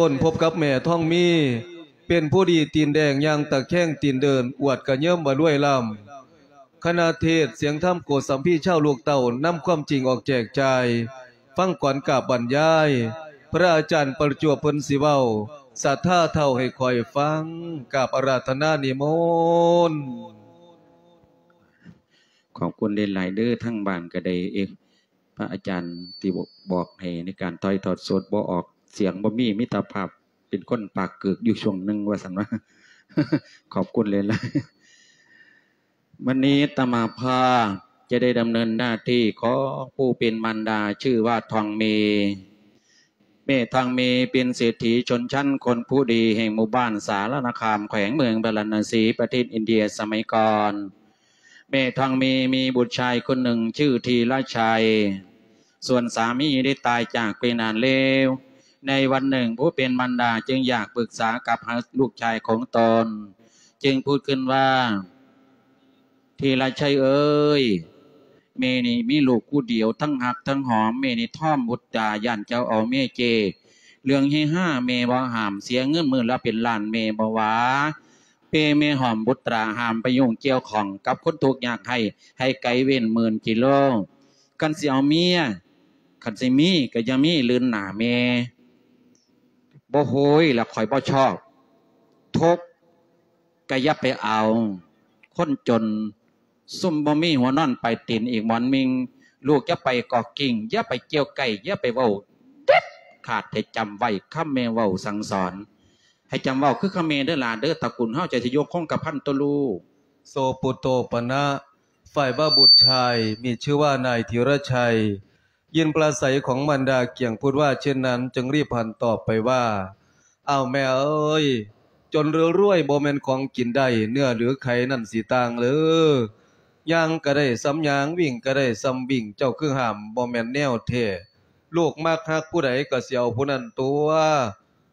ຕົ້ນພົບກັບແມ່ທອງມີ ເປັນຜູ້ດີຕີນແດງ ຍ່າງຕະແຄງຕີນເດີນ ອວດກະເຍີມວ່າລວຍລ້ຳ. ຄະນະເທດສຽງທຳໂກສຳພີ ຊາວລູກເຕົ້າ ນຳຄວາມຈິງອອກແຈກຈ່າຍ ຟັງກ່ອນກາບບັນຍາຍ ພະອາຈານປະຈວບເພິ່ນຊິເວົ້າ ສັດທາເຖົ້າໃຫ້ຂ້ອຍຟັງ ກາບອາລາທະນານິມົນ. ຂອບຄຸນຫຼາຍໆເດີ ທາງບ້ານກໍໄດ້ ເອະ ພະອາຈານທີ່ບອກໃຫ້ໃນການຖ່າຍທອດສົດ ບໍ່ອອກສຽງ ບໍ່ມີ ມີແຕ່ພາບ ເປັນຄົນປາກກືກຢູ່ຊ່ວງໜຶ່ງວ່າຊັ້ນວ່າ ຂອບຄຸນຫຼາຍໆ. ວັນນີ້ອາດຕະມາພາບຈະໄດ້ດຳເນີນໜ້າທີ່ຂອງຜູ້ເປັນມານດາ ຊື່ວ່າທອງເມ. ແມ່ທອງເມເປັນເສດຖີຊົນຊັ້ນຄົນຜູ້ດີແຫ່ງໝູ່ບ້ານສາລະນະຄາມ ແຂວງເມືອງພາລານະສີ ປະເທດອິນເດຍສະໄໝກ່ອນ. ແມ່ທອງເມມີບຸດຊາຍຄົນໜຶ່ງຊື່ທີລະໄຊ, ສ່ວນສາມີໄດ້ຕາຍຈາກໄປນານແລ້ວ. ໃນວັນໜຶ່ງ ຜູ້ເປັນມານດາຈຶ່ງຢາກປຶກສາກັບຫາລູກຊາຍຂອງຕົນ, ຈຶ່ງພູດຂຶ້ນວ່າ ທີລະໄຊເອີຍ, ແມ່ນີ້ມີລູກຜູ້ດຽວ ທັງຮັກທັງຫອມ, ແມ່ນີ້ທ້ອມບຸດຕາ ຢ້ານເຈົ້າເອົາເມຍເຈ. ເລື່ອງເຮຮາແມ່ບໍ່ຫ້າມ, ເສຍເງິນມື້ລະເປັນລ້ານແມ່ບໍ່ວ່າ, ເປແມ່ຫ້ອມບຸດຕາ ຫ້າມໄປຫຍຸ້ງກ່ຽວຂ້ອງກັບຄົນທຸກຍາກໄຮ້ ໃຫ້ໄກເວັ້ນໝື່ນກິໂລ. ຄັນຊິເອົາເມຍ, ຄັນຊິມີກໍຢ່າມີລື່ນໜ້າແມ່. ບໍ່ໂຫຍລະ ຂ້ອຍບໍ່ຊອບ. ທຸກກໍຢ່າໄປເອົາ. ຄົນຈົນ ຊຸມບໍ່ມີຫົວນອນປາຍຕີນອີກໝອນມິ່ງ, ລູກຢ່າໄປກອກກິ້ງ, ຢ່າໄປກ່ຽວໄກ່, ຢ່າໄປເວົ້າເດັດຂາດ. ໃຫ້ຈຳໄວ້ຄຳແມ່ເວົ້າສັ່ງສອນ. ໃຫ້ຈຳເວົ້າຄືຄຳແມ່ເດີຫຼາເດີ, ຕະກຸນເຮົາຈະຊິຢູ່ຄົງກະພັນໂຕລູກ. ໂສປຸດໂຕປະນະ, ຝ່າຍວ່າບຸດຊາຍມີຊື່ວ່ານາຍທີລະໄຊ ຍິນປາໄສຂອງມານດາກຽງພຸດວ່າເຊັ່ນນັ້ນ ຈຶ່ງຣີບຫັນຕອບໄປວ່າ, ອ້າວແມ່ເອີຍ, ຈົນຫຼືລວຍບໍ່ແມ່ນຂອງກິນໄດ້, ເນື້ອຫຼືໄຂ່ນັ້ນຊິຕ່າງເລີ. ຍ່າງກະໄດ້ສ່ຳຍ່າງ, ວິ່ງກະໄດ້ສ່ຳວິ່ງ, ເຈົ້າຄືຫ້າມບໍ່ແມ່ນແນວແທ້. ລູກມັກຮັກຜູ້ໃດກະຊິເອົາຜູ້ນັ້ນຕົວະ.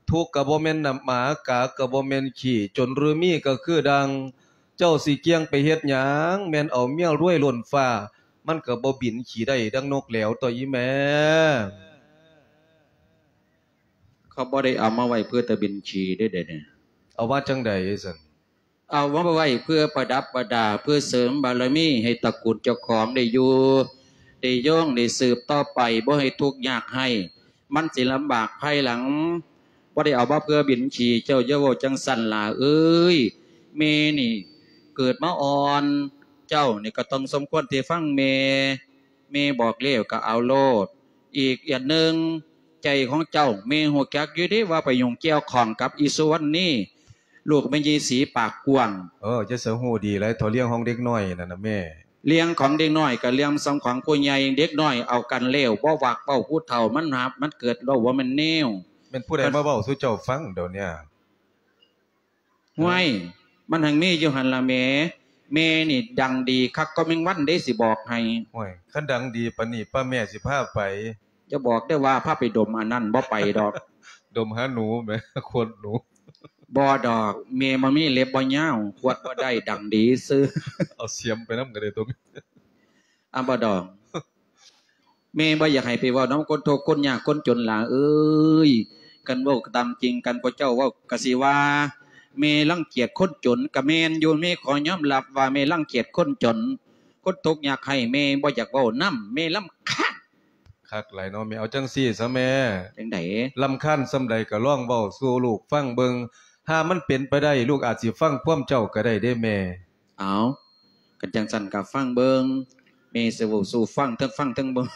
ທຸກກະບໍ່ແມ່ນນ້ຳໝາ, ກາກະບໍ່ແມ່ນຂີ້, ຈົນຫຼືມີກະຄືດັ່ງ ເຈົ້າຊິກ່ຽງໄປເຮັດຫຍັງ? ແມ່ນເອົາເມຍລວຍລົ້ນຟ້າ, ມັນກະບໍ່ບິນຂີ້ໄດ້ດັ່ງນົກແຫຼວຕົວະອີ່ແມ່. ເຂົາບໍ່ໄດ້ເອົາມາໄວ້ເພື່ອແຕ່ບິນຂີ້ເດ້ ດຽວນີ້. ເອົາມາຈັ່ງໃດຊັ້ນ? ເອົາມາໄວ້ເພື່ອປະດັບປະດາ, ເພື່ອເສີມບາລະມີໃຫ້ຕະກຸນເຈົ້າຂອງໄດ້ຢູ່ໄດ້ຍອງ, ໄດ້ສືບຕໍ່ໄປ, ບໍ່ໃຫ້ທຸກຍາກໄຮ້. ມັນຊິລຳບາກພາຍຫຼັງ. ບໍ່ໄດ້ເອົາມາເພື່ອບິນຂີ້, ເຈົ້າຢ່າເວົ້າຈັ່ງຊັ້ນຫຼ້າເອີຍ. ແມ່ນີ້ເກີດມາອ່ອນ, ເຈົ້ານີ້ກໍຕ້ອງສົມຄວນທີ່ຟັງແມ່. ແມ່ບອກແລ້ວກໍເອົາໂລດ. ອີກອັນໜຶ່ງ, ໃຈຂອງເຈົ້າ, ແມ່ຮູ້ຈັກຢູ່ເດ້ວ່າໄປຫຍຸ້ງກ່ຽວຂ້ອງກັບອີສຸວັນນີ, ລູກແມ່ຍາຍສີປາກກວ້າງ. ເອີ, ເຈົ້າສະຮູ້ດີຫຼາຍເທົ່າເລື່ອງຂອງເດັກນ້ອຍນັ້ນນະແມ່. ເລື່ອງຂອງເດັກນ້ອຍກໍເລື່ອງສ່ຳຂອງຜູ້ໃຫຍ່, ເດັກນ້ອຍເອົາກັນແລ້ວບໍ່ມັກເວົ້າ, ຜູ້ເຖົ້າມັນຫາບ, ມັນເກີດເວົ້າບໍ່ແມ່ນແນວ. ແມ່ນຜູ້ໃດມາເວົ້າສູ່ເຈົ້າຟັງດຽວນີ້? ຫ້ວຍ, ມັນຫັ້ນມີຢູ່ຫັ້ນລະແມ່. ແມ່ນີ້ດັງດີຄັກກວ່າແມງວັນເດ້, ຊິບອກໃຫ້. ໂອ້ຍ, ຄັນດັງດີປານນີ້ ປ້າແມ່ຊິພາໄປ. ຢ່າບອກເດີ້ວ່າພາໄປດົມອັນນັ້ນ, ບໍ່ໄປດອກ. ດົມຫາໜູແໝ່, ຂວດໜູ. ບໍ່ດອກ, ແມ່ບໍ່ມີເລັບບໍ່ຍາວ, ຂວດບໍ່ໄດ້, ດັງດີຊື່. ເອົາສຽມໄປນຳກໍໄດ້ຕົວ. ອາ ບໍ່ດອກ. ແມ່ບໍ່ຢາກໃຫ້ໄປເວົ້ານຳຄົນທຸກຄົນຍາກຄົນຈົນຫຼ້າເອີຍ. ຄັນເວົ້າຕາມຈິງ, ຄັນພວກເຈົ້າເວົ້າກະຊິວ່າແມ່ລັງກຽດຄົນຈົນ. ກະແມ່ນຢູ່, ແມ່ຂໍຍອມຮັບວ່າແມ່ລັງກຽດຄົນຈົນ, ຄົນທຸກຍາກໄຮ້, ແມ່ບໍ່ຢາກເວົ້ານຳ, ແມ່ລຳຄານ. ຄັກຫຼາຍເນາະແມ່. ເອົາຈັ່ງຊີ້ຊະແມ່. ຈັ່ງໃດ? ລຳຄານສ່ຳໃດກໍລອງເວົ້າສູ່ລູກຟັງເບິ່ງ. ຫາມັນເປັນໄປໄດ້, ລູກອາດຊິຟັງຄວາມເຈົ້າກໍໄດ້ເດ້ແມ່. ເອົາ, ຄັນຈັ່ງຊັ້ນກໍຟັງເບິ່ງ, ແມ່ຊິເວົ້າສູ່ຟັງ, ເທິງຟັງເທິງເບິ່ງ.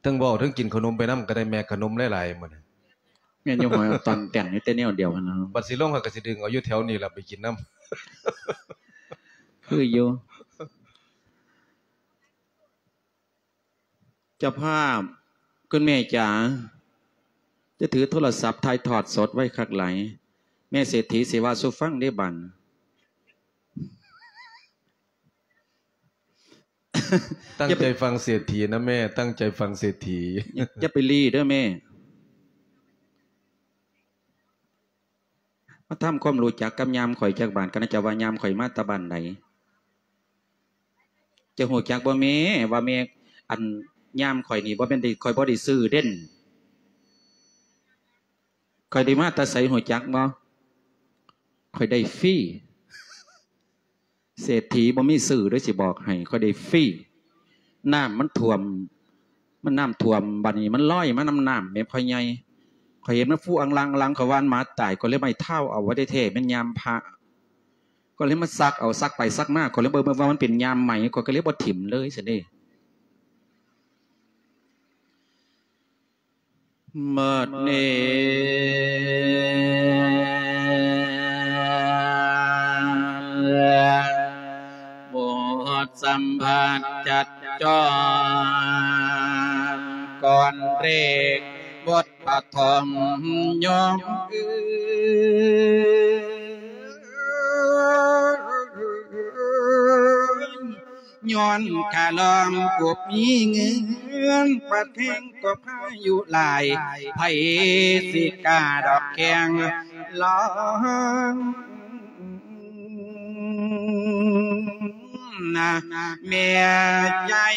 ເທິງເວົ້າເທິງກິນຂະໜົມໄປນຳກໍໄດ້ແມ່, ຂະໜົມຫຼາຍໆມື້ນີ້. ແມ່ນຢູ່, ຫອຍຕອນແຕ່ນຢູ່ແຕ່ແນວດຽວຫັ້ນນະ. ບັດຊິລົງ ຂ້ອຍກໍຊິດຶງເອົາຢູ່ແຖວນີ້ລະໄປກິນນຳ. ຄືຢູ່. ເຈົ້າພາບ, ຄຸນແມ່ຈ໋າ, ຈະຖືໂທລະສັບຖ່າຍທອດສົດໄວຄັກຫຼາຍ. ແມ່ເສດຖີຊິເວົ້າສູ່ຟັງເດ້ບັດ. ຕັ້ງໃຈຟັງເສດຖີນະແມ່, ຕັ້ງໃຈຟັງເສດຖີ. ຢ່າໄປລີ້ເດີແມ່. ມາທຳຄວາມຮູ້ຈັກກັບຍາມຂ້ອຍຈັກບາດ, ກໍໜ້າຈະວ່າຍາມຂ້ອຍມາແຕ່ບ້ານໃດ. ເຈົ້າຮູ້ຈັກບໍ່ແມ່ ວ່າແມ່ ອັນ ຍາມຂ້ອຍນີ້ບໍ່ແມ່ນໄດ້ ຂ້ອຍບໍ່ໄດ້ຊື້ເດ້. ຂ້ອຍໄດ້ມາແຕ່ໃສຮູ້ຈັກບໍ່? ຂ້ອຍໄດ້ຟຣີ. ເສດຖີບໍ່ມີຊື່ເດີ ຊິບອກໃຫ້, ຂ້ອຍໄດ້ຟຣີ. ນ້ຳມັນຖ້ວມ, ມັນນ້ຳຖ້ວມ, ບາດນີ້ມັນລອຍມານຳນ້ຳແມ່ພໍ່ໃຫຍ່. ຂ້ອຍເຫັນມັນຟູອັງລັງອັງລັງ, ຂ້ອຍວ່າມັນໝາຕາຍ, ຂ້ອຍເລີຍໄປທ້າວເອົາ. ວ່າແທ້ໆແມ່ນຍາມພະ, ຂ້ອຍເລີຍມາຊັກເອົາ, ຊັກໄປຊັກມາ, ຂ້ອຍເລີຍເບິ່ງວ່າມັນເປັນຍາມໃໝ່, ຂ້ອຍກໍເລີຍບໍ່ຖິ້ມເລີຍຊັ້ນເດ້. ບັດນີ້ ບົດສຳພາດຈັດຈ້ອນ ກ່ອນເລກບົດປະຖົມຍົມ ຍ້ອນກະລອມກົບມີເງິນ ປະເທັງກໍພາຍຸຫຼາຍ ໃຜຊິກ້າດອກແຂ່ງລອງນະ ແມ່ໃຫຍ່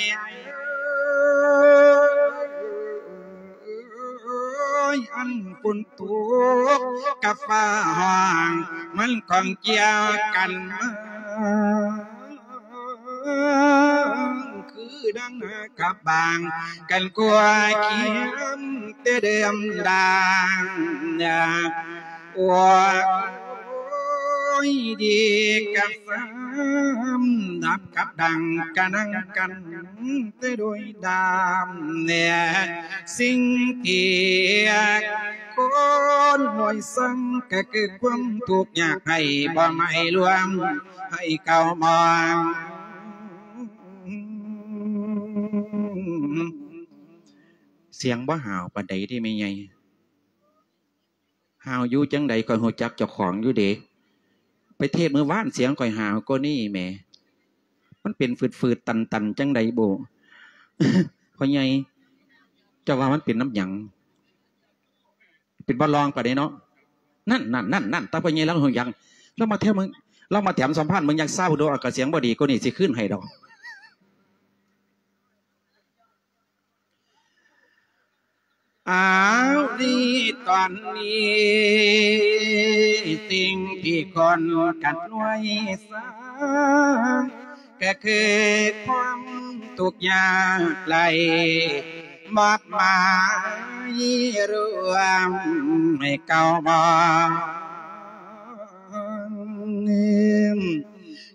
ເອີຍ ອັນຝົນ ຕົກກັບຟ້າຮ້ອງ ມັນຂ້ອງກ່ຽວກັນມາ ຄືດັ່ງກັບບາງກັນກົວຂຽມແຕ່ເດີມດາງ ໂອ້ຍ ດີກັບ ສຳດັບກັບດັງກະນັງກັນແຕ່ໂດຍດາມແນ່ ສິ່ງທີ່ຄົນນ້ອຍສັງກະເກີດຄວາມທຸກຍາກໃຫ້ບໍ່ໄໝລວມໃຫ້ເກົ່າມອງ ສຽງບໍ່ຫາວປານໃດເດ້ແມ່ໃຫຍ່. ຫາວຢູ່ຈັ່ງໃດ ຂ້ອຍຮູ້ຈັກເຈົ້າຂອງຢູ່ເດ. ໄປເທດມື້ວານສຽງຂ້ອຍຫາວກວ່ານີ້ແໝ. ມັນເປັນຝືດໆຕັນໆ ຈັ່ງໃດບໍ່ ພໍ່ໃຫຍ່? ເຈົ້າວ່າມັນເປັນນຳຫຍັງ? ເປັນບໍ່ລອງປານໃດເນາະ. ນັ້ນໆໆໆ ຕາພໍ່ໃຫຍ່ລາວຮູ້ຫຍັງ? ລາວມາແຖມ ລາວມາແຖມສຳພາດເບິ່ງຢ່າງຊາວໂດ ອາກາດສຽງບໍ່ດີກວ່ານີ້ ຊິຄືນໃຫ້ດອກ. ອ້າວ ນີ້ຕອນນີ້ ສິ່ງທີ່ຄົນກັນໜ່ວຍສາ ກໍຄືຄວາມທຸກຍາກໄຫຼ ມອບໝາຍລວມໃຫ້ເກົ່າມອງ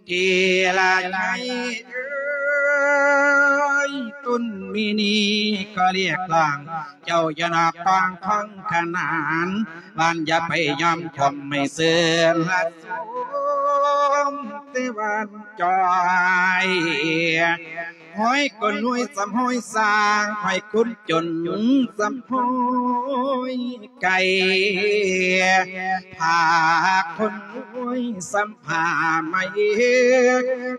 ທີ່ລະໃຫຍ່ເອີຍ ຕຸນມີນີ້ກໍລຽກຮ້ອງ ເຈົ້າຢ່ານອກກອງຂອງຂະໜານ ບ້ານຢ່າໄປຍອມຂົ່ມໃຫ້ເຊື່ອມ ແຕ່ບ້ານຈ່ອຍ ຫ້ອຍກົນຫ້ວຍສຳຫ້ອຍສ້າງ ຫ້ອຍຄົນຈົນສຳຫ້ອຍໄກ່ ພາຄົນຮວຍສຳ ຜ້າໄໝ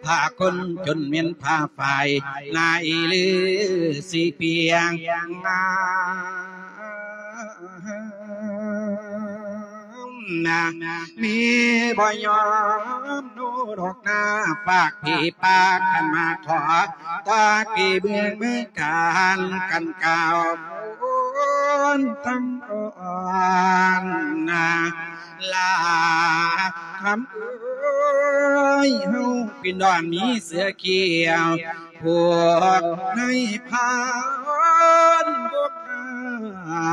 ຜ້າຄົນຈົນແມ່ນຜ້າຝ້າຍ ນາຍລືສີພຽງງາມນະ ມີບໍ່ຍອມໂນດອກນາ ຝາກຜີປາກຄັນມາຂໍ ຕາກີເບື້ອງເມືອງການ ກັນກ່າວໂພນທັງ ອ່ອນນາ ລາຄຳເອີຍ ເຮົາປິ່ນດອນມີເສືອຂຽວ ພວກນາຍພານ ພວກຂ້າ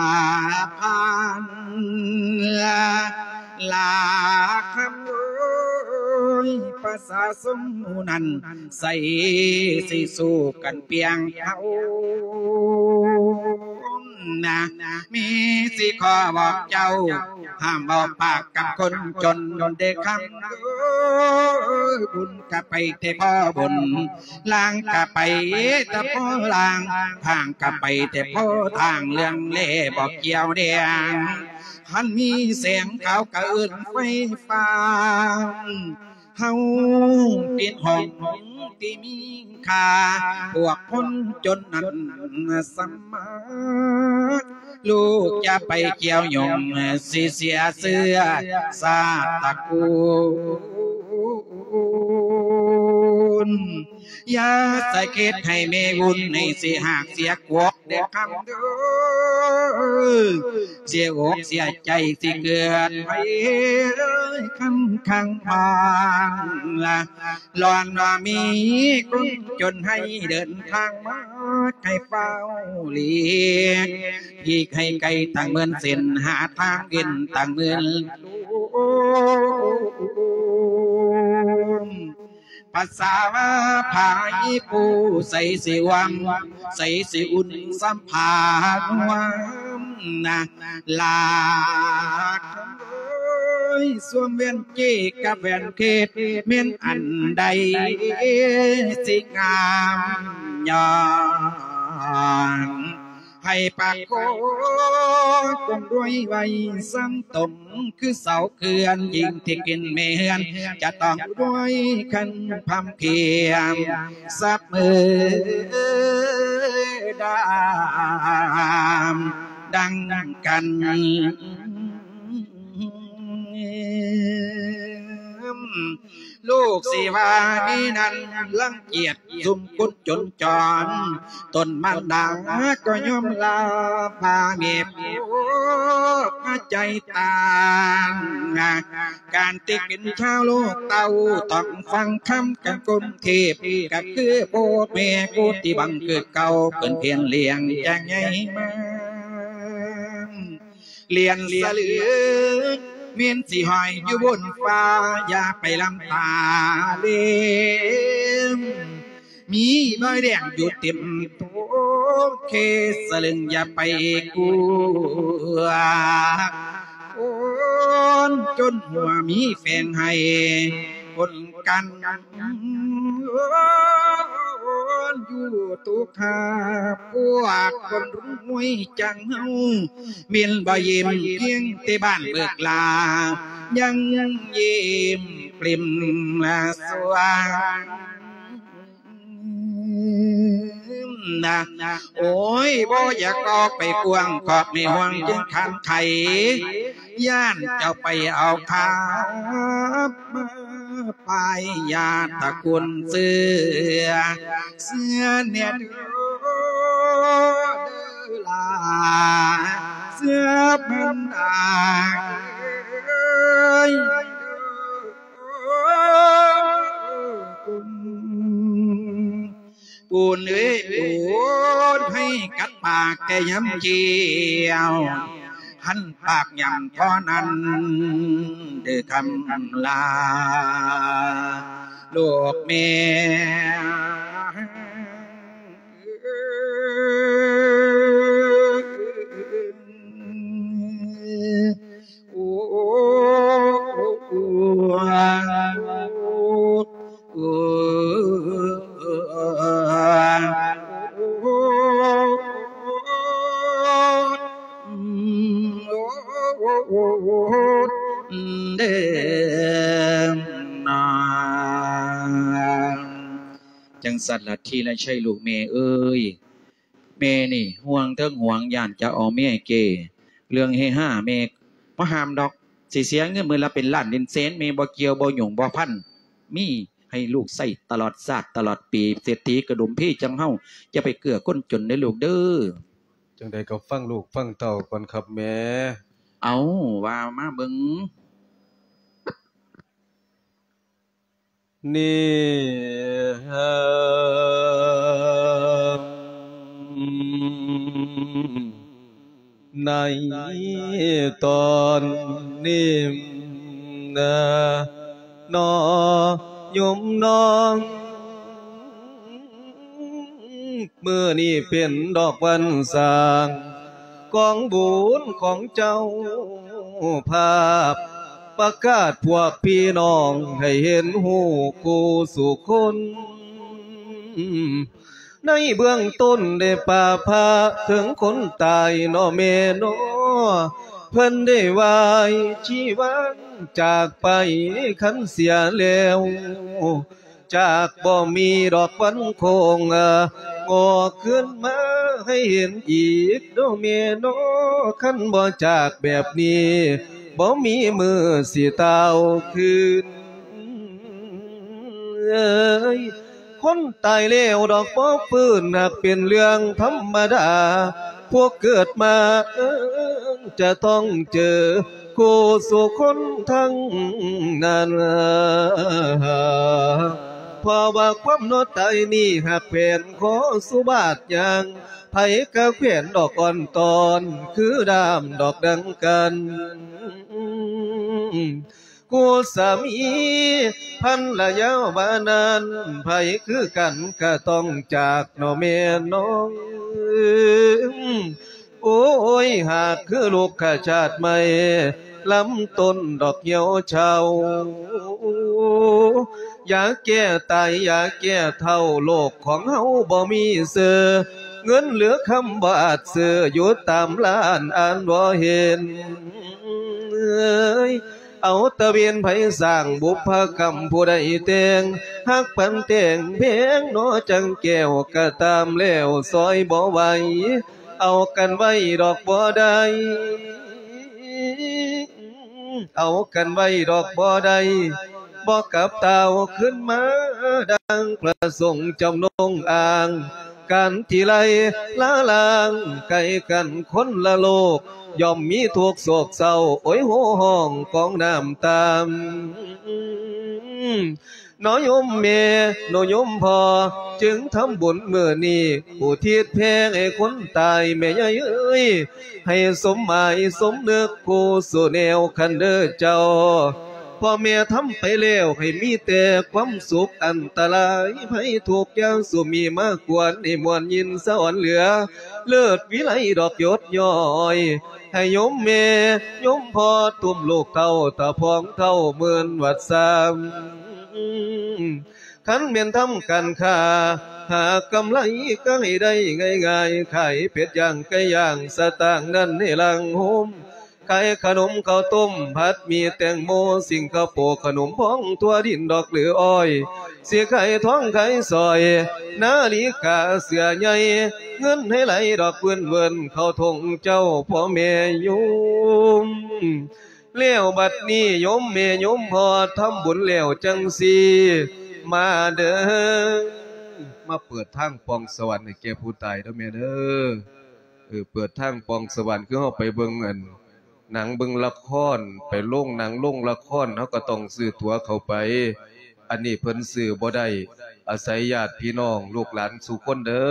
ພານ ລາຄຳເອີຍ ປະຊາຊົນໝູ່ນັ້ນ ໃສຊິສູ້ກັນປຽງເຮົາ ນະ ມີຊິຂໍບອກເຈົ້າ ຫ້າມເວົ້າປາກກັບຄົນຈົນເດ້ຄຳເອີ ບຸນກະໄປແຕ່ພໍບຸນ ລາງກະໄປແຕ່ພໍລາງ ທາງກະໄປແຕ່ພໍທາງ ເລື່ອງແລບໍ່ກ່ຽວແດງ ຄັນມີແສງຂາວກະເອີ້ນໄຟຟ້າ ເຮົາເປັນຫ້ອງທີ່ມີຄ່າ ພວກຄົນຈົນນັ້ນສະໝາດ ລູກຢ່າໄປກ່ຽວຫຍຸ້ງ ຊິເສຍເຊື້ອຊາດຕະກູນ ຢ່າສະເກັດໃຫ້ແມ່ວຸ້ນ ໃຫ້ເສຍຮາກເສຍກົກເດີ້ຄຳເດີ້ ເສຍອົກເສຍໃຈ ຊິເກີດໄພຄຳຂັງບ້ານລະ ລອນວ່າມີຄົນຈົນໃຫ້ເດີນທາງມາ ໃຫ້ຟ້າວຫຼີກ ຫຼີກໃຫ້ໄກຕັ້ງໝື່ນເສັ້ນ ຫາທາງເວັ້ນຕັ້ງໝື່ນ ພາສາວ່າພາອີ່ປູ່ ໃສຊິຫວາມ ໃສຊິອຸ່ນ ສຳພານວມນະ ລາກເອີຍ ສວມແຫວນເຈກັບແຫວນເຂດ ແມ່ນອັນໃດຊິງາມ ຍ້ອນ ໃຫ້ປາກຄອງຄົນລວຍໄວ້ສັງຕົມ ຄືເສົາເຂື່ອນ ຍິ່ງທີ່ກິນແມ່ເຮືອນ ຈະຕ້ອງລວຍຄັນພຳເຄມ ສັບມືດາມ ດັ່ງກັນ ລູກຊິວ່າມີນັ້ນລັງກຽດ ຊຸມຄົນຈົນຈອນ ຕົນມານດາກໍຍອມລາ ພາແມ່ພວກໃຈຕ່າງ ການຕິເປັນຊາວໂລກເຕົ້າ ຕ້ອງຟັງຄຳກັນກົມເທບ ກໍຄືພໍ່ແມ່ຜູ້ທີ່ບັງເກີດເກົ່າ ເພິ່ນພຽນລ້ຽງຈາກໃຫຍ່ມາ ລ້ຽນສະເຫຼືອ ແມ່ນຊິຫ້ອຍຢູ່ບົນຟ້າ ຢ່າໄປລຳຕາເລມ ມີຮອຍແດງຢູ່ເຕັມໂຕ ເຄສະເລິງຢ່າໄປກົວ ຄົນຈົນຫົວມີແຝງໃຫ້ຄົນກັນ ຢູ່ຕຸຄາ ພວກຄົນລວຍຈັ່ງເຮົາ ແມ່ນບໍ່ເຢັນ ພຽງແຕ່ບ້ານເບີກລາ ຍັງເຢັມປຣິມລະສວາງນະ ໂອ້ຍ ບໍ່ຢາກອອກໄປກວ້າງ ຂອບໃຫ້ຫ່ວງຈຶ່ງຄານໄຂ ຢ້ານເຈົ້າໄປເອົາຄາບມາ ປາຍຍາດຕະກຸນເສືອ ເສືອແນ່ເດີຫຼາ ເສືອບັນດາເອີຍ ປູນເອີຍ ປູນ ໃຫ້ກັດປາກແຕ່ຍາມກ່ຽວ ຫັນປາກຫຍັງເທົ່ານັ້ນເດີຄຳລາ ລູກແມ່. ຈັ່ງຊັ້ນລະ ທີລະໄຊ ລູກແມ່ເອີຍ, ແມ່ນີ້ຫ່ວງເຖິງຫ່ວງ ຢ້ານຈະເອົາເມຍເກ. ເລື່ອງເຮຮາແມ່ບໍ່ຫ້າມດອກ, ຊິເສຍເງິນມື້ລະເປັນລ້ານເປັນແສນ ແມ່ບໍ່ກ່ຽວບໍ່ຫຍຸ້ງບໍ່ພັນ, ມີໃຫ້ລູກໃຊ້ຕະຫຼອດຊາດຕະຫຼອດປີ. ເສດຖີກະດຸມພີຈັ່ງເຮົາ ຢ່າໄປເກື້ອຄົນຈົນເດີລູກເດີ. ຈັ່ງໃດກໍຟັງລູກຟັງເຕົ້າກ່ອນຄັບແມ່. ເອົ້າ ວ່າມາເບິ່ງ. ນີ້ ໃນຕອນນີ້ນະ ນ້ອຍໂຍມນ້ອງ ມື້ນີ້ເປັນດອກວັນສ້າງ ກອງບຸນຂອງເຈົ້າພາບ ປະກາດພວກພີ່ນ້ອງໃຫ້ເຫັນຮູ້ຄູ່ສູ່ຄົນ ໃນເບື້ອງຕົ້ນໄດ້ປາພະເຖິງຄົນຕາຍເນາະແມ່ເນາະ ເພິ່ນໄດ້ໄຫວ້ຊີວັນຈາກໄປ ຄັນເສຍແລ້ວ ຈາກບໍ່ມີດອກວັນຄົງ ງອກຄືນມາໃຫ້ເຫັນອີກເນາະແມ່ເນາະ ຄັນບໍ່ຈາກແບບນີ້ ບໍ່ມີມື້ຊິຕ່າວຄືນເອີຍ. ຄົນຕາຍແລ້ວດອກບໍ່ຟື້ນ ຫາກເປັນເລື່ອງທຳມະດາ ຜູ້ເກີດມາຈະຕ້ອງເຈີ ຄູ່ສູ່ຄົນທັງນັ້ນ ເພາະວ່າຄວາມເນາະຕາຍນີ້ ຫາກແຂວນຂໍສຸບາດຢ່າງ ໃຜກະແຂວນດອກອ່ອນຕອນ ຄືດ້າມດອກດັ່ງກັນ ຄູ່ສາມີພັນລະຍາວ່ານັ້ນ ໃຜຄືກັນກະຕ້ອງຈາກເນາະແມ່ນ້ອງ. ໂອ້ຍ ຫາກຄືລູກຂະຊາດໄມ້ ລຳຕົ້ນດອກຫ່ຽວເຊົາ ຢາແກ້ຕາຍ ຢາແກ້ເຖົ້າ ໂລກຂອງເຮົາບໍ່ມີເຊື່ອ ເງິນຫຼືຄຳບໍ່ອາດຊື້ ຢູ່ຕາມລານອ່ານບໍ່ເຫັນ. ເອົາຕະເວນໃຜສ້າງບຸບພະກຳ ຜູ້ໃດແຕ່ງ ຮັກປັນແຕ່ງແພງເນາະ ຈັ່ງແກ້ວກະຕາມແລ້ວ ຊ່ອຍບໍ່ໄຫວ ເອົາກັນໄວ້ດອກບໍ່ໄດ້ ເອົາກັນໄວ້ດອກບໍ່ໄດ້ ບໍ່ກັບຕ່າວຄືນມາ ດັ່ງພະສົງຈຳນົງອ້າງ ການທີ່ໄລ່ລາລ້າງໄກກັນຄົນລະໂລກ ຍ່ອມມີທຸກໂສກເສົ້າ ໂອຍໂຮຮ້ອງກອງນ້ຳຕາ ເນາະໂຍມແມ່ ເນາະໂຍມພໍ່ ຈຶ່ງທຳບຸນມື້ນີ້ ອຸທິດແຜ່ໃຫ້ຄົນຕາຍ ແມ່ໃຫຍ່ເອີຍ ໃຫ້ສົມໝາຍສົມນຶກ ຄູ່ສູ່ແນວຄັນເດີເຈົ້າ ພໍ່ແມ່ທຳໄປແລ້ວ ໃຫ້ມີແຕ່ຄວາມສຸກ ອັນຕະລາຍໄພທຸກ ຢ່າສູ່ມີມາກວນ ໃຫ້ມ່ວນຍິນສະອອນເຫຼືອ ເລີດວິໄລດອກຢົດຍ້ອຍ ໃຫ້ໂຍມແມ່ໂຍມພໍ່ ຕຸ້ມລູກເຕົ້າ ຕາພອງເຖົ້າໝື່ນວັດສາ ຄັນແມ່ນທຳການຄ້າ ຫາກຳໄລກໍໃຫ້ໄດ້ງ່າຍໆ ຂາຍເປັດຍ່າງໄກ່ຍ່າງ ສະຕາງນັ້ນໃຫ້ຫຼັ່ງໂຮມ ຂາຍຂະໜົມເຂົ້າຕົ້ມ ຜັດໝີ່ແຕງໂມ ສິງກະໂປ ຂະໜົມພອງທົ່ວດິນດອກຫຼືອ້ອຍ ຊິຂາຍທອງຂາຍສ້ອຍ ນາລິກາເສື້ອໃຫຍ່ ເງິນໃຫ້ໄຫຼດອກເວີນໆ ເຂົ້າທົ່ງເຈົ້າພໍ່ແມ່ໂຍມ. ແລ້ວບັດນີ້ໂຍມແມ່ໂຍມພໍ່ທຳບຸນແລ້ວຈັ່ງຊີ້ ມາເດີ ມາເປີດທາງປ່ອງສະຫວັນໃຫ້ແກ່ຜູ້ຕາຍເດີແມ່ເດີ. ເອີ ເປີດທາງປ່ອງສະຫວັນ ຄືເຮົາໄປເບິ່ງອັນໜັງເບິ່ງລະຄອນ ໄປໂລງໜັງໂລງລະຄອນ ເຮົາກໍຕ້ອງຊື້ຕົ໋ວເຂົ້າໄປ. ອັນນີ້ເພິ່ນຊື້ບໍ່ໄດ້ ອາໄສຍາດພີ່ນ້ອງລູກຫຼານສູ່ຄົນເດີ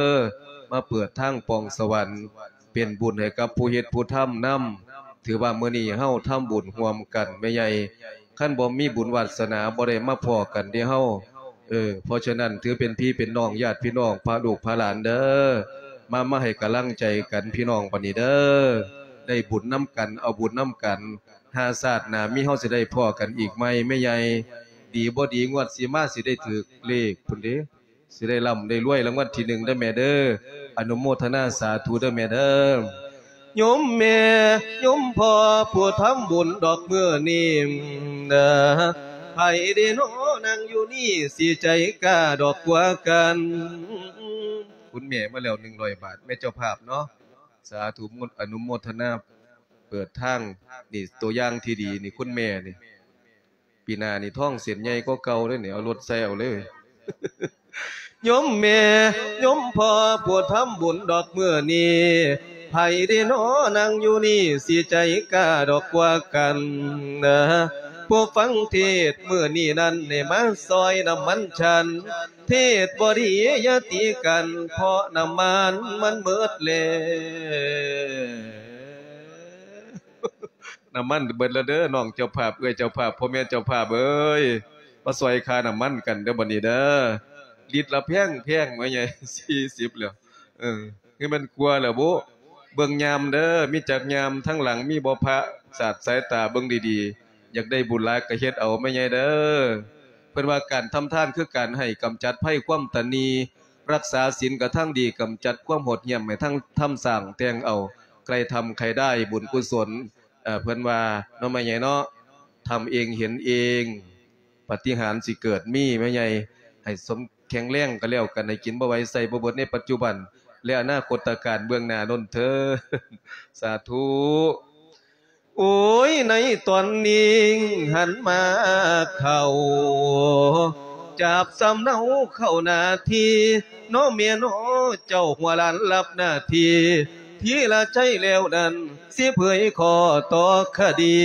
ມາເປີດທາງປ່ອງສະຫວັນ. ເປັນບຸນໃຫ້ກັບຜູ້ເຮັດຜູ້ທຳນຳ. ຖືວ່າມື້ນີ້ເຮົາທຳບຸນຮ່ວມກັນແມ່ໃຫຍ່ ຄັນບໍ່ມີບຸນວາດສະໜາບໍ່ໄດ້ມາພໍ້ກັນເດ້ເຮົາ. ເອີ ເພາະສະນັ້ນຖືເປັນພີ່ເປັນນ້ອງ ຍາດພີ່ນ້ອງ ພະລູກພະຫຼານເດີ ມາ ມາໃຫ້ກຳລັງໃຈກັນພີ່ນ້ອງບັດນີ້ເດີ ໄດ້ບຸນນຳກັນ ເອົາບຸນນຳກັນ ຫາຊາດໜ້າມີເຮົາຊິໄດ້ພໍ້ກັນອີກໃໝ່ແມ່ໃຫຍ່. ດີບໍ່ດີງວດຊິມາຊິໄດ້ຖືກເລກພຸ້ນເດ້. ຊິໄດ້ລ່ຳໄດ້ລວຍລາງວັນທີໜຶ່ງເດີແມ່ເດີ. ອະນຸໂມທະນາສາທຸເດີແມ່ເດີ. ໂຍມແມ່ໂຍມພໍ່ຜູ້ທຳບຸນດອກມື້ນີ້ ໃຜເດນໍ່ງຢູ່ນີ້ ຊິໃຈກ້າດອກກວ່າກັນ. ຄຸນແມ່ມາແລ້ວໜຶ່ງຮ້ອຍບາດ ແມ່ເຈົ້າພາບເນາະ. ສາທຸ ອະນຸໂມທະນາ ເປີດທາງ. ນີ້ຕົວຢ່າງທີ່ດີນີ້ ຄຸນແມ່ນີ້. ປີໜ້ານີ້ທອງເສັ້ນໃຫຍ່ກວ່າເກົ່າເດ້ນີ້ ເອົາລົດໃສ່ເອົາເລີຍ. ໂຍມແມ່ໂຍມພໍ່ຜູ້ທຳບຸນດອກມື້ນີ້ ໃຜເດນໍ່ງຢູ່ນີ້ ຊິໃຈກ້າດອກກວ່າກັນ. ຜູ້ຟັງເທດມື້ນີ້ນັ້ນ ໃຫ້ມາຊ່ອຍນ້ຳມັນສັນ ເທດບໍ່ດີຢ່າຕີກັນ ເພາະນ້ຳມັນມັນເໝິດແລ້ວ. ນ້ຳມັນເບິດແລ້ວເດີ ນ້ອງເຈົ້າພາບ ເອື້ອຍເຈົ້າພາບ ພໍ່ແມ່ເຈົ້າພາບເອີຍ ມາຊ່ອຍຄ່ານ້ຳມັນກັນເດີບັດນີ້ເດີ. ລິດລະແພງໆ ແມ່ໃຫຍ່ ສີ່ສິບແລ້ວ ເອີ ຄືແມ່ນກວ່າແລ້ວບຸ. ເບິ່ງຍາມເດີ ມີຈັກຍາມ ທາງຫຼັງມີບໍ່ພະ ສາດສາຍຕາເບິ່ງດີໆ. ຢາກໄດ້ບຸນຫຼາຍກໍເຮັດເອົາແມ່ໃຫຍ່ເດີ. ເພິ່ນວ່າການທຳທານຄືການໃຫ້ ກຳຈັດໄພຄວາມຕະໜີ່ ຮັກສາສິນກະທັງດີ ກຳຈັດຄວາມໂຫດຫ້ຽມ ໃຫ້ທັງທຳສ້າງແຕ່ງເອົາ ໃຄ່ທຳໃຄ່ໄດ້ບຸນກຸສົນ. ເອີ ເພິ່ນວ່າເນາະ ແມ່ໃຫຍ່ເນາະ ທຳເອງເຫັນເອງ ປາຕິຫານຊິເກີດມີແມ່ໃຫຍ່. ໃຫ້ສົມແຂງແຮງກໍແລ້ວກັນ ໃຫ້ກິນບໍ່ໄຫວໃຊ້ບໍ່ເບິດໃນປັດຈຸບັນ ແລະ ອະນາຄົດຕະການເບື້ອງໜ້າໂນ້ນເທີດ. ສາທຸ. ໂອ້ຍ ໃນຕອນນີ້ຫັນມາເຂົ້າ ຈັບສຳເນົາເຂົ້າໜ້າທີ່ ເນາະແມ່ເນາະ ເຈົ້າຫົວຫຼານຮັບໜ້າທີ່ ທີລະໄຊແລ້ວນັ້ນ ຊິເຜີຍຂໍ້ຕໍ່ຄະດີ.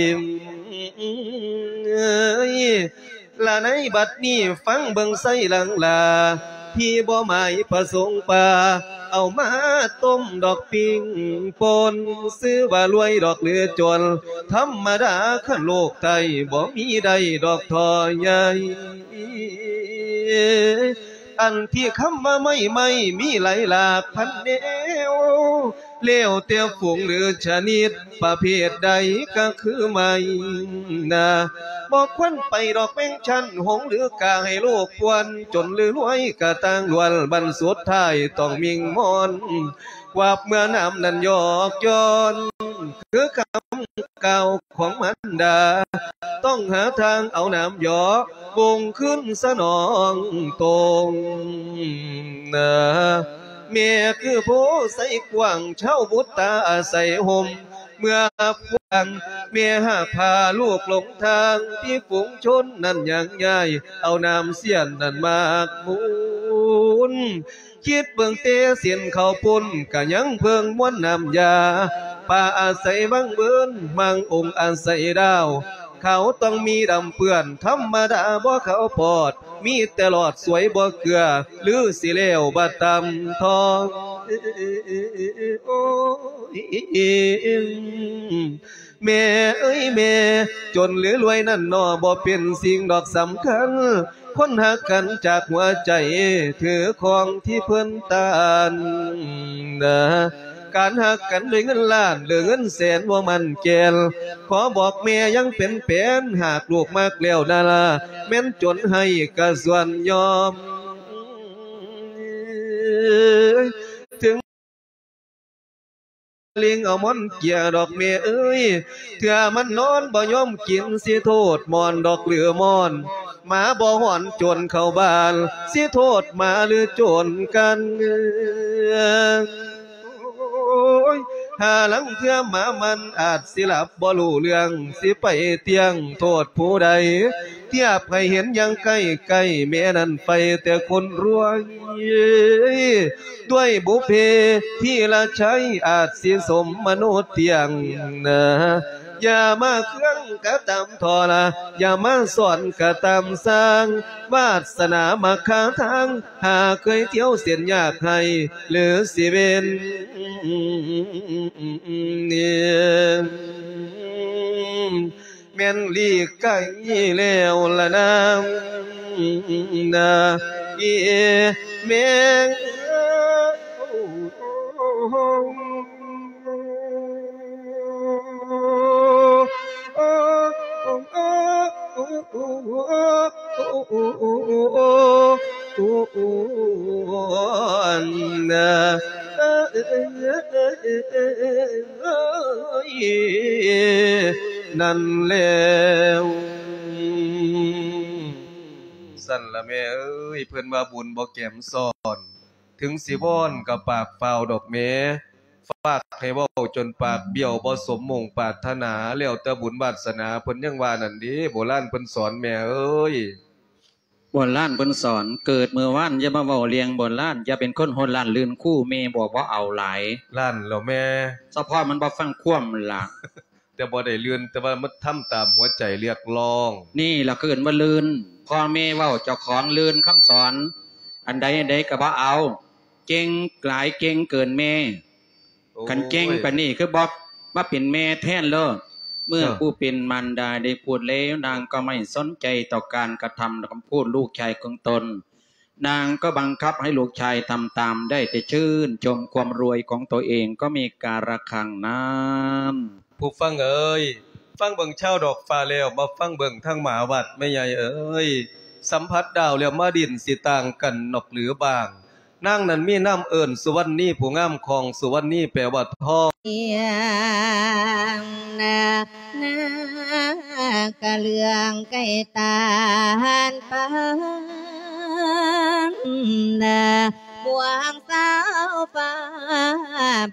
ລະໃນບັດນີ້ຟັງເບິ່ງໄຊຫຼັງລາ ທີ່ບໍ່ໝາຍປະສົງປາ ເອົາມາຕົ້ມດອກປີ້ງປົ່ນ ຊື່ວ່າລວຍດອກຫຼືຈົນ ທຳມະດາຄັນໂລກໄທ ບໍ່ມີໄດ້ດອກທໍ່ໃຫຍ່. ອັນທີ່ຄຳວ່າໄມ້ ໄມ້ມີຫຼາຍຫຼາກພັນແນວ ແລ້ວແຕ່ຝູງຫຼືຊະນິດ ປະເພດໃດກະຄືໄມ້ນາ ບໍ່ຄວນໄປດອກແມງຊັ້ນ ຫົງຫຼືກາໃຫ້ໂລກປ່ວນ ຈົນຫຼືລວຍກະຕ່າງລ້ວນ ບັ້ນສຸດທ້າຍຕ້ອງມິ່ງມອນ ກວາບເມື່ອນ້ຳນັ້ນຢອກຍ້ອນ ຄືຄຳກ່າວຂອງມານດາ ຕ້ອງຫາທາງເອົານ້ຳຢອກ ບົ່ງຄືນສະໜອງຕົງ. ແມ່ຄືໂພໄຊກວ້າງ ຊາວບຸດຕາອາໄສຮົ່ມ ເມື່ອພວງ ແມ່ຫາກພາລູກຫຼົງທາງ ທີ່ຝູງຊົນນັ້ນຍ່າງຍ້າຍ ເອົານ້ຳເຊຍນນັ້ນມາກມູນ. ຄິດເບິ່ງແຕ່ເສັ້ນເຂົ້າປຸ້ນ ກະຍັງເພິ່ງມວນນ້ຳຢາ ປາອາໄສວັງເວີນ ມັງອົງອາໄສດາວ ຂາວຕ້ອງມີດຳເປື້ອນ ທຳມະດາບໍ່ຂາວປອດ ມີແຕ່ຫຼອດສວຍບໍ່ເກືອ ຫຼືຊິແລ້ວບາດຕຳທອງ. ໂອ້ຍ ແມ່ເອີຍແມ່ ຈົນຫຼືລວຍນັ້ນໜໍ່ ບໍ່ເປັນສິ່ງດອກສຳຄັນ ຄົນຮັກກັນຈາກຫົວໃຈ ຖືຂອງທີ່ເພິ່ນຕ້ານ ການຮັກກັນດ້ວຍເງິນລ້ານ ຫຼືເງິນແສນບໍ່ໝັ້ນແກ່ນ ຂໍບອກແມ່ຍັງເປັນແປນ ຫາກລູກມັກແລ້ວນາລາ ແມ່ນຈົນໃຫ້ກະສ່ວນຍອມ ເຖິງ ລິງເອົາໝອນເກຍດອກແມ່ເອີຍ ເທື່ອມັນນອນບໍ່ຍອມກິນ ຊິໂທດໝອນດອກຫຼືໝອນ ໝາບໍ່ຫອນໂຈນເຂົ້າບ້ານ ຊິໂທດໝາຫຼືໂຈນກັນ. ໂອ້ຍ ຫາລາງເທື່ອໝາມັນອາດຊິຫຼັບບໍ່ຮູ້ເລື່ອງ ຊິໄປຕຽງໂທດຜູ້ໃດ ທຽບໃຫ້ເຫັນຢ່າງໃກ້ໆ ແມ່ນັ້ນໄປແຕ່ຄົນລວຍ ດ້ວຍບຸບເພທີລະໄຊ ອາດຊິສົມມະໂນຕຽງນາ. ຢ່າມາເຄືອງກະຕາມທໍລະ ຢ່າມາສອນກະຕາມສ້າງ ວາດສະໜາມັກຄາທາງ ຫາເຄີຍທ່ຽວເສັ້ນຍາກໃຫ້ ຫຼືຊິເວັ້ນ ແມ່ນຫຼີກໄກແລ້ວລະນາ ນາ ອີແມ່. ນັ້ນແລ້ວ ຊັ້ນລະແມ່ເອີຍ ເພິ່ນວ່າບຸນບໍ່ແກມຊ້ອນ ເຖິງຊິວອນກໍປາກຟ້າວດອກແມ່ ຝາກໃຫ້ເວົ້າຈົນປາກບ້ຽວ ບໍ່ສົມມຸ່ງປາດຖະໜາ ແລ້ວແຕ່ບຸນວາດສະໜາ ເພິ່ນຍັງວ່ານັ້ນເດ້ ໂບລານເພິ່ນສອນແມ່ເອີຍ. ໂບລານເພິ່ນສອນ ເກີດມື້ວານຢ່າມາເວົ້າເລື່ອງໂບລານ ຢ່າເປັນຄົນໂຫດຮ້າຍລື່ນຄູ ແມ່ບອກບໍ່ເອົາຫຼາຍ ລ້ານແລ້ວແມ່ ສະເພາະມັນບໍ່ຟັງຄວາມລະ ແຕ່ບໍ່ໄດ້ລື່ນ ແຕ່ວ່າມັນທຳຕາມຫົວໃຈຮຽກຮ້ອງ ນີ້ລະເອີ້ນວ່າລື່ນ ພໍ່ແມ່ເວົ້າເຈົ້າຂອງລື່ນຄຳສອນ ອັນໃດອັນໃດກໍບໍ່ເອົາ ເກັ່ງຫຼາຍ ເກັ່ງເກີນແມ່. ໂອ້ຍ ຄັນເກັ່ງປານນີ້ຄືບໍ່ມາເປັນແມ່ແທນໂລດ ເມື່ອ ເອີ ຜູ້ເປັນມານດາໄດ້ພູດແລ້ວ ນາງກໍໄມ່ສົນໃຈຕໍ່ການກະທຳຄຳພູດລູກຊາຍຂອງຕົນ ນາງກໍບັງຄັບໃຫ້ລູກຊາຍທຳຕາມ ໄດ້ແຕ່ຊື່ນຊົມຄວາມລວຍຂອງຕົວເອງ ກໍມີກາລະຄັງນັ້ນ. ຜູ້ຟັງເອີຍ ຟັງເບິ່ງຊາວດອກຟ້າແລ້ວ ມາຟັງເບິ່ງທາງໝາວັດແມ່ໃຫຍ່ເອີຍ ສຳຜັດດາວແລ້ວ ມາດິນຊິຕ່າງກັນນອກຫຼືບ້າງ ນາງນັ້ນມີນາມເອີ້ນສຸວັນນີ ຜູ້ງາມຂອງສຸວັນນີແປວ່າທອງ ນາ ນາກະເລື່ອງໄກ່ຕານປານ ນາ ບວງສາວຟ້າ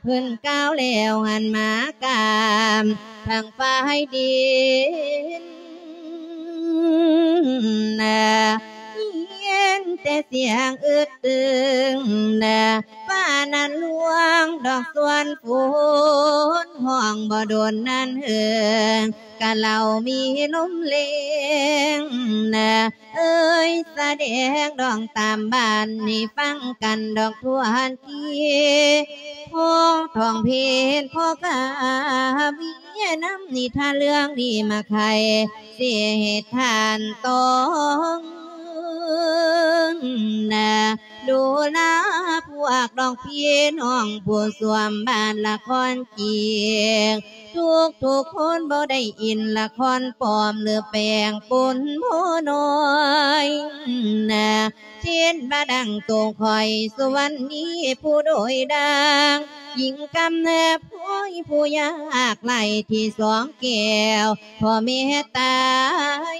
ເພິ່ນກ່າວແລ້ວຫັນມາກາມທາງຝ່າຍດິນ ນາ ແຕ່ສຽງອຶດຕຶງນະ ຟ້ານັ້ນລວງດອກສ່ວນຝົນ ຮ້ອງບໍ່ດົນນານເຫິງ ກະເຫຼົ່າມີລົມແລງນະ ເອີຍ ສະແດງດອງຕາມບ້ານໃຫ້ຟັງກັນດອກທົ່ວທີ ພໍທ່ອງເພນ ພໍກາເວຍນຳນິທານເລື່ອງນີ້ມາໄຂ ຊິເຮັດທ່ານຕ້ອງນະ ດູລາພວກນ້ອງພີ່ນ້ອງຜູ້ສວມບ້ານລະຄອນຈີກ ທຸກໆຄົນບໍ່ໄດ້ອິນລະຄອນປອມ ຫຼືແປງປົນໂພນ້ອຍນະ ເຊັ່ນວ່າດັ່ງໂຕຂ້ອຍສຸວັນນີ ຜູ້ໂດຍດັ່ງຍິງກຳເນີດພອຍ ຜູ້ຍາກໄຮ້ທີ່ສອງແກ້ວ ພໍ່ແມ່ຕາຍ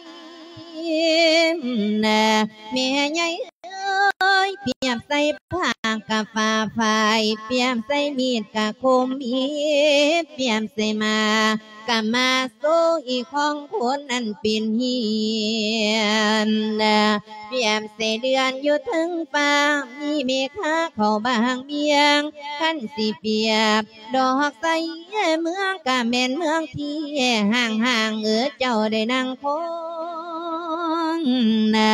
ນະ ແມ່ໃຫຍ່ ເອີຍ ປຽບໃສ່ຜ້າກະຟ້າຝ້າຍ ປຽບໃສ່ມີດກະຄົມມີດ ປຽບໃສ່ໝາກກະມາໂຊອີກຂອງຄົນນັ້ນເປັນເຫຍນນະ ປຽບໃສ່ເດືອນຢູ່ເທິງຟ້າ ມີເມຄາເຂົ້າບາງບຽງ ຄັນຊິປຽບ ດອກໃສເມືອງກະແມ່ນເມືອງທີ່ຫ່າງໆ ເອີ ເຈົ້າໄດ້ນັ່ງຄອງນະ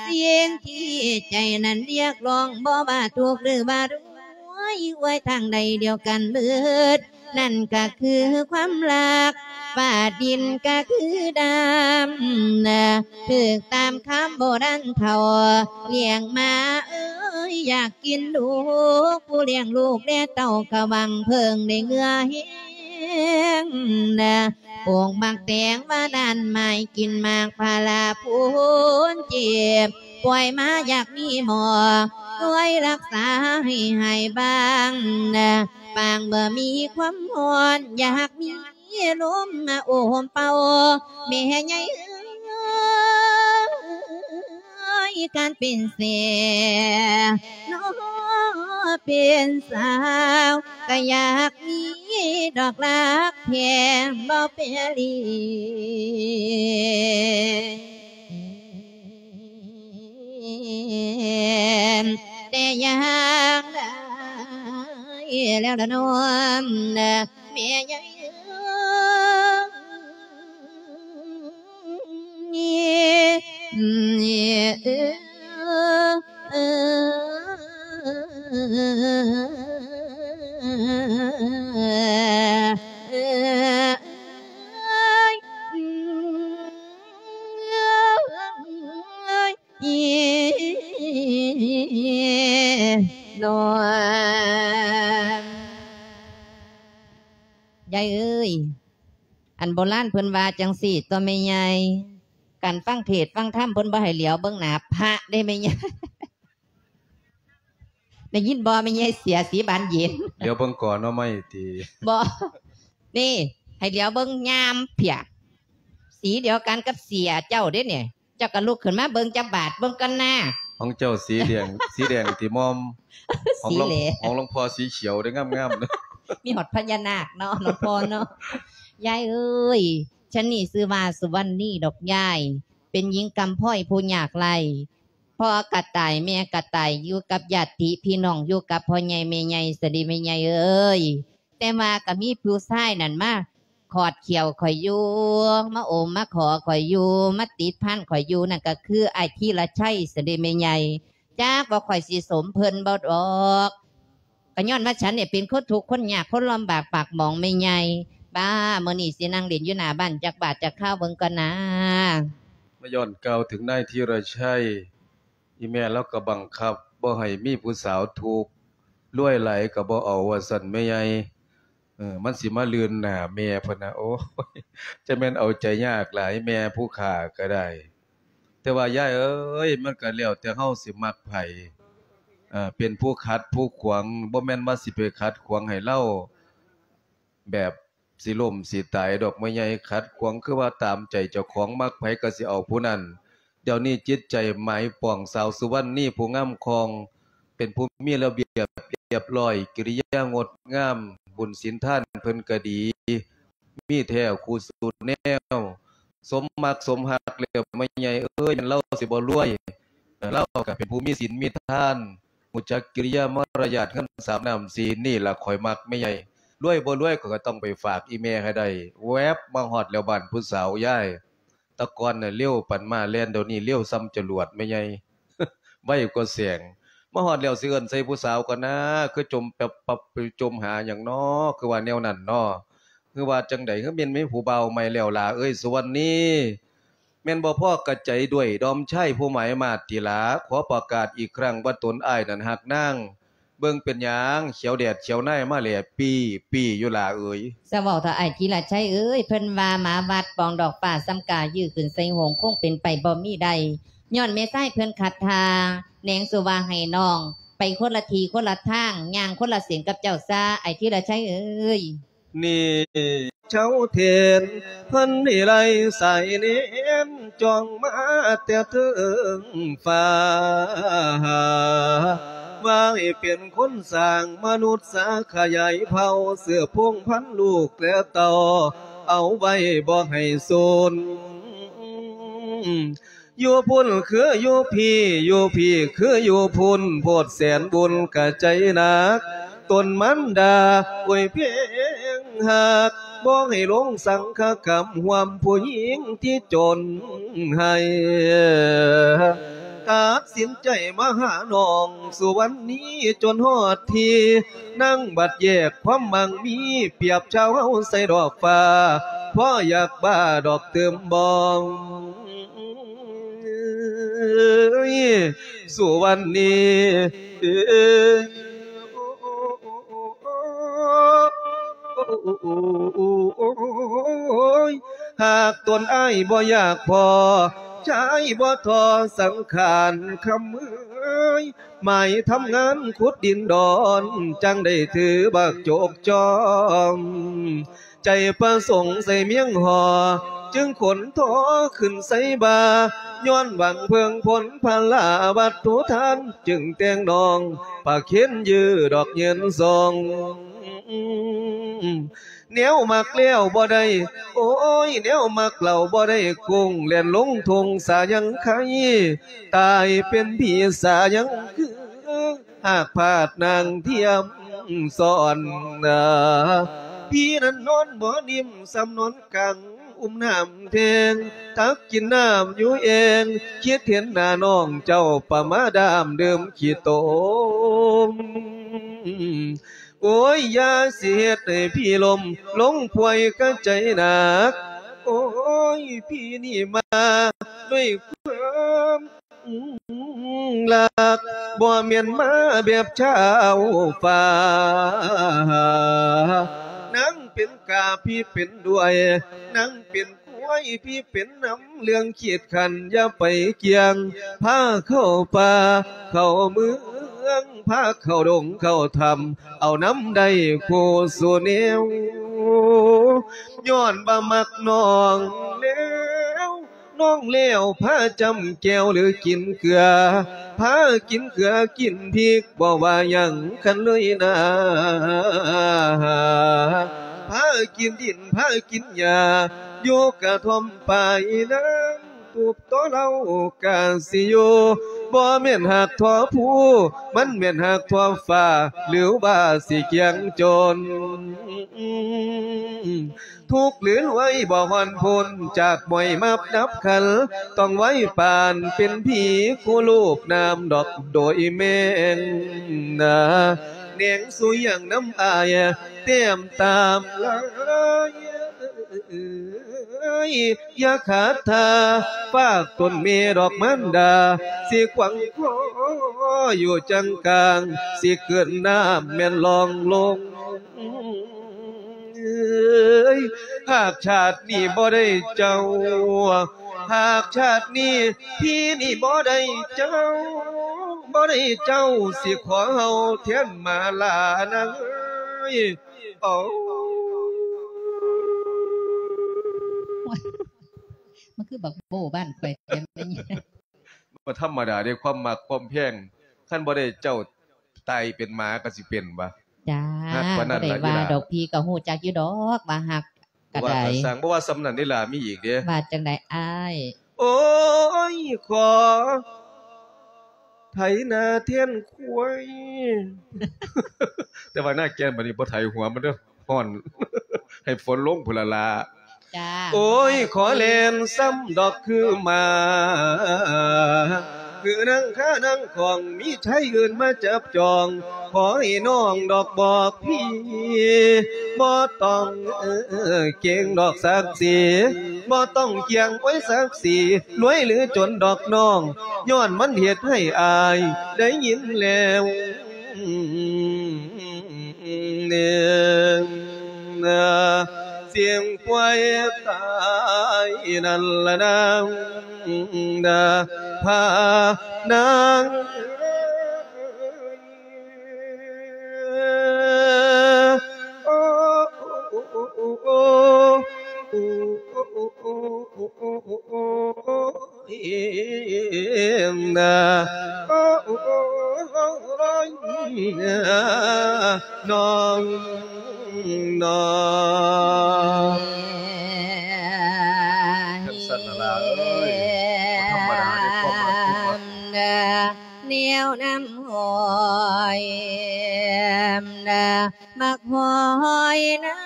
ສິ່ງທີ່ໃຈນັ້ນຮຽກຮ້ອງ ບໍ່ວ່າທຸກຫຼືວ່າລວຍ ອວຍທາງໃດດຽວກັນເບີດ ນັ້ນກະຄືຄວາມຮັກ ຟ້າດິນກະຄືດຳນະ ຖືກຕາມຄຳໂບລານເຖົ້າ ລ້ຽງມາເອີຍ ຢາກ ກິນລູກ ຜູ້ລ້ຽງລູກແລເຕົ້າກະຫວັງເພິ່ງໄດ້ເຫື່ອແຮງນະ ປູກໝາກແຕງວ່າດ້ານໄມ້ ກິນໝາກພາລາພູນເຈັບ ປ່ອຍມາຢາກມີໝໍ ຊ່ວຍລັກສາໃຫ້ຫາຍບາງນະ ປາງບໍ່ມີຄວາມຮ້ອນ ຢາກມີ ລົມມາໂອມເປົ່າ ແມ່ໃຫຍ່ເອີຍ ການເປັນແສນ ເປັນສາວ ກະຢາກມີດອກລັກແພງ ບໍ່ແປລີ ແຕ່ຢ່າງໃດແລ້ວລະນ້ອງ ແມ່ໃຫຍ່ເອີຍ ຍາຍເອີຍ ອັນໂບລານເພິ່ນວ່າຈັ່ງຊີ້ຕົວະແມ່ໃຫຍ່ ການຟັງເທດຟັງທຳເພິ່ນບໍ່ໃຫ້ຫຼຽວເບິ່ງໜ້າພະເດ້ແມ່ໃຫຍ່ ໄດ້ຍິນບໍ່ແມ່ໃຫຍ່ເສຍສີບານເຢັນ ຫຼຽວເບິ່ງກໍໜໍ່ໄມ້ຕິ ບໍ່ ນີ້ ໃຫ້ຫຼຽວເບິ່ງຍາມເພຍ ສີດຽວກັນກັບເສຍເຈົ້າເດ້ນີ້ ເຈົ້າກໍລຸກຂຶ້ນມາເບິ່ງຈັກບາດເບິ່ງກ່ອນນາ ຂອງເຈົ້າສີແດງ ສີແດງຕິໝ່ອມ ຂອງຫຼວງ ສີແຫຼ ຂອງຫຼວງພໍ່ສີຂຽວເດ້ ງາມໆ ມີຮອດພະຍານາກເນາະ ຫຼວງພໍ່ເນາະ ຍາຍເອີຍ ຊະນີ້ຊື່ວ່າສຸວັນນີດອກຍາຍ ເປັນຍິງກຳພ້ອຍຜູ້ຍາກໄຮ້ ພໍ່ກະຕາຍແມ່ກະຕາຍ ຢູ່ກັບຍາດຕິພີ່ນ້ອງ ຢູ່ກັບພໍ່ໃຫຍ່ແມ່ໃຫຍ່ຊະເດແມ່ໃຫຍ່ເອີຍ ແຕ່ວ່າກະມີຜູ້ຊາຍນັ້ນມາຂອດຂ່ຽວຂ້ອຍຢູ່ ມາໂອມມາຂໍຂ້ອຍຢູ່ ມາຕິດພັນຂ້ອຍຢູ່ ນັ້ນກະຄືອ້າຍທີລະໄຊຊະເດແມ່ໃຫຍ່ ຈັກວ່າຂ້ອຍຊິສົມເພິ່ນບໍ່ດອກ ກະຍ້ອນວ່າສັນນີ້ເປັນຄົນທຸກຄົນຍາກ ຄົນລຳບາກປາກໝອງແມ່ໃຫຍ່ ບ້າ ມື້ນີ້ຊິນັ່ງຫຼິ້ນຢູ່ໜ້າບ້ານຈັກບາດຈັກຄາວເບິ່ງກ່ອນນາ ມາຍ້ອນກ່າວເຖິງນາຍທີລະໄຊ ອີ່ແມ່ລາວກໍບັງຄັບບໍ່ໃຫ້ມີຜູ້ສາວທຸກ ລວຍຫຼາຍກໍບໍ່ເອົາວ່າຊັ້ນແມ່ໃຫຍ່ ເອີ ມັນຊິມາລື່ນໜ້າແມ່ພຸ້ນນະ ໂອ້ຍ ຈະແມ່ນເອົາໃຈຍາກຫຼາຍ ແມ່ຜູ້ຂ້າກໍໄດ້ ແຕ່ວ່າຍາຍເອີຍ ມັນກໍແລ້ວແຕ່ເຮົາຊິມັກໃຜ ເອີ ເປັນຜູ້ຂັດຜູ້ຂວາງ ບໍ່ແມ່ນວ່າຊິໄປຂັດຂວາງໃຫ້ລາວ ແບບຊິລົ້ມຊິຕາຍດອກແມ່ໃຫຍ່ ຂັດຂວາງຄືວ່າຕາມໃຈເຈົ້າຂອງ ມັກໃຜກໍຊິເອົາຜູ້ນັ້ນ ດຽວນີ້ຈິດໃຈໝາຍປອງ ສາວສຸວັນນີຜູ້ງາມຄ່ອງ ເປັນຜູ້ມີລະບຽບລຽບຮ້ອຍ ກິລິຍາງົດງາມ ບຸນສິນທານເພິ່ນກໍດີ ມີແທ້ຄູ່ສູ່ແນວ ສົມມັກສົມຮັກແລ້ວແມ່ໃຫຍ່ເອີຍ ແມ່ນລາວຊິບໍ່ລວຍ ລາວກໍເປັນຜູ້ມີສິນມີທານ ຮູ້ຈັກກິລິຍາມາລະຍາດ ເງິນສາມນ້ຳສີ ນີ້ລະຂ້ອຍມັກແມ່ໃຫຍ່. ລວຍບໍ່ລວຍ ຂ້ອຍກໍຕ້ອງໄປຝາກອີ່ແມ່ໃຫ້ໄດ້. ແວບມາຮອດແລ້ວ ບ້ານຜູ້ສາວຍາຍ. ແຕ່ກ່ອນນະເລັວປານມ້າແລ່ນ ດຽວນີ້ເລັວສ່ຳຈະຫຼວດແມ່ໃຫຍ່ ໄວກວ່າແສງ. ມາຮອດແລ້ວຊິເອີ້ນໃສ່ຜູ້ສາວກ່ອນນາ ຄືຈົ່ມປັບປັບ ຈົ່ມຫາຫຍັງນໍ ຄືວ່າແນວນັ້ນນໍ ຄືວ່າຈັ່ງໃດ ຄືແມ່ນມີຜູ້ບ່າວໃໝ່ແລ້ວຫຼ້າເອີຍ ສຸວັນນີ? ແມ່ນບໍ່ພໍກະໃຈດ້ວຍດອມຊາຍຜູ້ໝາຍມາດຕິຫຼ້າ ຂໍປະກາດອີກຄັ້ງວ່າຕົນອ້າຍນັ້ນຮັກນາງ. ເບິ່ງເປັນຫຍັງ ຂຽວແດດຂຽວນາຍມາແຫຼະປີ້ໆຢູ່ຫຼ້າເອີຍ. ສະເວົ້າເຖາະອ້າຍທີລະໄຊເອີຍ ເພິ່ນວ່າໝາວັດປອງດອກຟ້າ ສ່ຳກາຍື່ອຂຶ້ນໃສ່ຫົງ ຄົງເປັນໄປບໍ່ມີໄດ້ ຍ້ອນແມ່ຊາຍເພິ່ນຂັດທ່າ. ແນງສູ່ວ່າໃຫ້ນ້ອງໄປຄົນລະທີ່ຄົນລະທາງ ຍ່າງຄົນລະເສັ້ນກັບເຈົ້າຊາ ອ້າຍທີລະໄຊເອີຍ. ນີ້ເຈົ້າເທນ ເພິ່ນໃຫ້ໄລ່ສາຍເນນ ຈ້ອງມາແຕ່ເທິງຟ້າ ວ່າໃຫ້ເປັນຄົນສ້າງມະນຸດສາ ຂະຫຍາຍເຜົ່າ ສືບພົງພັນລູກແລະເຕົ້າ ເອົາໄວ້ບໍ່ໃຫ້ສູນ. ຢູ່ພຸ້ນຄືຢູ່ພີ້ ຢູ່ພີ້ຄືຢູ່ພຸ້ນ ໂພດແສນບຸນກະໃຈໜັກ ຕົນມັນດາ ໂອ້ຍ ເພງຮັກ ບໍ່ໃຫ້ຫຼົງສັງຄະກຳ ຮ່ວມຜູ້ຍິງທີ່ຈົນໃຫ້ ຕັດສິນໃຈມາຫານ້ອງ ສຸວັນນີ ຈົນຮອດທີ່ ນາງບັດແຍກຄວາມໝັ້ງມີ ປຽບຊາວເຮົາໃສ່ດອກຟ້າ ພໍຢາກບ້າດອກຕື່ມບໍ່ ເອີຍ ສຸວັນນີ ເອີຍ ຫາກຕົນອ້າຍບໍ່ຢາກພໍ ຊາຍບໍ່ທໍ້ສັງຂານຄຳເອີຍ ໝາຍທຳງານຂຸດດິນດອນ ຈັ່ງໄດ້ຖືບັກຈົກຈອມ ໃຈປະສົງໃສ່ມຽງຫໍ່ ຈຶ່ງຂົນທໍຂຶ້ນໃສ່ບ່າ ຍ້ອນຫວັງເພິ່ງຜົນພະລາວັດຖຸທານ ຈຶ່ງແຕ່ງນ້ອງປະເຄັນຢືດດອກເງິນສົ່ງ ແນວມັກແລ້ວບໍ່ໄດ້ ໂອ້ຍ ແນວມັກເຫຼົ່າບໍ່ໄດ້ ກຸ້ງແລ່ນລົງທົ່ງສາຍັງໄຄ ຕາຍເປັນຜີສາຍັງຄື ຫາກພາດນາງທຽມສອນນາ ພີນັ້ນນອນບໍ່ນິ່ມ ສ່ຳນອນກາງອຸ້ມນ້ຳແທງ ຕັກກິນນ້ຳຢູ່ແອ່ງ ຄິດເຫັນໜ້ານ້ອງເຈົ້າປະມາດາມດື່ມຂີ້ຕົມ ໂອ້ຍ ຢ່າຊິເຮັດໃຫ້ພີລົມ ລົງປ່ວຍກະໃຈໜັກ ໂອ້ຍ ພີນີ້ມາດ້ວຍຄວາມ ລັກ ບໍ່ແມ່ນມາແບບຊາວຟ້າ ນາງເປັນກາພີເປັນດ້ວຍ ນາງເປັນຄວາຍພີເປັນນຳ ເລື່ອງຂີດຂັນຢ່າໄປກ່ຽງ ພາເຂົ້າປ່າເຂົ້າເມືອງ ພາເຂົ້າດົງເຂົ້າຖ້ຳ ເອົານຳໄດ້ຄູ່ສູ່ແນວ ຍ້ອນວ່າມັກນ້ອງແລ້ວ ນ້ອງແລ້ວພາຈ້ຳແກ້ວຫຼືກິນເກືອ ພາກິນເກືອກິນພິກ ບໍ່ວ່າຫຍັງຄັນເລີຍນາ ພາກິນດິນພາກິນຫຍ້າ ຢູ່ກະທ່ອມປາຍນາງ ຕູບຕໍ່ເລົ່າກະຊິຢູ່ ບໍ່ແມ່ນຮັກທົ່ວພູ ມັນແມ່ນຮັກທົ່ວຟ້າ ຫຼືວ່າຊິກ່ຽງຈົນ ທຸກຫຼືລວຍບໍ່ຮ່ອນພົ້ນ ຈາກໝ້ອຍມັບດັບຂັນ ຕ້ອງໄວປານເປັນຜີຄູ່ລູບນ້ຳດອກໂດຍແມງນາ ແນງສູ່ຫຍັງນຳອ້າຍ ແຕ້ມຕາມລາຍ ຢ່າຂາດທ່າ ຝາກຕົນແມ່ດອກມານດາ ຊິຂວາງຄໍຢູ່ຈັ່ງກາງ ຊິເກີນນ້ຳແມ່ນລ່ອງລົງ ເອີຍ ຫາກຊາດນີ້ບໍ່ໄດ້ເຈົ້າ ຫາກຊາດນີ້ພີ່ນີ້ບໍ່ໄດ້ເຈົ້າ ບໍ່ໄດ້ເຈົ້າ ຊິຂໍເຮົາແທນມາລານາງເອີຍ ໂອ້ ມັນຄືບັກໂບ້ບ້ານຂ້ອຍແທ້ແມ່ນຫຍັງ ບໍ່ທຳມະດາເດ້ ຄວາມມັກຄວາມແພງ ຄັນບໍ່ໄດ້ເຈົ້າ ຕາຍເປັນໝາກໍຊິເປັນຫວາ? ຈ້າ ຮັກປານນັ້ນລະ ບໍ່ໄດ້ວ່າດອກ ອີ່ຫຼ້າ ພີ່ກໍຮູ້ຈັກຢູ່ດອກວ່າຮັກກໍໄດ້ ວ່າກໍຊ່າງ ບໍ່ວ່າສ່ຳນັ້ນເດ້ຫຼ້າ ມີອີກເດ້ ວ່າຈັ່ງໃດອ້າຍ? ໂອ້ຍ ຂໍ ໄຖນາແທນຄວາຍ. ແຕ່ວ່ານາແກ່ນບັດນີ້ບໍ່ໄຖຫົວມັນເດີ້ ຮ້ອນ ໃຫ້ຝົນລົງພຸ້ນລະລະ. ຈ້າ ໂອ້ຍ ຂໍແລ່ນຊ້ຳດອກຄືໝາ ຄືນາງຄານາງຂອງ ມີໄທອື່ນມາຈັບຈອງ ຂໍໃຫ້ນ້ອງດອກບອກພີ່ ບໍ່ຕ້ອງເກງດອກສັກສີ ບໍ່ຕ້ອງກຽງໄວ້ສັກສີ ລວຍຫຼືຈົນດອກນ້ອງ ຍ້ອນມັນເຮັດໃຫ້ອາຍໄດ້ຍິນແລ້ວ ສຽງຄວາຍຕາຍນັ້ນລະນາງ ພານາງ ນ້ອງ ນ້ອງ ຈັ່ງຊັ້ນລະລາເອີຍ ບໍ່ທຳມະດາເດ້ ຄວາມຮັກ ແນວນ້ຳຫ້ອຍ ໝາກຫອຍນາ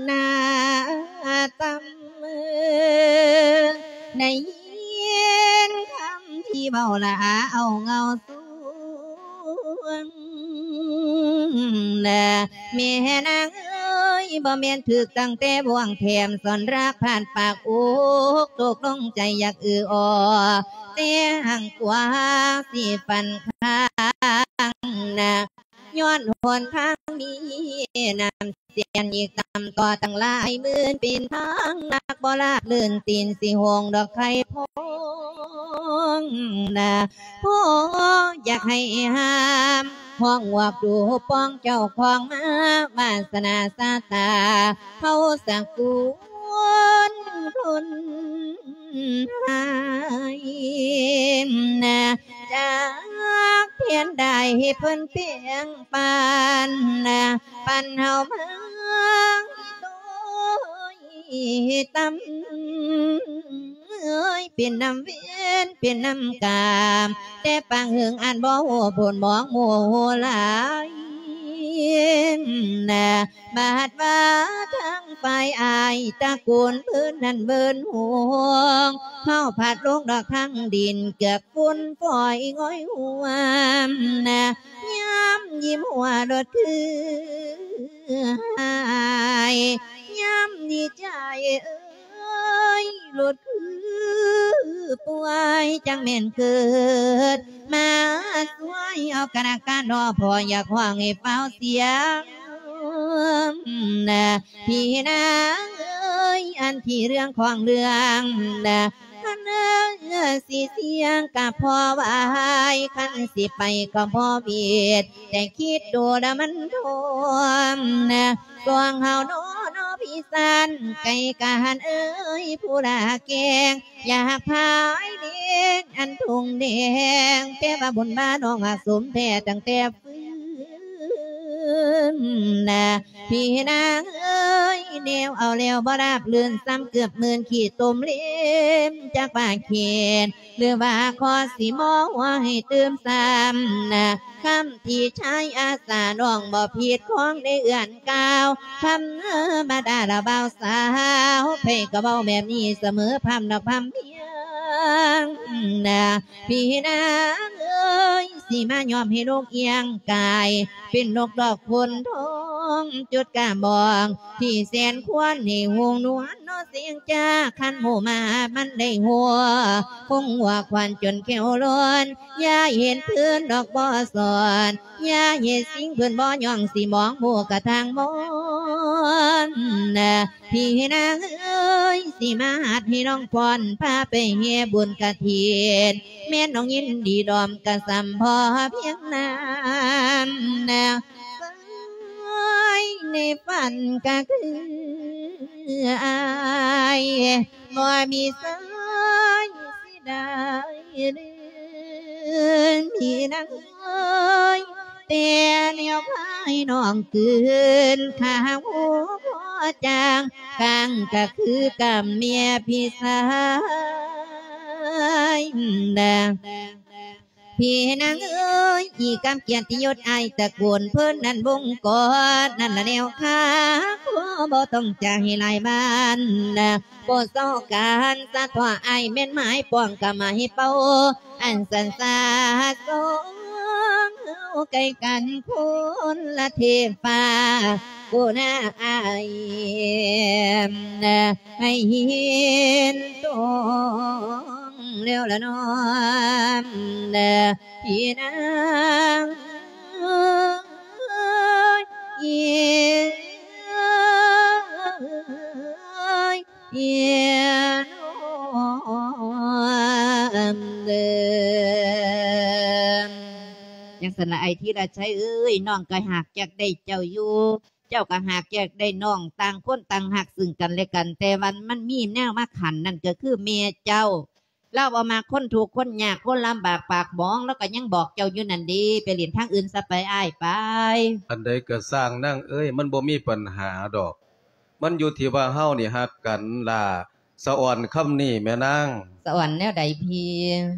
ໜ້າຕ່ຳ ໄດ້ຍິນຄຳທີ່ເວົ້າລະອາເອົາເງົາສວງ ແມ່ນາງເອີຍ ບໍ່ແມ່ນຖືກຕັ້ງແຕ່ບ່ວງແຖມ ສອນລັກຜ່ານປາກອົກ ຕົກລົງໃຈຢາກອືອໍ ແຕ່ຫາງກວ່າຊິຝັນຄ້າງນາ ຍ້ອນຫົນທາງມີນ້ຳເສຍນອີກຕ່ຳຕໍ່ຕັ້ງຫຼາຍໝື່ນ ເປັນທາງໜັກບໍ່ລາບລື່ນ ຕີນຊິໂຫງດອກໄຂ່ພອງນາ ພໍຢາກໃຫ້ຫ້າມ ຮ້ອງຫວກດູປອງເຈົ້າຂອງມາ ວາສະໜາຊະຕາ ເຮົາສະກຸນຄົນ ໃຫ້ນາ ຈັກພຽນໄດ້ເພິ່ນແປງປັນນາ ປັນເຮົາມາໂດຍຕ່ຳ ເອີຍ ເປັນນຳເວນ ເປັນນຳກາມ ແຕ່ປາງເຫິງອັນບໍ່ຮູ້ຜົນ ມອງໝູ່ຮູ້ຫຼາຍນາ ບາດວ່າທາງຝ່າຍອ້າຍ ຕະໂກນເພິ່ນນັ້ນເວີນຫ້ອງ ເຮົາພັດລົງດອກທາງດິນ ເກືອກຝຸ່ນຝອຍງອຍຫວມນາ ຍາມຍິ້ມຫົວໂລດຄືຫາຍ ຍາມດີໃຈເອີຍ ໂລດຄືປ່ວຍ ຈັ່ງແມ່ນເກີດ ມາຊ່ວຍເອົາກະນະກະນໍ ພໍ່ຢາກຮ້ອງໃຫ້ຟ້າວສຽງນາ ພີ່ນາງເອີຍ ອັນທີ່ເລື່ອງຂອງເລື່ອງນາ ຄັນເອີຍຊິສຽງກະພໍວາຍ ຄັນຊິໄປກໍບໍ່ເວດ ແຕ່ຄິດດູລະມັນໂທມນາ ກວາງເຮົານໍ ນໍພີ່ຊານ ໄກ່ກະຫັນເອີຍ ຜູ້ລາແກງ ຢາກພາຍເດນອັນທຸ່ງແດງ ແປວ່າບຸນມານ້ອງຫາກສົມແທ້ຕັ້ງແຕ່ຟື້ນນາ ພີ່ນາງເອີຍ ແນວເອົາແລ້ວບໍ່ລາບລື່ນ ຊ້ຳເກືອບໝື່ນຂີ້ຕົມເລັມ ຈັກວ່າເຂດ ຫຼືວ່າຂໍຊິມໍຫົວໃຫ້ຕື່ມຊ້ຳນາ ຄຳທີ່ຊາຍອາສາ ນ້ອງບໍ່ຜິດຂອງໄດ້ເອື້ອນກ່າວ ທຳມະດາລະບ່າວສາວ ໃຜກໍເວົ້າແບບນີ້ສະເໝີ ພາມນອກພາມພຽງນາ ພີ່ນາງເອີຍ ຊິມາຍອມໃຫ້ນົກອຽງກາຍ ເປັນນົກດອກໂຄນທອງ ຈຸດກາບອງ ທີ່ແສນຄວນໃຫ້ຫູນວນ ນໍເສງຈາ ຄັນໝູ່ມາມັນໄດ້ຫົວ ຄົງຫົວຄວັນຈົນແຂ້ວລ້ອນ ຢ່າເຫັນເພິ່ນດອກບໍ່ສອນ ຢ່າເຮັດສິ່ງເພິ່ນບໍ່ຍ້ອງ ຊິມອງໝູ່ກະທາງມອນນາ ພີ່ນາງເອີຍ ຊິມາຫັດໃຫ້ນ້ອງຟ້ອນ ພາໄປແຫ່ບຸນກະຖິນ ແມ່ນນ້ອງຍິນດີດອມກະສ່ຳພໍພຽງນັ້ນນາ ສາຍໃນຝັນກະຄືອ້າຍ ບໍ່ມີສາຍເສຍດາຍເລີຍ ພີ່ນາງເອີຍ ແຕ່ແນວພາຍນ້ອງຄືນ ຂ້າຫົວ ຈາງ ຂ້າງກະຄືກຳເມຍພີ່ຊາຍນະ ພີ່ນາງເອີຍ ອີກຳກຽດຕິຍົດອ້າຍຕະໂກນ ເພິ່ນນັ້ນວົງກອດນັ້ນລະແນວຄາ ຂໍບໍ່ຕ້ອງຈາໃຫ້ຫຼາຍບ້ານນະ ບໍ່ຊອກການສະເທາະອ້າຍ ແມ່ນໝາຍປ້ອງກະໝາຍເປົ້າ ອັນສັນສາສອງເຮົາໃກ້ກັນຄົນລະເທບຟ້າ ຜູ້ນາອ້າຍໃຫ້ເຫັນຕົງແລ້ວລະນ້ອມ ພີ່ນາງເອີຍ ເອີຍ ເອີຍ ເອີຍ ຈັ່ງຊັ້ນລະອ້າຍທີລະໄຊເອີຍ ນ້ອງກໍຫາກຢາກໄດ້ເຈົ້າຢູ່ ເຈົ້າກໍຫາກຢາກໄດ້ນ້ອງ ຕ່າງຄົນຕ່າງຮັກຊຶ່ງກັນແລະກັນ ແຕ່ວ່າມັນມີແນວມາຂັນ ນັ້ນກໍຄືແມ່ເຈົ້າ ລາວບໍ່ມັກຄົນທຸກຄົນຍາກ ຄົນລຳບາກປາກໝອງ ລາວກໍຍັງບອກເຈົ້າຢູ່ນັ້ນເດ້ ໄປຫຼິ້ນທາງອື່ນຊະໄປ ອ້າຍໄປ. ອັນໃດກໍຊ່າງນາງເອີຍ ມັນບໍ່ມີບັນຫາດອກ ມັນຢູ່ທີ່ວ່າເຮົານີ້ຮັກກັນຫຼ້າ ສະອອນຄຳນີ້ແມ່ນາງ. ສະອອນແນວໃດພີ່?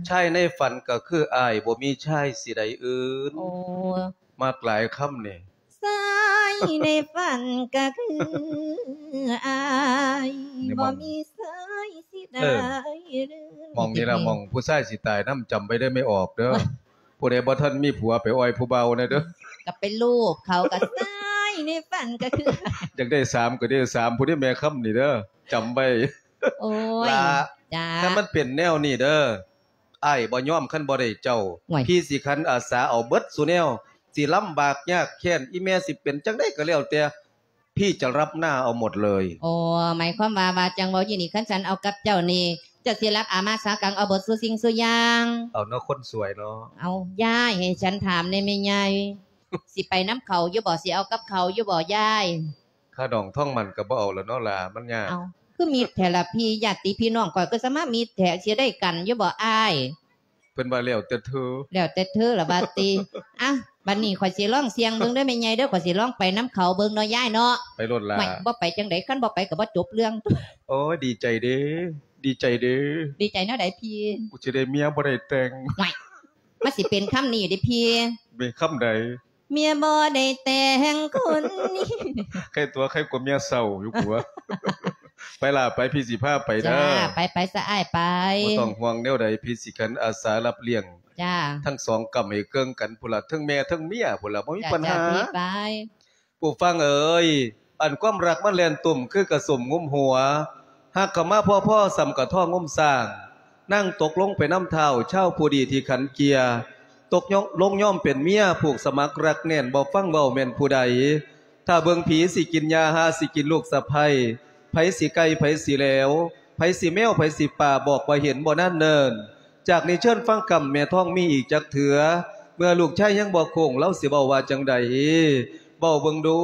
ຊາຍໃນຝັນກໍຄືອ້າຍ ບໍ່ມີຊາຍຊິໃດອື່ນ. ໂອ້ ມັກຫຼາຍຄຳນີ້. ຊາຍໃນຝັນກໍຄືອ້າຍ ນີ້ໝ່ອງ ບໍ່ມີຊາຍຊິໄດ້ ເອີ ອື່ນ. ໝ່ອງນີ້ລະ ໝ່ອງຜູ້ຊາຍຊິຕາຍນຳ ຈຳໄວ້ເດີແມ່ອອກເດີ. ຜູ້ໃດບໍ່ທັນມີຜົວໄປອ່ອຍຜູ້ບ່າວແດ່ເດີ. ກໍໄປລູບເຂົາ ກໍຊາຍໃນຝັນກໍຄື ຢາກໄດ້ສາມກໍໄດ້ສາມ ຜູ້ໃດແມ່ຄຳນີ້ເດີ ຈຳໄວ້. ໂອ້ຍ ຫຼ້າ ຈ້າ ຖ້າມັນເປັນແນວນີ້ເດີ ອ້າຍບໍ່ຍອມ ຄັນບໍ່ໄດ້ເຈົ້າ. ໂອ້ຍ ພີ່ຊິຂັນອາສາເອົາເບິດສູ່ແນວ ຊິລຳບາກຍາກແຄ້ນ ອີແມ່ຊິເປັນຈັ່ງໃດກໍແລ້ວແຕ່ ພີ່ຈະຮັບໜ້າເອົາໝົດເລີຍ. ໂອ້ ໝາຍຄວາມວ່າ ວ່າຈັ່ງເວົ້າຢູ່ນີ້ ຄັນສັນເອົາກັບເຈົ້ານີ້ ເຈົ້າຊິຮັບອາມາສາກັງເອົາເບິດສູ່ສິ່ງສູ່ຢ່າງ. ເອົາເນາະ ຄົນສວຍເນາະ. ເອົາ ຍາຍ ໃຫ້ສັນຖາມແດ່ແມ່ໃຫຍ່ ຊິໄປນຳເຂົາຢູ່ບໍ່? ຊິເອົາກັບເຂົາຢູ່ບໍ່ຍາຍ? ຄ່າດອງທອງໝັ້ນກໍບໍ່ເອົາລະເນາະຫຼ້າ ມັນຍາກ. ເອົ້າ ຄືມິດແທ້ລະພີ່ ຍາດຕິພີ່ນ້ອງຂ້ອຍຄືສະມາມິດແທ້ ຊິໄດ້ກັນຢູ່ບໍ່ອ້າຍ? ເພິ່ນວ່າແລ້ວແຕ່ເທີ. ແລ້ວແຕ່ເທີລະວ່າຕິ. ອ່ະ ບັດນີ້ຂ້ອຍຊິລອງສ່ຽງເບິ່ງເດີແມ່ໃຫຍ່ເດີ ຂ້ອຍຊິລອງໄປນຳເຂົາເບິ່ງເນາະຍາຍເນາະ. ໄປໂລດຫຼ້າ. ໂອ້ຍ ບໍ່ໄປຈັ່ງໃດ ຄັນບໍ່ໄປກໍບໍ່ຈົບເລື່ອງ. ໂອ້ຍ ດີໃຈເດ້ ດີໃຈເດ້. ດີໃຈແນວໃດພີ່? ກູຊິໄດ້ເມຍບໍ່ໄດ້ແຕ່ງ. ໂອ້ຍ ມັນຊິເປັນຄຳນີ້ເດ້ພີ່. ເປັນຄຳໃດ? ເມຍບໍ່ໄດ້ແຕ່ງຄົນນີ້. ໄຄຕົວະ ໄຄກວ່າເມຍເສົ້າຢູ່ກົວ. ໄປຫຼ້າໄປ ພີ່ຊິພາໄປເດີ. ຈ້າ ໄປ ໄປຊະອ້າຍໄປ. ບໍ່ຕ້ອງຫ່ວງແນວໃດ ພີ່ຊິຂັນອາສາຮັບລ້ຽງ. ຈ້າ ທັງສອງກ້ຳໃຫ້ເຄິ່ງກັນພຸ້ນລະ ເທິງແມ່ເທິງເມຍພຸ້ນລະ ບໍ່ມີ ຈ້າ ປັນຫາ. ຈ້າ ພີ່ໄປ. ຜູ້ຟັງເອີຍ ອັນຄວາມຮັກມັນແລ່ນຕຸ້ມຄືກະສົມງຸມຫົວ ຮັກເຂົ້າມາພໍໆ ສ່ຳກະທ້ອງງຸມຊ້າງ ນາງຕົກລົງໄປນຳທ້າວ ຊາວຜູ້ດີທີ່ຂັນເກຍ ຕົກລົງຍອມເປັນເມຍ ຜູກສະໝັກຮັກແໜ້ນ ບໍ່ຟັງເວົ້າແມ່ນຜູ້ໃດ ຖ້າເບິ່ງຜີຊິກິນຫຍ້າ ຫາຊິກິນລູກສະໃພ້ ໃຜຊິໄກ່ ໃຜຊິແຫຼວ ໃຜຊິແມວ ໃຜຊິປາ ບອກວ່າເຫັນບໍ່ນານເນີນ. ຈາກນີ້ເຊີນຟັງຄຳແມ່ທອງມີອີກຈັກເທື່ອ ເມື່ອລູກຊາຍຍັງບໍ່ໂຄ້ງ ລາວຊິເວົ້າວ່າຈັ່ງໃດ ເວົ້າເບິ່ງດູ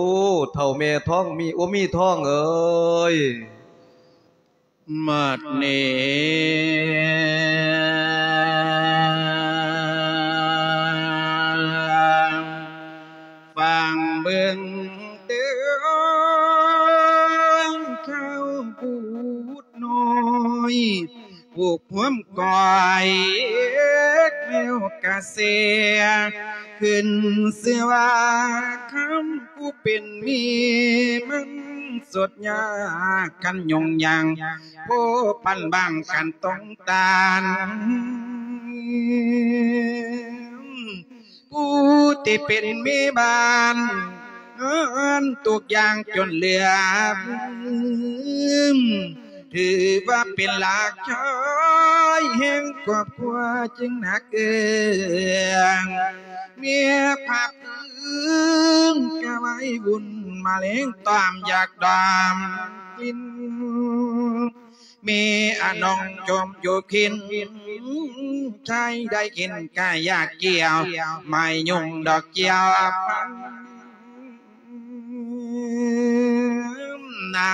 ເຖົ້າແມ່ທອງມີ ໂອ ມີທອງເອີຍ. ບັດນີ້ຟັງເບິ່ງເດີ ເຖົ້າຜູ້ ນ້ອຍ ຜູ້ພວມກ້ອຍແລ້ວກະເສຍ ຂຶ້ນຊື່ວ່າຄຳຜູ້ເປັນແມ່ ມັນສົດຍາກຄັນຍົງຍັງ ໂພພັນບາງຄັນຕ້ອງຕານ ຜູ້ທີ່ເປັນແມ່ບ້ານ ເງິນທຸກຢ່າງຈົນເຫຼືອ ຖືວ່າເປັນຫຼາກຊາຍແຫ່ງຄອບຄົວຈຶ່ງໜັກເອື້ອງ ເມຍພາບພື້ນກະໄວ້ວຸ່ນ ມາແລງຕອມຢາກດອມກິນ ມີອານ້ອງຈົ່ມຢູ່ກິນ ໃຜໄດ້ກິນກະຢາກກ່ຽວ ໄມ້ຍຸງດອກກ່ຽວນະ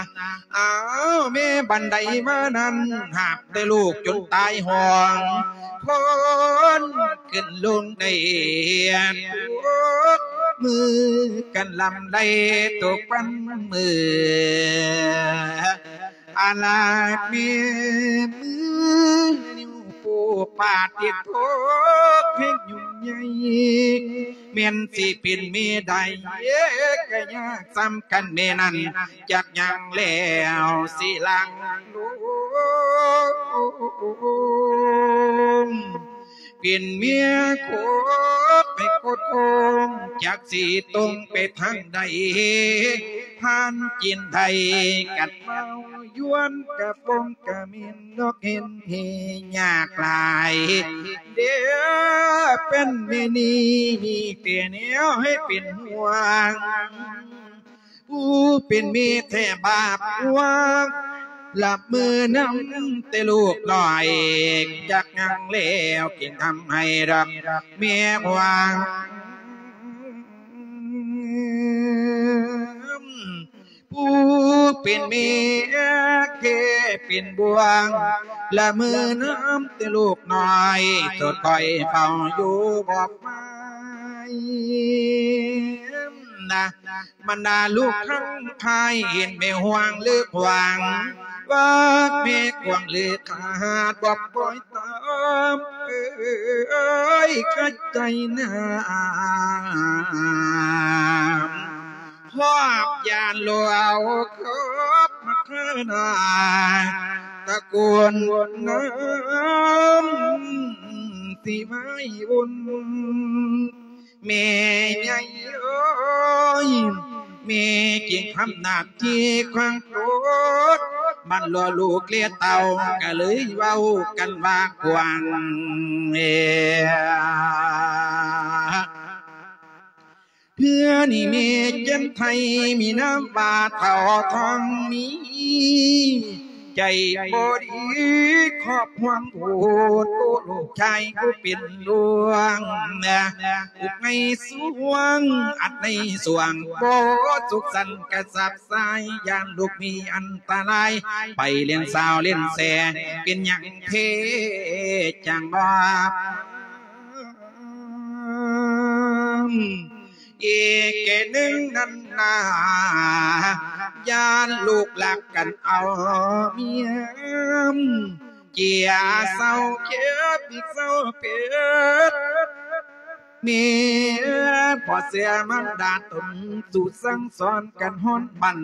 ອ້າວ ແມ່ບັນໄດມານັ້ນ ຫາບແຕ່ລູກຈົນຕາຍຫ້ອງ ຄົນຂຶ້ນລົງໄດ້ ທຸກ ມືກັນລຳໄລທຸກວັນມື້ ອາລາດແມ່ມື ນິ້ວໂປ້ປາຕິດໂທ ເພງຫຍຸ້ງໃຫຍ່ ແມ່ນຊິເປັນແມ່ໃດ ກະຍາກສ່ຳກັນແມ່ນັ້ນ ຈັກຫຍັງແລ້ວຊິຫຼັ່ງລົງ ເປັນເມຍໂຄດໄປໂຄດໂຄງ ຈັກຊິຕົງໄປທາງໃດ ຜ່ານຈີນໄທກັນເວົ້າ ຍວນກະຟົງກະເໝັນ ດອກເຫັນເຮຍາກຫຼາຍ ເດເປັນແມ່ນີ້ ມີແຕ່ແນວໃຫ້ເປັນຫ່ວງ ຜູ້ເປັນແມ່ແທ້ບາບກວ້າງ ລະເມີນຳແຕ່ລູກນ້ອຍ ຈັກຫຍັງແລ້ວຈຶ່ງທຳໃຫ້ຮັກແມ່ຫວງ ຜູ້ເປັນແມ່ແຄ່ເປັນບ່ວງ ລະເມີນຳແຕ່ລູກນ້ອຍ ໂສດຄອຍເຝົ້າຢູ່ບອກໄມ້ນະ ບັນດາລູກທັງຫຼາຍ ເຫັນແມ່ຫ່ວງເລີກຫວັງ ວ່າແມ່ກວາງເລີກຂາດ ບອກປ່ອຍຕາມ ເອີຍ ຂະໃຈນາ ຮອບຢ້ານຫຼວງຂອບມາເທີນາ ຕະກູນນຳຊິໄວ້ອຸ່ນ ແມ່ໃຫຍ່ເອີຍ ແມ່ຈຶ່ງທຳໜ້າທີ່ຂວາງໂຕດ ມັນລໍລູກເລເຕົ້າ ກະເລີຍເວົ້າກັນວ່າກວ້າງ ເອີ ເທື່ອນີ້ແມ່ຈັນໄທ ມີນາມວ່າເຖົ້າທອງມີ ໃຈບໍ່ດີຄອບຫ່ວງໂພດ ໂອ້ ລູກຊາຍຜູ້ເປັນຫຼວງ ອຸກໃນສວງ ອັດໃນສວງ ບໍ່ສຸກສັນກະສັບສາຍ ຢ້ານລູກມີອັນຕະລາຍ ໄປຫຼິ້ນສາວຫຼິ້ນແສ ເປັນຫຍັງເພຈັ່ງບໍ່ ອີກແກ່ໜຶ່ງນັ້ນນາ ຢ້ານລູກລັກກັນເອົາເມຍ ເຈຍເຊົາເຈັບອີກເຊົາເປັດ ແມ່ບໍ່ເຊື່ອມັນດາຕົນ ສູ່ສັ່ງສອນກັນຮ້ອນບັນ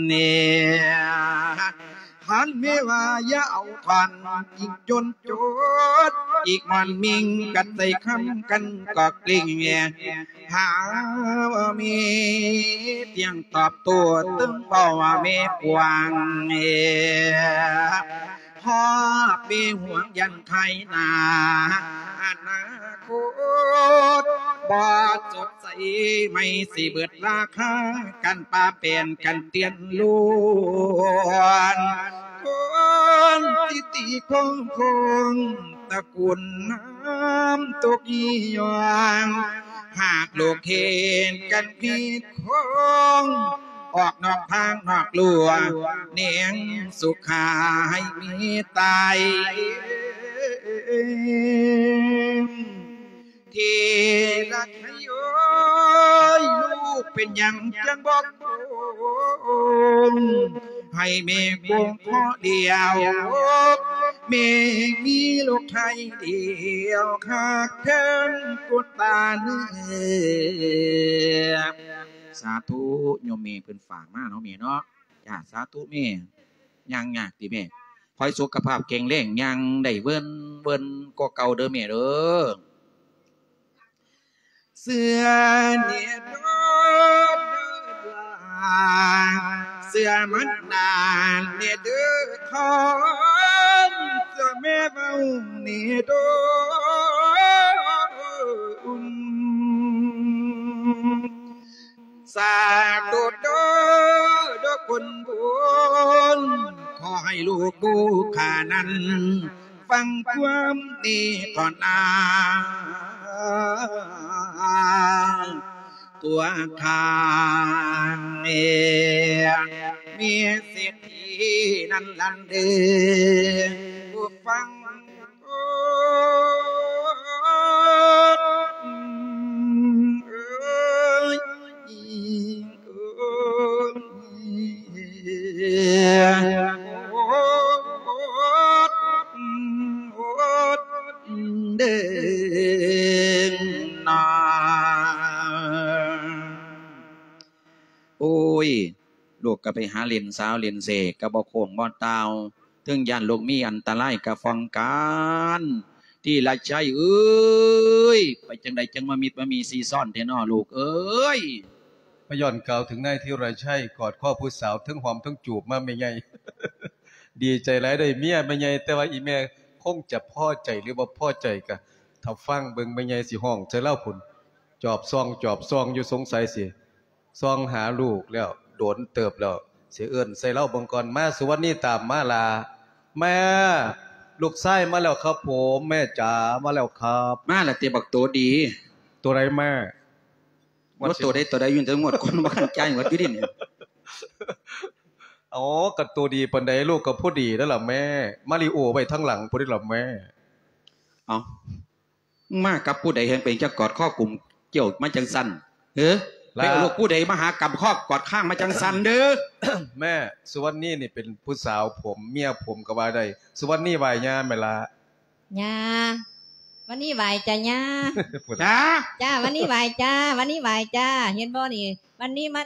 ເນ ຫັນແມ່ວ່າຢ່າເອົາທອນ ຍິງຈົນຈົດ ອີກມອນມິງກັນໃສ່ຄຳກັນກໍກລິ້ງ ຫາວ່າມີຕຽງຕອບໂຕ້ ຕຶງເວົ້າວ່າມີກວ້າງ ຮອບມີຫວງຢັນໄຄໜ້າ ອະນາຄົດບໍ່ສົດໃສ ໄມ່ຊິເບິດລາຄາ ກັນປາແປນກັນຕຽນລ້ວນ ຄົນຕິຕິຄົງຄົງ ຕະກຸນນ້ຳຕົກຍອງ ຫາກລູກເຫັນກັນຜິດ ຄອງ ອອກນອກທາງນອກລົວ ແນງສຸຂາໃຫ້ມີຕາຍ ທີ່ລັກໃຫ້ເອີຍ ລູກເປັນຫຍັງຈັ່ງບໍ່ຄົງ ໃຫ້ແມ່ຄົງພໍດຽວ ແມ່ມີລູກໄທດຽວ ຄັກແທ້ນກຸນຕາເນ ສາທຸ ໂຍມແມ່ເພິ່ນຝາກມາເນາະແມ່ເນາະ ຈ້າ ສາທຸແມ່ ຍ່າງຍາກຕິແມ່ ຂໍໃຫ້ສຸຂະພາບແຂງແຮງ ຍ່າງໄດ້ເວີນເວີນກວ່າເກົ່າເດີແມ່ເດີ ເຊື່ອແນ່ເດີຫຼານ ເຊື່ອມັນນານແນ່ເດີຄອນ ເຊື່ອແມ່ເວົ້າແນ່ເດີ ສາທຸເດີ ເດີຄົນບຸນ ຂໍໃຫ້ລູກຜູ້ຂ້ານັ້ນ ຟັງຄວາມເມດຕາ ຕົວຂ້າເອງ ມີສິດທີ່ນັ້ນລະເດີ ຜູ້ຟັງ ເອີຍ ໂອ້ຍ ລູກກໍໄປຫາຫຼິ້ນສາວຫຼິ້ນເສກ ກໍບໍ່ໂຄ້ງບໍ່ຕ່າວ ເຖິງຢ້ານລູກມີອັນຕະລາຍກໍປ້ອງກັນ ທີລະໄຊເອີຍ ໄປຈັ່ງໃດຈັ່ງມາມິດມາມີຊີຊ້ອນແທ້ນໍລູກເອີຍ. ມາຍ້ອນກ່າວເຖິງນາຍທີລະໄຊ ກອດຄໍຜູ້ສາວ ເຖິງຫອມເຖິງຈູບມາແມ່ໃຫຍ່ ດີໃຈຫຼາຍເດ້ເມຍແມ່ໃຫຍ່ ແຕ່ວ່າອີ່ແມ່ຄົງຈະພໍໃຈ ຫຼື ບໍ່ພໍໃຈ ກະຖ້າຟັງເບິ່ງແມ່ໃຫຍ່ຊິຮ້ອງໃສ່ລາວພຸ້ນ ຈອບສ່ອງ ຈອບສ່ອງຢູ່ ສົງໄສຊິ ສ່ອງຫາລູກແລ້ວ ໂດນເຕີບແລ້ວ ຊິເອີ້ນໃສ່ລາວເບິ່ງກ່ອນ. ມາ ສຸວັນນີ ຕາມມາລະ. ແມ່ ລູກຊາຍມາແລ້ວຄັບຜົມ ແມ່ຈ໋າ ມາແລ້ວຄັບ. ມາລະຕິ ບັກໂຕດີ. ໂຕໃດແມ່? ວ່າໂຕໃດໂຕໃດ ຢູ່ແຕ່ງວດກ່ອນ ບໍ່ທັນຈ່າຍງວດຢູ່ເດນີ້. ອໍ ກະໂຕດີປານໃດ ລູກກະພໍດີແລ້ວລະແມ່. ມາລິໂອໄວ້ທາງຫຼັງພຸ້ນເດລະແມ່. ເອົ້າ ມາກັບຜູ້ໃດ ແຮ່ງເປັນຈັກກອດຄໍກຸມກ້ຽວມາຈັ່ງຊັ້ນ? ເອີ ໄປເອົາລູກຜູ້ໃດມາຫາກັບຄໍກອດຄ້າງມາຈັ່ງຊັ້ນເດີ? ແມ່ ສຸວັນນີນີ້ເປັນຜູ້ສາວຜົມ ເມຍຜົມກໍວ່າໄດ້. ສຸວັນນີໄຫວ້ຍ່າແມ່ລະ. ຍ່າ ວັນນີ້ໄຫວ້ຈ້າຍ່າ. ຈ້າ ຈ້າ ວັນນີ້ໄຫວ້ຈ້າ ວັນນີ້ໄຫວ້ຈ້າ. ເຫັນບໍ່ນີ້ ວັນນີ້ມາ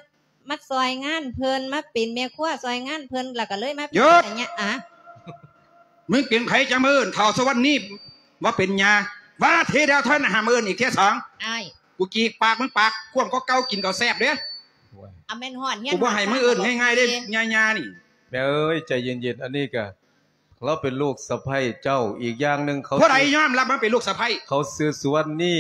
ມາຊ່ອຍງານເພິ່ນ ມາເປັນແມ່ຄົວຊ່ອຍງານເພິ່ນ ແລ້ວກໍເລີຍມາເປັນ ຢຸດ ຍາ ອະ ມຶງເປັນໃຜຈັ່ງມາເອີ້ນເຖົ້າສະຫວັນນີ້ວ່າເປັນຍາ? ວ່າທີດຽວເທົ່ານັ້ນ ຫ້າມເອີ້ນອີກເທື່ອສອງ. ອ້າຍ ກູຈີກປາກມຶງປາກກວ້າງກວ່າເກົ່າ ກິນກໍແຊບເດ້. ອາ ແມ່ນຮອດຮຽນ ກູບໍ່ໃຫ້ມຶງເອີ້ນງ່າຍໆເດ້ ຍາໆນີ້. ແມ່ເອີຍ ໃຈເຢັນໆ ອັນນີ້ກະ ລາວເປັນລູກສະໃພ້ເຈົ້າ. ອີກຢ່າງໜຶ່ງ ເຂົາ ຜູ້ໃດຍອມຮັບມາເປັນລູກສະໃພ້? ເຂົາຊື່ສຸວັນນີ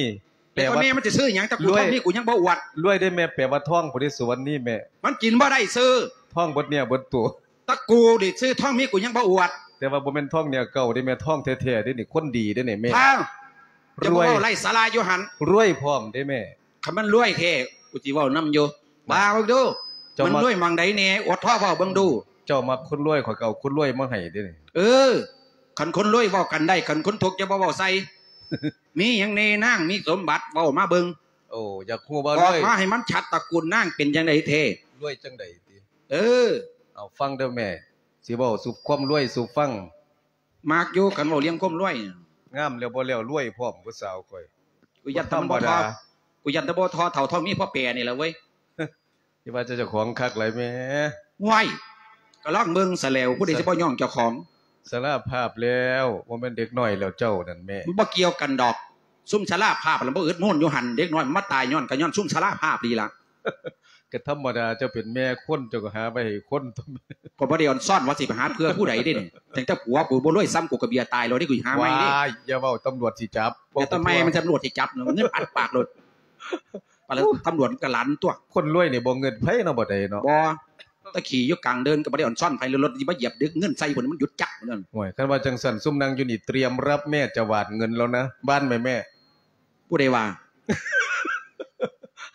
ແປວ່າ ແຕ່ພໍ່ແມ່ມັນຈະຊື່ຫຍັງ? ຕະກູລທອງມີກູຍັງບໍ່ອວດ. ລວຍເດ້ແມ່ ແປວ່າທອງພຸ້ນເດ້ ສຸວັນນີແມ່. ມັນກິນບໍ່ໄດ້ຊື່. ທອງເບິດເນື້ອເບິດຕົວ. ຕະກູນີ້ຊື່ທອງມີກູຍັງບໍ່ອວດ. ແຕ່ວ່າບໍ່ແມ່ນທອງເນື້ອເກົ່າເດ້ແມ່ ທອງແທ້ໆເດ້ນີ້ ຄົນດີເດ້ນີ້ແມ່. ເຈົ້າບໍ່ເວົ້າໄຮ້ສາລະຢູ່ຫັ້ນ. ລວຍພ້ອມເດ້ແມ່. ຄັນມັນລວຍແທ້ ກູຊິເວົ້ານຳຢູ່. ວ່າເບິ່ງດູ ເຈົ້າມັກ ມັນລວຍໝ່ອງໃດແດ່? ອວດທໍ່ເວົ້າເບິ່ງດູ. ເຈົ້າມັກຄົນລວຍ ຂ້ອຍກໍເອົາຄົນລວຍມາໃຫ້ເດ້ນີ້. ເອີ ຄັນຄົນລວຍເວົ້າກັນໄດ້ ຄັນຄົນທຸກຢ່າມາເວົ້າໃສ່. ມີຫຍັງແດ່ນາງ? ມີສົມບັດເວົ້າມາເບິ່ງ. ໂອ້ ຢາກຮູ້ວ່າ ອອກມາໃຫ້ມັນຊັດ ຕະກູນນາງເປັນຈັ່ງໃດແທ້? ລວຍຈັ່ງໃດຕິ? ເອີ ເອົາຟັງເດີແມ່ ຊິເວົ້າສູ່ຄວາມລວຍສູ່ຟັງ. ມັກຢູ່ ຄັນເວົ້າເລື່ອງຄວາມລວຍ. ງາມແລ້ວບໍ່ແລ້ວ ລວຍພ້ອມຜູ້ສາວຂ້ອຍ. ກູຢ້ານແຕ່ມັນບໍ່ທໍ່ ກູຢ້ານແຕ່ບໍ່ທໍ່ເຖົ້າທອງມີພໍ່ແປນີ້ລະເວີຍ. ຢ່າວ່າແຕ່ເຈົ້າຂອງຄັກຫຼາຍແມ່. ຫ້ວຍ ກໍລອງເບິ່ງຊະແລ້ວ ຜູ້ໃດຊິບໍ່ຍ້ອງເຈົ້າຂອງ. ສາລາພາບແລ້ວ ບໍ່ແມ່ນເດັກນ້ອຍແລ້ວເຈົ້ານັ້ນແມ່. ມັນບໍ່ກ່ຽວກັນດອກ ຊຸມສາລາພາບລະບໍ່ອຶດໂມນຢູ່ຫັ້ນ ເດັກນ້ອຍມັນມາຕາຍຍ້ອນ ກໍຍ້ອນຊຸມສາລາພາບນີ້ລະ. ກໍທຳມະດາ ເຈົ້າເປັນແມ່ຄົນ ເຈົ້າກໍຫາໄວ້ໃຫ້ຄົນ. ກໍບໍ່ໄດ້ອອນຊອນວ່າຊິໄປຫາເພື່ອຜູ້ໃດເດ້ນີ້ ຕັ້ງແຕ່ຜົວກູບໍ່ລວຍຊ້ຳ ກູກໍເບຍຕາຍແລ້ວເດ້ ກູຫາໃໝ່ເດ້. ວ້າຍ ຢ່າເວົ້າ ຕຳຫຼວດຊິຈັບ. ແຕ່ຕຳໄມມັນຕຳຫຼວດຊິຈັບເນາະ ເງິນອັດປາກໂລດ. ປານນັ້ນ ໂອ້ ຕຳຫຼວດມັນກໍຫຼັນຕົວະ. ຄົນລວຍນີ້ບໍ່ເງິນໃຜເນາະ ບໍ່ໄດ້ເນາະ. ບໍ່ ຕະຂີ່ຢູ່ກາງເດີ່ນກໍບໍ່ໄດ້ອອນຊອນໃຜ ລົດຊິມາຢຽບດຶກເງິນໃສ່ພຸ້ນ ມັນຢຸດຈັກພຸ້ນ. ໂອ້ຍ ຄັນວ່າຈັ່ງຊັ້ນ ຊຸມນັ່ງຢູ່ນີ້ຕຽມຮັບແມ່ຈະຫວານເງິນແລ້ວນະ ບ້ານແມ່. ຜູ້ໃດວ່າ?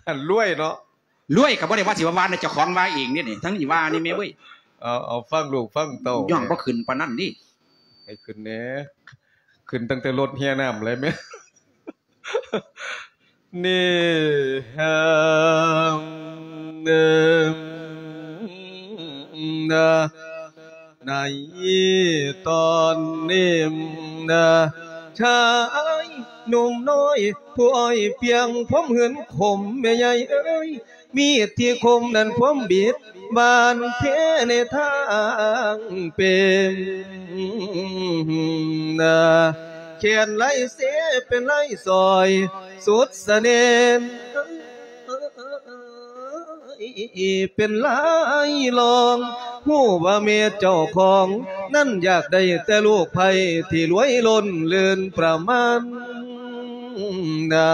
ອັນລວຍເນາະ. ລວຍກໍບໍ່ໄດ້ວ່າຊິວ່າວ່ານະ ເຈົ້າຂອງວ່າເອງເດ້ນີ້ ທັງນີ້ວ່ານີ້ແມ່ເວີຍ. ເອົາ ເອົາ ຟັງລູກຟັງເຕົ້າ ຍ້ອງບໍ່ຂຶ້ນປານນັ້ນເດ້. ໃຫ້ຂຶ້ນແດ່ ຂຶ້ນຕັ້ງແຕ່ລົດເຮຍນ້ຳເລີຍແມ່. ນີ້ ໃນຕອນນີ້ນະ ຊາຍໜຸ່ມນ້ອຍ ຜູ້ອ້ອຍປຽງ ພວາມເຫືອນຂົມ ແມ່ໃຫຍ່ເອີຍ ມີດທີ່ຄົມນັ້ນ ພວາມບິດບານເທໃນທາງເປັນນາ ແຂນໄຫຼເຊເປັນໄຫຼສອຍ ສຸດສະແໜ່ນ ເປັນລາຍລອງ ຮູ້ວ່າແມ່ເຈົ້າຂອງນັ້ນ ຢາກໄດ້ແຕ່ລູກໃພ້ທີ່ລວຍລົ້ນເລີນປະມານນາ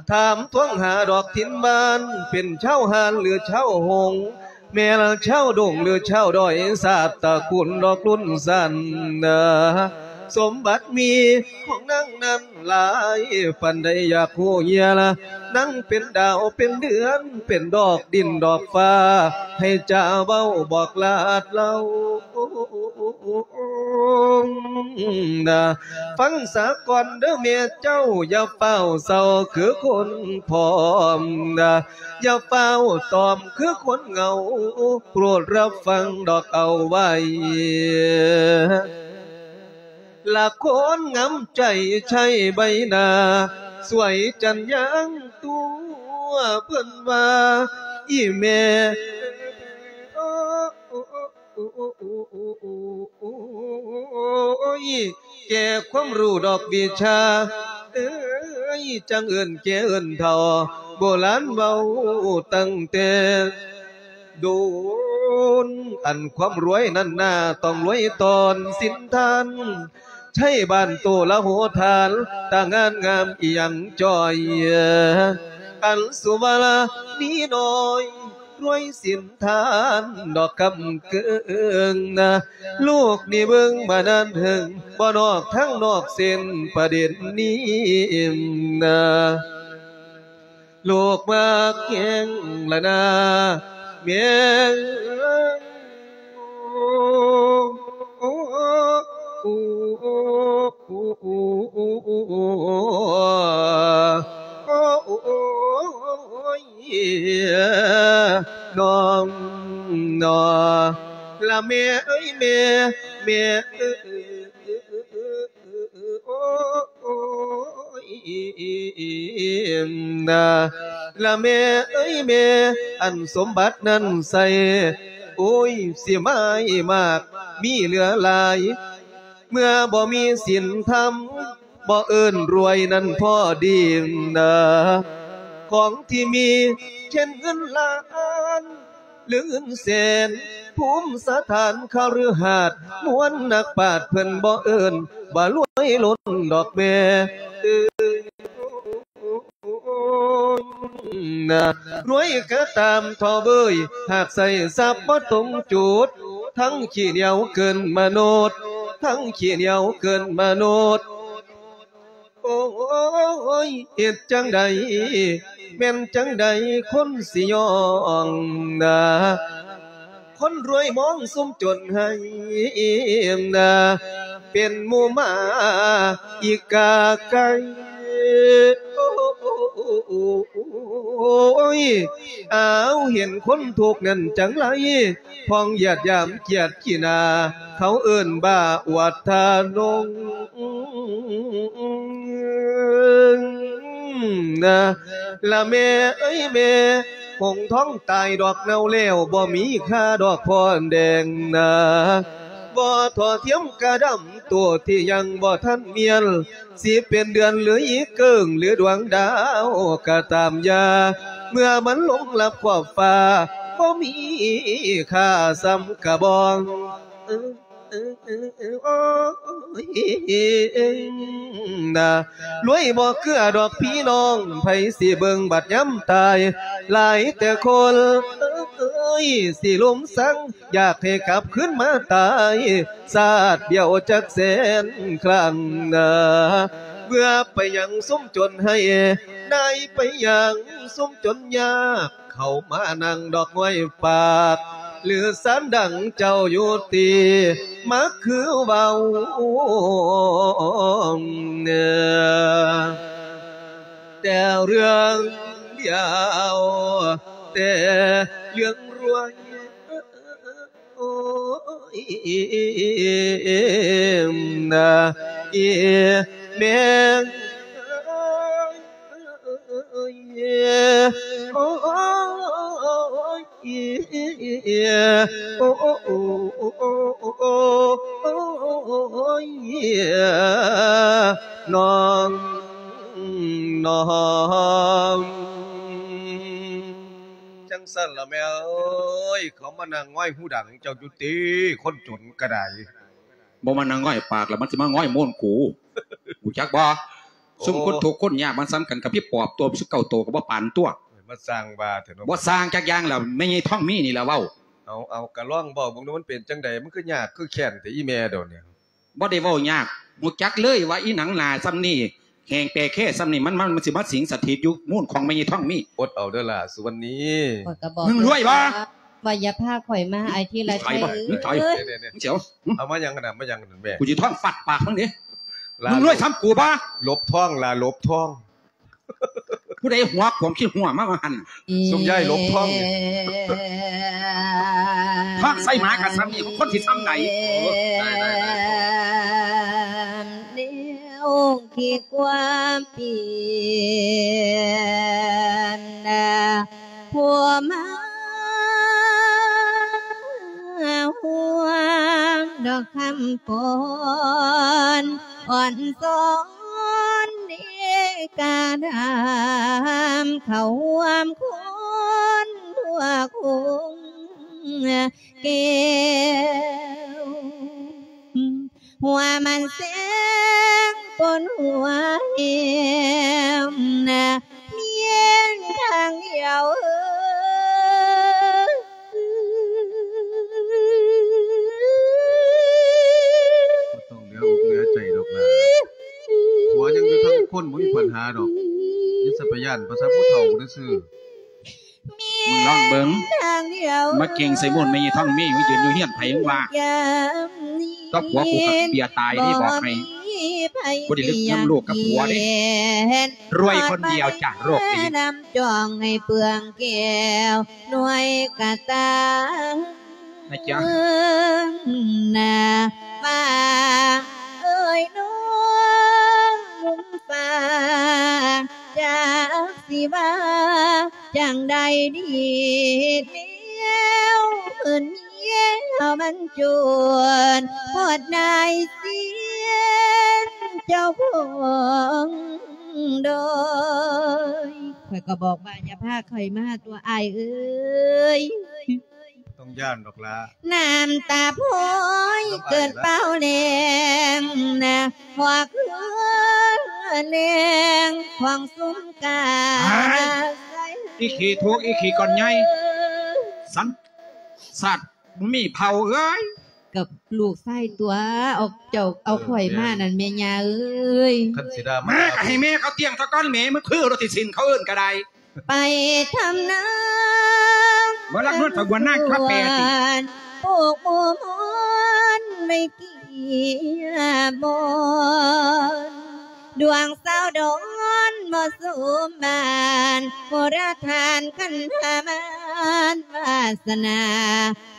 ຖາມທວງຫາດອກຖິ່ນບ້ານ ເປັນຊາວຮ້ານຫຼືຊາວຫົງ ແມ່ນຊາວດົງຫຼືຊາວດອຍ ຊາດຕະກູນດອກລຸ້ນຊັ້ນນາ ສົມບັດມີຂອງນາງນັ້ນ ຫຼາຍປານໃດ ຢາກຮູ້ເຫຍລະ ນາງເປັນດາວເປັນເດືອນ ເປັນດອກດິນດອກຟ້າ ໃຫ້ຈາເວົ້າບອກລາດເລົ່ານາ ຟັງສາກ່ອນເດີແມ່ເຈົ້າ ຢ່າຟ້າວເສົ້າຄືຄົນພ້ອມນາ ຢ່າຟ້າວຕອມຄືຄົນເຫງົາ ໂປດຮັບຟັງດອກເອົາໄວ້ ລະຄົນງາມໃຈໃຊ້ໃບໜ້າ ສວຍຈັນຍາງຕົວ ເພິ່ນວ່າອີ່ແມ່ ໂອ້ຍ ແກ່ຄວາມຮູ້ດອກວິຊາ ເອີຍ ຈັ່ງເອີ້ນແກ່ເອີ້ນເຖົ້າ ໂບລານເວົ້າຕັ້ງແຕ່ ໂດນ ອັນຄວາມລວຍນັ້ນນາ ຕ້ອງລວຍຕອນສິນທານ ໃຊ້ບ້ານໂຕລະໂຫຖານ ຕາງານງາມອີ່ຫຍັງຈ່ອຍ ອັນສຸວາລາມີນ້ອຍ ລວຍສິນທານດອກກຳເກີງນາ ລູກນີ້ເບິ່ງມານານເຖິງ ບໍ່ນອກທາງນອກເສັ້ນປະເດັນນີ້ນາ ລູກມັກແຮງລະນາ ແມ່ ໂອ້ ໂອ້ ໂອ້ ໂອ້ຍ ນ້ອງ ນ້ອງ ລະແມ່ເອີຍ ແມ່ ແມ່ເອີຍ ໂອ້ຍ ນາ ລະແມ່ເອີຍແມ່ ອັນສົມບັດນັ້ນໃສ່ ໂອ້ຍ ຊິມາໃຫ້ມາກມີເຫຼືອຫຼາຍ ເມື່ອບໍ່ມີສິນທຳ ບໍ່ເອີ້ນລວຍນັ້ນພໍດີນາ ຂອງທີ່ມີເຊັ່ນເງິນລ້ານ ຫຼືເງິນແສນ ພູມສະຖານຄະລືຫາດ ມວນນັກປາດເພິ່ນບໍ່ເອີ້ນວ່າລວຍລົ້ນດອກແມ່ເອີຍ ນາ ລວຍກະຕາມທໍ່ເບີຍ ຫາກໃຊ້ຊັບບໍ່ຕົງຈຸດ ທັງຂີ້ໜຽວເກີນມະນຸດ ທັງຂີ້ໜຽວເກີນມະນຸດ ໂອ້ຍ ເຮັດຈັ່ງໃດ ແມ່ນຈັ່ງໃດຄົນຊິຍ້ອງນາ ຄົນລວຍມອງຊຸມຈົນໃຫ້ນາ ເປັນໝູ່ໝາອີກາໄກ່ ໂອ້ຍ ອ້າວ ເຫັນຄົນທຸກນັ້ນຈັ່ງໃດ ພ້ອງຢາດຢາມກຽດຂີ້ໜ້າ ເຂົາເອີ້ນວ່າອວດທານົງ ນາ ລະແມ່ເອີຍແມ່ ຫົງທອງຕາຍດອກເນົ່າແລ້ວ ບໍ່ມີຄ່າດອກພອນແດງນາ ບໍ່ທໍ່ທຽມກະດຳໂຕທີ່ຍັງບໍ່ທັນມຽນ ຊິເປັນເດືອນຫຼືອີເກີ້ງ ຫຼືດວງດາວກະຕາມຢ່າ ເມື່ອມັນລົງລັບຂອບຟ້າ ບໍ່ມີຄ່າສ່ຳກະບອງ ໂອ້ຍ ນາ ລວຍບໍ່ເກືອດອກພີ່ນ້ອງ ໃຜຊິເບິ່ງບັດຍາມຕາຍ ຫຼາຍແຕ່ຄົນເອີຍ ຊິລົມສັງ ຢາກໃຫ້ກັບຄືນມາຕາຍ ຊາດດຽວຈັກແສນຄັ້ງນາ ເບື່ອໄປຫຍັງຊຸມຈົນໃຫ້ ນາຍໄປຫຍັງຊຸມຈົນຍາກ ເຂົ້າມານັ່ງດອກງອຍປາກ ຫຼືສານດັງເຈົ້າຢູ່ຕິ ມາຄືເວົ້າແຕ່ເລື່ອງດຽວ ແຕ່ເລື່ອງລວຍ ໂອ້ຍ ນາ ອີແມ່ ໂອ້ຍ ໂອ້ ໂອ້ ໂອ້ ໂອ້ຍ ນ້ອງ ນ້ອງ ຈັ່ງຊັ້ນລະແມ່ເອີຍ ເຂົາມານັ່ງງອຍຫູດັງເຈົ້າຢູ່ຕິ ຄົນຈົນກະໄດ. ບໍ່ມານັ່ງງອຍປາກລະ ມັນຊິມາງອຍໂມນກູ ຮູ້ຈັກບໍ່? ໂອ້ ຊຸມຄົນທຸກຄົນຍາກມັນສ່ຳກັນກັບຜີປອບຕົວສິບເກົ້າໂຕກໍບໍ່ປານຕົວະ. ມາສ້າງວ່າແທ້ເນາະ. ບໍ່ສ້າງຈັກຢ່າງລະ ແມ່ໃຫຍ່ທອງມີນີ້ລະເວົ້າ. ເອົາ ເອົາ ກະລອງເວົ້າເບິ່ງດູ ມັນເປັນຈັ່ງໃດ? ມັນຄືຍາກຄືແຄ້ນແທ້ອີແມ່ດຽວນີ້. ບໍ່ໄດ້ເວົ້າຍາກ ຮູ້ຈັກເລີຍວ່າອີໜັງໜາສ່ຳນີ້ ແຮງແປແຄສ່ຳນີ້ ມັນ ມັນ ມັນຊິມາສິງສະຖິດຢູ່ມູນຂອງແມ່ໃຫຍ່ທອງມີ. ອົດເອົາເດີຫຼ້າສຸວັນນີ. ຂ້ອຍກໍບອກ ມຶງລວຍບໍ່? ວ່າຢ່າພາຂ້ອຍມາ ອ້າຍທີລະໄຊ. ມຶງຖອຍ ເອີຍ ມຶງຖອຍ ເອີຍ ເອີຍ ເອົາມາຫຍັງຫັ້ນນະ ມາຫຍັງຫັ້ນແມ່? ກູຊິທ້ອງຟາດປາກມຶງເດ້. ມຶງລວຍສ່ຳກູບໍ່? ຫຼົບທ້ອງຫຼ້າ ຫຼົບທ້ອງ. ຜູ້ໃດຫົວຂວມຂີ້ຫົວມາວ່າຫັ້ນ? ຊຸມຍາຍຫຼົບທ້ອງນີ້ ທ້ອງໃສ່ໝາກະສ່ຳນີ້ ຄົນຊິສ່ຳໃດ? ໂອ້ ໄດ້ ໄດ້ ໄດ້. ແນວຄິດຄວາມປ່ຽນ ຜູ້ມາ ດອກຄຳຟ້ອນ ອ່ອນສອນເດການາມ ເຂົ້າຮ່ວມຄົນທົ່ວຄົງແກ້ວ ຫົວມັນແສງປົນຫົວແຮມນະ ມີທາງດຽວເອີຍ ບໍ່ຕ້ອງເຫຼືອອົກເຫຼືອໃຈດອກຫຼ້າ ຜົວຍັງຢູ່ທາງຄົນ ບໍ່ມີບັນຫາດອກ ຢ່າສະໄປຢ້ານພາສາຜູ້ເຖົ້າຊື່ໆ. ມຶງລອງເບິ່ງ ມາເກັ່ງໃສ່ໂມນແມ່ຍາຍທອງມີ ມາຢືນຢູ່ເຮືອນໃຜມຶງວ່າ ຕໍ່ຜົວກູຄັກເບຍຕາຍເດ້ ບອກໃຫ້ ບໍ່ໄດ້ລຶກນຳລູກກັບຜົວເດ້ ລວຍຄົນດຽວຈ້າ ໂລກນີ້ ນຳຈອງໃຫ້ເປືອງແກ້ວ ໜ່ວຍກະຕາ ນະຈ໊ະ ນາຟ້າເອີຍ ນ້ອງຟ້າ ຈັກຊິວ່າຈັ່ງໃດດີ ແນວເມີຍມັນຈົນ ໂພດນາຍຊຽນເຈົ້າຂອງດອຍ ຂ້ອຍກໍບອກວ່າຢ່າພາຂ້ອຍມາຕົວະອ້າຍເອີຍ. ຕ້ອງຢ້ານດອກລະ ນ້ຳຕາພອຍເກີດເປົ່າແລງນະ ພວກເຮືອແລງຂອງຊຸມກາ ອີຂີ້ທຸກ ອີຂີ້ກ່ອນໃຫຍ່ ສັນຊາດບໍ່ມີເຜົ່າເອີຍ ກັບລູກຊາຍຕົວະ ເອົາເຈົ້າເອົາຂ້ອຍມານັ້ນແມ່ຍ່າເອີຍ ຄັນຊິດາມາ ແມ່ກໍໃຫ້ແມ່ເຂົາຕຽງຊະກ່ອນແມ່ ມັນຄືລົດທີ່ຊິນເຂົາເອີ້ນກໍໄດ້. ໄປທຳນາ ບໍ່ລັກນວນ ໄປບວນນາງ ມາແປຕິ ປູກໝູ່ມອນໄວ້ເກຍບອນ ດວງສາວດອນບໍ່ສົມບານ ໂຫລະທານຄັນພາມານວາສະໜາ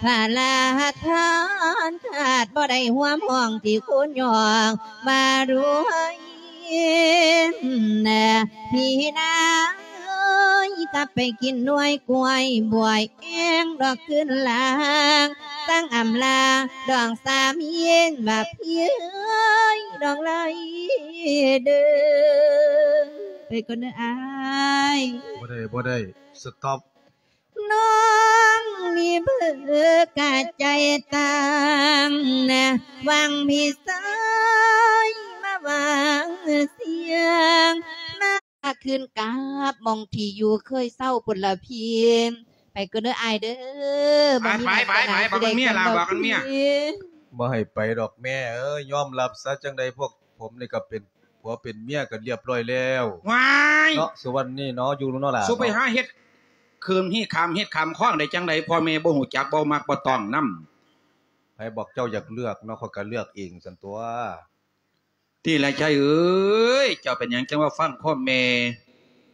ພະລາທານທາດ ບໍ່ໄດ້ຮ່ວມຫ້ອງທີ່ຄູນຍ້ອງວ່າລວຍ ພີ່ນາເອີຍ ກັບໄປກິນໜ່ວຍກ້ວຍບວຍແອງດອກຄືນລາງ ຕັ້ງອຳລາດອງສາມີນວ່າພີ່ເອີຍ ດອງໄລເດີ ໄປກ່ອນເດີອ້າຍ ບໍ່ໄດ້ ບໍ່ໄດ້ ສະຕັອບ ນ້ອງນີ້ເບີກະໃຈຕ່າງນະ ຫວັງພີ່ຊາຍມາຫວັງສຽງ ມາຄືນກັບໝ່ອງທີ່ຢູ່ເຄີຍເຊົາພຸ້ນລະພີ່ ໄປກ່ອນເດີອ້າຍເດີ ໄປ ໄປ ໄປ ບອກນຳເມຍລະ ບອກນຳເມຍ ບໍ່ໃຫ້ໄປດອກແມ່ເອີຍ ຍອມຮັບຊະ ຈັ່ງໃດພວກ ຜົມນີ້ກໍເປັນຜົວເປັນເມຍກັນລຽບລ້ອຍແລ້ວ ວ້າຍ ເນາະ ສຸວັນນີ້ເນາະ ຢູ່ເນາະຫຼ້າ ສຸໄປຫາເຮັດເຄື່ອງຮີດຄຳເຮັດຄຳຄອງໄດ້ຈັ່ງໃດ ພໍ່ແມ່ບໍ່ຮູ້ຈັກ ບໍ່ມັກບໍ່ຕ້ອງນຳ ໃຜບອກເຈົ້າຢາກເລືອກເນາະ ຂ້ອຍກໍເລືອກເອງຊັ້ນຕົວະ ຕິລະໄຊເອີຍ ເຈົ້າເປັນຫຍັງຈັ່ງວ່າຟັງຄວາມແມ່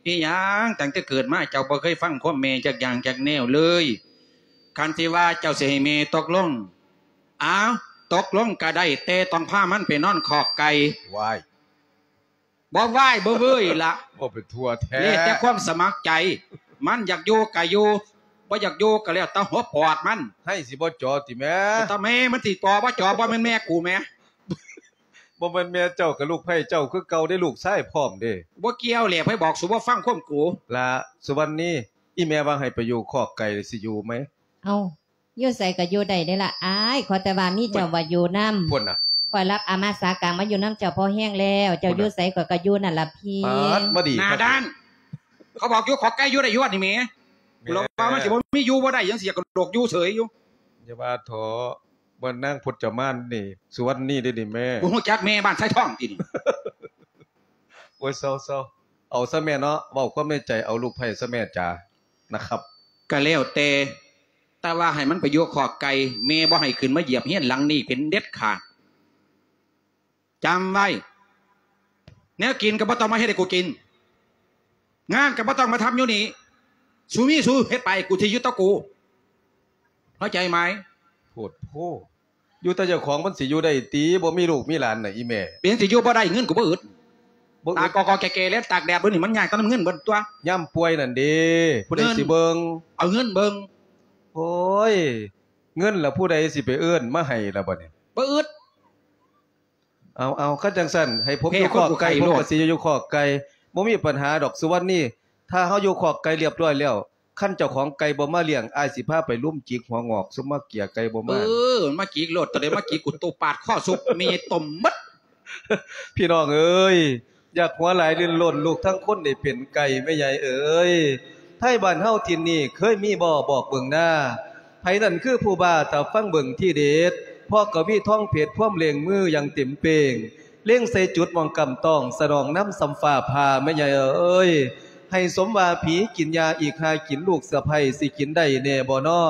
ອີຫຍັງ ຕັ້ງແຕ່ເກີດມາເຈົ້າບໍ່ເຄີຍຟັງຄວາມແມ່ຈັກຢ່າງຈັກແນວເລີຍ ຄັນຊິວ່າເຈົ້າຊິໃຫ້ແມ່ຕົກລົງ ອ້າວ ຕົກລົງກໍໄດ້ ແຕ່ຕ້ອງພາມັນໄປນອນຄອກໄກ່ ວ້າຍ ບໍ່ວ້າຍບໍ່ເວີ້ຍລະ ເວົ້າໄປທົ່ວແທ້ ແລ້ວແຕ່ຄວາມສະໝັກໃຈ ມັນຢາກຢູ່ກໍຢູ່ ບໍ່ຢາກຢູ່ກໍແລ້ວແຕ່ຫົວປອດມັນ ໃຫ້ຊິບໍ່ຈໍຕິແມ່ ແຕ່ແມ່ມັນຊິຈໍບໍ່ຈໍ ບໍ່ແມ່ນແມ່ກູແໝ ບໍ່ແມ່ນແມ່ເຈົ້າ ກໍລູກໃພ້ເຈົ້າຄືເກົ່າເດ້ ລູກຊາຍພ້ອມເດ້ ບໍ່ກ່ຽວແຫຼະ ໃຜບອກ ສູບໍ່ຟັງຄວາມກູ ລະ ສຸວັນນີ ອີແມ່ວ່າໃຫ້ໄປຢູ່ຄອກໄກ່ ຊິຢູ່ໄໝ? ເອົ້າ ຢູ່ໃສກໍຢູ່ໄດ້ເດ້ລະອ້າຍ ຂໍແຕ່ວ່າມີເຈົ້າວ່າຢູ່ນຳ ພຸ້ນນະ ຂ້ອຍຮັບອາມາສາກາງມາຢູ່ນຳເຈົ້າພໍແຮງແລ້ວ ເຈົ້າຢູ່ໃສຂ້ອຍກໍຢູ່ນັ້ນລະພີ່ ປາດ ມາດີ ໜ້າດ້ານ ເຂົາບອກຢູ່ຄອກໄກ່ຢູ່ໄດ້ຢູ່ນີ້ແໝ ແມ່ ລະວ່າມັນຊິບໍ່ມີຢູ່ບໍ່ໄດ້ຫຍັງ ຊິຢາກກະໂດກຢູ່ເສີຍຢູ່ ຢ່າວ່າເຖາະ ບ້ານນາງພົດຈະມານນີ້ ສຸວັນນີເດ້ນີ້ແມ່ ບໍ່ຮູ້ຈັກແມ່ບ້ານຊາຍທອງຕິນີ້ ໂອ້ຍ ເຊົາໆ ເອົາຊະແມ່ເນາະ ເວົ້າຄວາມໃນໃຈ ເອົາລູກໃພ້ຊະແມ່ຈ໋າ ນະຄັບ ກະແລ້ວແຕ່ ແຕ່ວ່າໃຫ້ມັນໄປຢູ່ຄອກໄກ່ ແມ່ບໍ່ໃຫ້ຂຶ້ນມາຢຽບເຮືອນຫຼັງນີ້ເປັນເດັດຂາດ ຈຳໄວ້ ແນວກິນກໍບໍ່ຕ້ອງມາເຮັດໃຫ້ກູກິນ ງານກໍບໍ່ຕ້ອງມາທຳຢູ່ນີ້ ສູມີສູເຮັດໄປ ກູຊິຢູ່ແຕ່ກູ ເຂົ້າໃຈໄໝ? ໂພດໂພ ຢູ່ແຕ່ເຈົ້າຂອງມັນຊິຢູ່ໄດ້ຕິ ບໍ່ມີລູກມີຫຼານນະອີແມ່ ເປັນຫຍັງຊິຢູ່ບໍ່ໄດ້ ເງິນກູບໍ່ອຶດ ບໍ່ອຶດ ຕາກໍໆແກ່ໆແລ້ວຕາກແດດເບິ່ງນີ້ມັນຍາກແຕ່ນຳເງິນເບິດຕົວະ ຍາມປ່ວຍນັ້ນເດ້ ຜູ້ໃດຊິເບິ່ງ ເອົາເງິນເບິ່ງ ໂອ້ຍ ເງິນລະຜູ້ໃດຊິໄປເອີ້ນມາໃຫ້ລະບັດນີ້ ບໍ່ອຶດ. ເອົາໆ ຄັນຈັ່ງຊັ້ນ ໃຫ້ຜົມຢູ່ຄອກໄກ່ ແພ້ຄົນຜູ້ໄຂ້ໂລດ ຜົມກໍຊິຢູ່ຄອກໄກ່ ບໍ່ມີບັນຫາດອກ ສຸວັນນີ. ຖ້າເຮົາຢູ່ຄອກໄກ່ລຽບຮ້ອຍແລ້ວ ຄັນເຈົ້າຂອງໄກ່ບໍ່ມາລ້ຽງ ອ້າຍຊິພາໄປລຸມຈິກຫົວງອກ ຊຸມມາເກຍໄກ່ບໍ່ມາ. ເອີ ມາຈິກໂລດ ໂຕໃດມາຈິກ ກູໂຕປາດຄໍສຸບ ແມ່ຕົມໝົດ. ພີ່ນ້ອງເອີຍ ຢາກຫົວຫຼາຍລື່ນລົນ ລູກທັງຄົນໄດ້ເປັນໄກ່ ແມ່ໃຫຍ່ເອີຍ. ໄທບ້ານເຮົາຖິ່ນນີ້ ເຄີຍມີບໍ່ບອກເບິ່ງນາ? ໃຜນັ້ນຄືຜູ້ບ້າ ຖ້າຟັງເບິ່ງທີເດັດ ເພາະກະວີທອງເພັດ ພວມເລັ່ງມືຢ່າງເຕັມເປ່ງ ເລັງໃສ່ຈຸດໝ່ອງກຳຕ້ອງ ສະໜອງນຳສ່ຳຟ້າຜ່າ ແມ່ໃຫຍ່ເອີຍ. ໃຫ້ສົມວ່າຜີກິນຢາ ອີກຫ້າກິນລູກສະໃພ້ ຊິກິນໄດ້ແນ່ບໍ່ນໍ?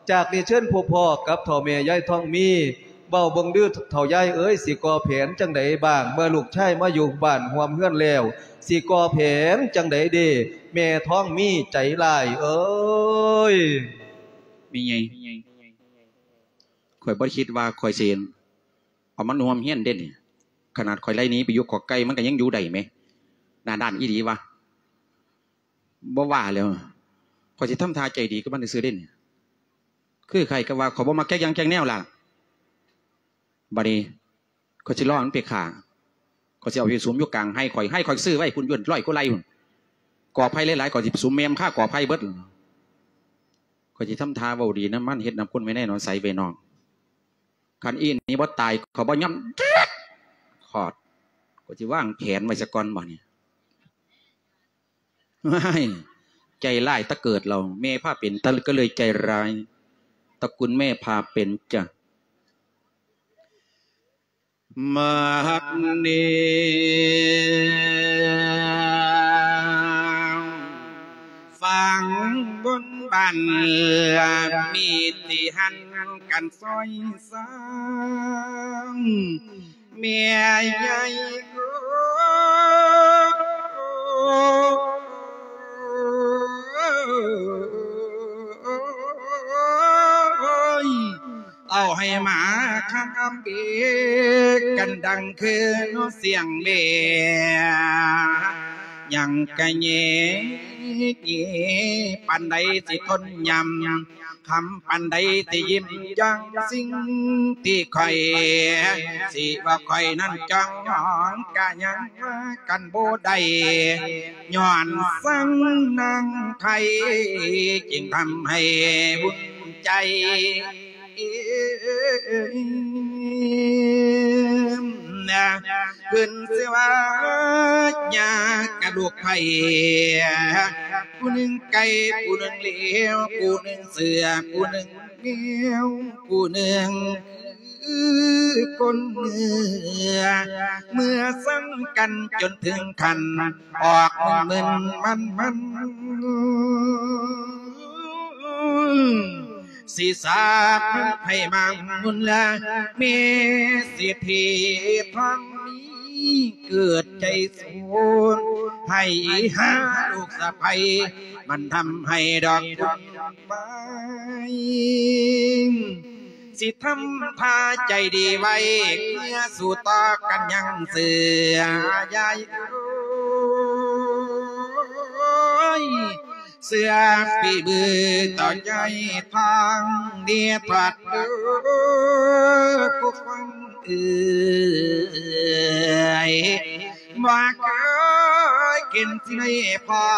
ຈາກນີ້ເຊີນພົບພໍ້ກັບເຖົ້າແມ່ຍາຍທອງມີ ເວົ້າເບິ່ງເດີເຖົ້າຍາຍເອີຍ ຊິກໍ່ແຜນຈັ່ງໃດບ້າງ ເມື່ອລູກຊາຍມາຢູ່ບ້ານຮ່ວມເຮືອນແລ້ວ ຊິກໍ່ແຜນຈັ່ງໃດເດ ແມ່ທອງມີໃຈຮ້າຍເອີຍ. ແມ່ໃຫຍ່ ຂ້ອຍບໍ່ໄດ້ຄິດວ່າຂ້ອຍຊິເອົາມັນຮ່ວມເຮືອນເດ້ນີ້ ຂະໜາດຂ້ອຍໄລ່ໜີໄປຢູ່ຄອກໄກ່ ມັນກໍຍັງຢູ່ໄດ້ແໝ ໜ້າດ້ານອີ່ຫຼີວະ. ບໍ່ວ່າແລ້ວ ຂ້ອຍຊິທຳທ່າໃຈດີກັບມັນຊື່ໆເດ້ນີ້ ຄືໃຜກໍວ່າຂ້ອຍບໍ່ມັກຈັກຢ່າງຈັກແນວລະ. ບັດນີ້ຂ້ອຍຊິລໍມັນໄປຂ້າ ຂ້ອຍຊິເອົາໄປສຸມຢູ່ກາງໄຮ່ຂ້ອຍ ໄຮ່ຂ້ອຍຊື້ໄວ້ພຸ້ນ ຢູ່ຮ້ອຍກວ່າໄຮ່ພຸ້ນ ກອໄຜ່ຫຼາຍໆ ຂ້ອຍຊິໄປສຸມແມ່ມັນຄາກອໄຜ່ເບິດ. ຂ້ອຍຊິທຳທ່າເວົ້າດີນຳມັນ ເຮັດນຳຄົນໄວ້ໃນໜອນໃສໄວ້ນອກ ຄັນອີ່ນີ້ບໍ່ຕາຍ ຂ້ອຍບໍ່ຍອມຂອດ ຂ້ອຍຊິວາງແຜນໄວ້ສາກ່ອນບັດນີ້. ວ້າຍ ໃຈຮ້າຍແຕ່ເກີດແລ້ວ ແມ່ພາເປັນ ກໍເລີຍໃຈຮ້າຍ ຕະກຸນແມ່ພາເປັນຈ້ະ. ມັກນີ້ຝັ່ງບົນບ້ານ ມີທີ່ຫັນກັນຊອຍ ສ້າງແມ່ໃຫຍ່ ໂອ້ຍ ເອົາໃຫ້ໝາຄາບເບກັນ ດັງຄືນສຽງເບ ຍັງກະແຍ ແຍ ປານໃດຊິທົນຍຳ ຄຳປານໃດທີ່ຍິ້ມຢ່າງສິ່ງທີ່ຂ້ອຍ ຊິວ່າຂ້ອຍນັ້ນຈ້ອງມອງກະຍັງວ່າກັນບໍ່ໄດ້ ຍ້ອນສັງນາງໄທ ຈຶ່ງທຳໃຫ້ວຸ່ນໃຈ ນະ ຂຶ້ນຊື່ວ່າຍາກະລູກໄຜ່ ຜູ້ໜຶ່ງໄກ່ ຜູ້ໜຶ່ງເຫຼວ ຜູ້ໜຶ່ງເສືອ ຜູ້ໜຶ່ງແມວ ຜູ້ໜຶ່ງຄືຄົນເມືອ ເມື່ອສັງກັນຈົນເຖິງຂັ້ນ ອອກມຶນໆມັນໆ ຊິສາບໃຫ້ມັງມຸນລະ ແມ່ເສດຖີທອງມີ ເກີດໃຈສູນ ໃຫ້ຫາລູກສະໃພ້ ມັນທຳໃຫ້ດອກບຸນໄມ້ ຊິທຳທ່າໃຈດີໄວ້ ເມື່ອສູ້ຕໍ່ກັນຍັງເສືອ ຍາຍເອີຍ ເສືອຝີມືຕໍ່ຍາຍທອງ ເດທອດເດີ ຜູ້ຟັງເອີຍ ບໍ່ເຄີຍເຫັນຊິໄດ້ພໍ້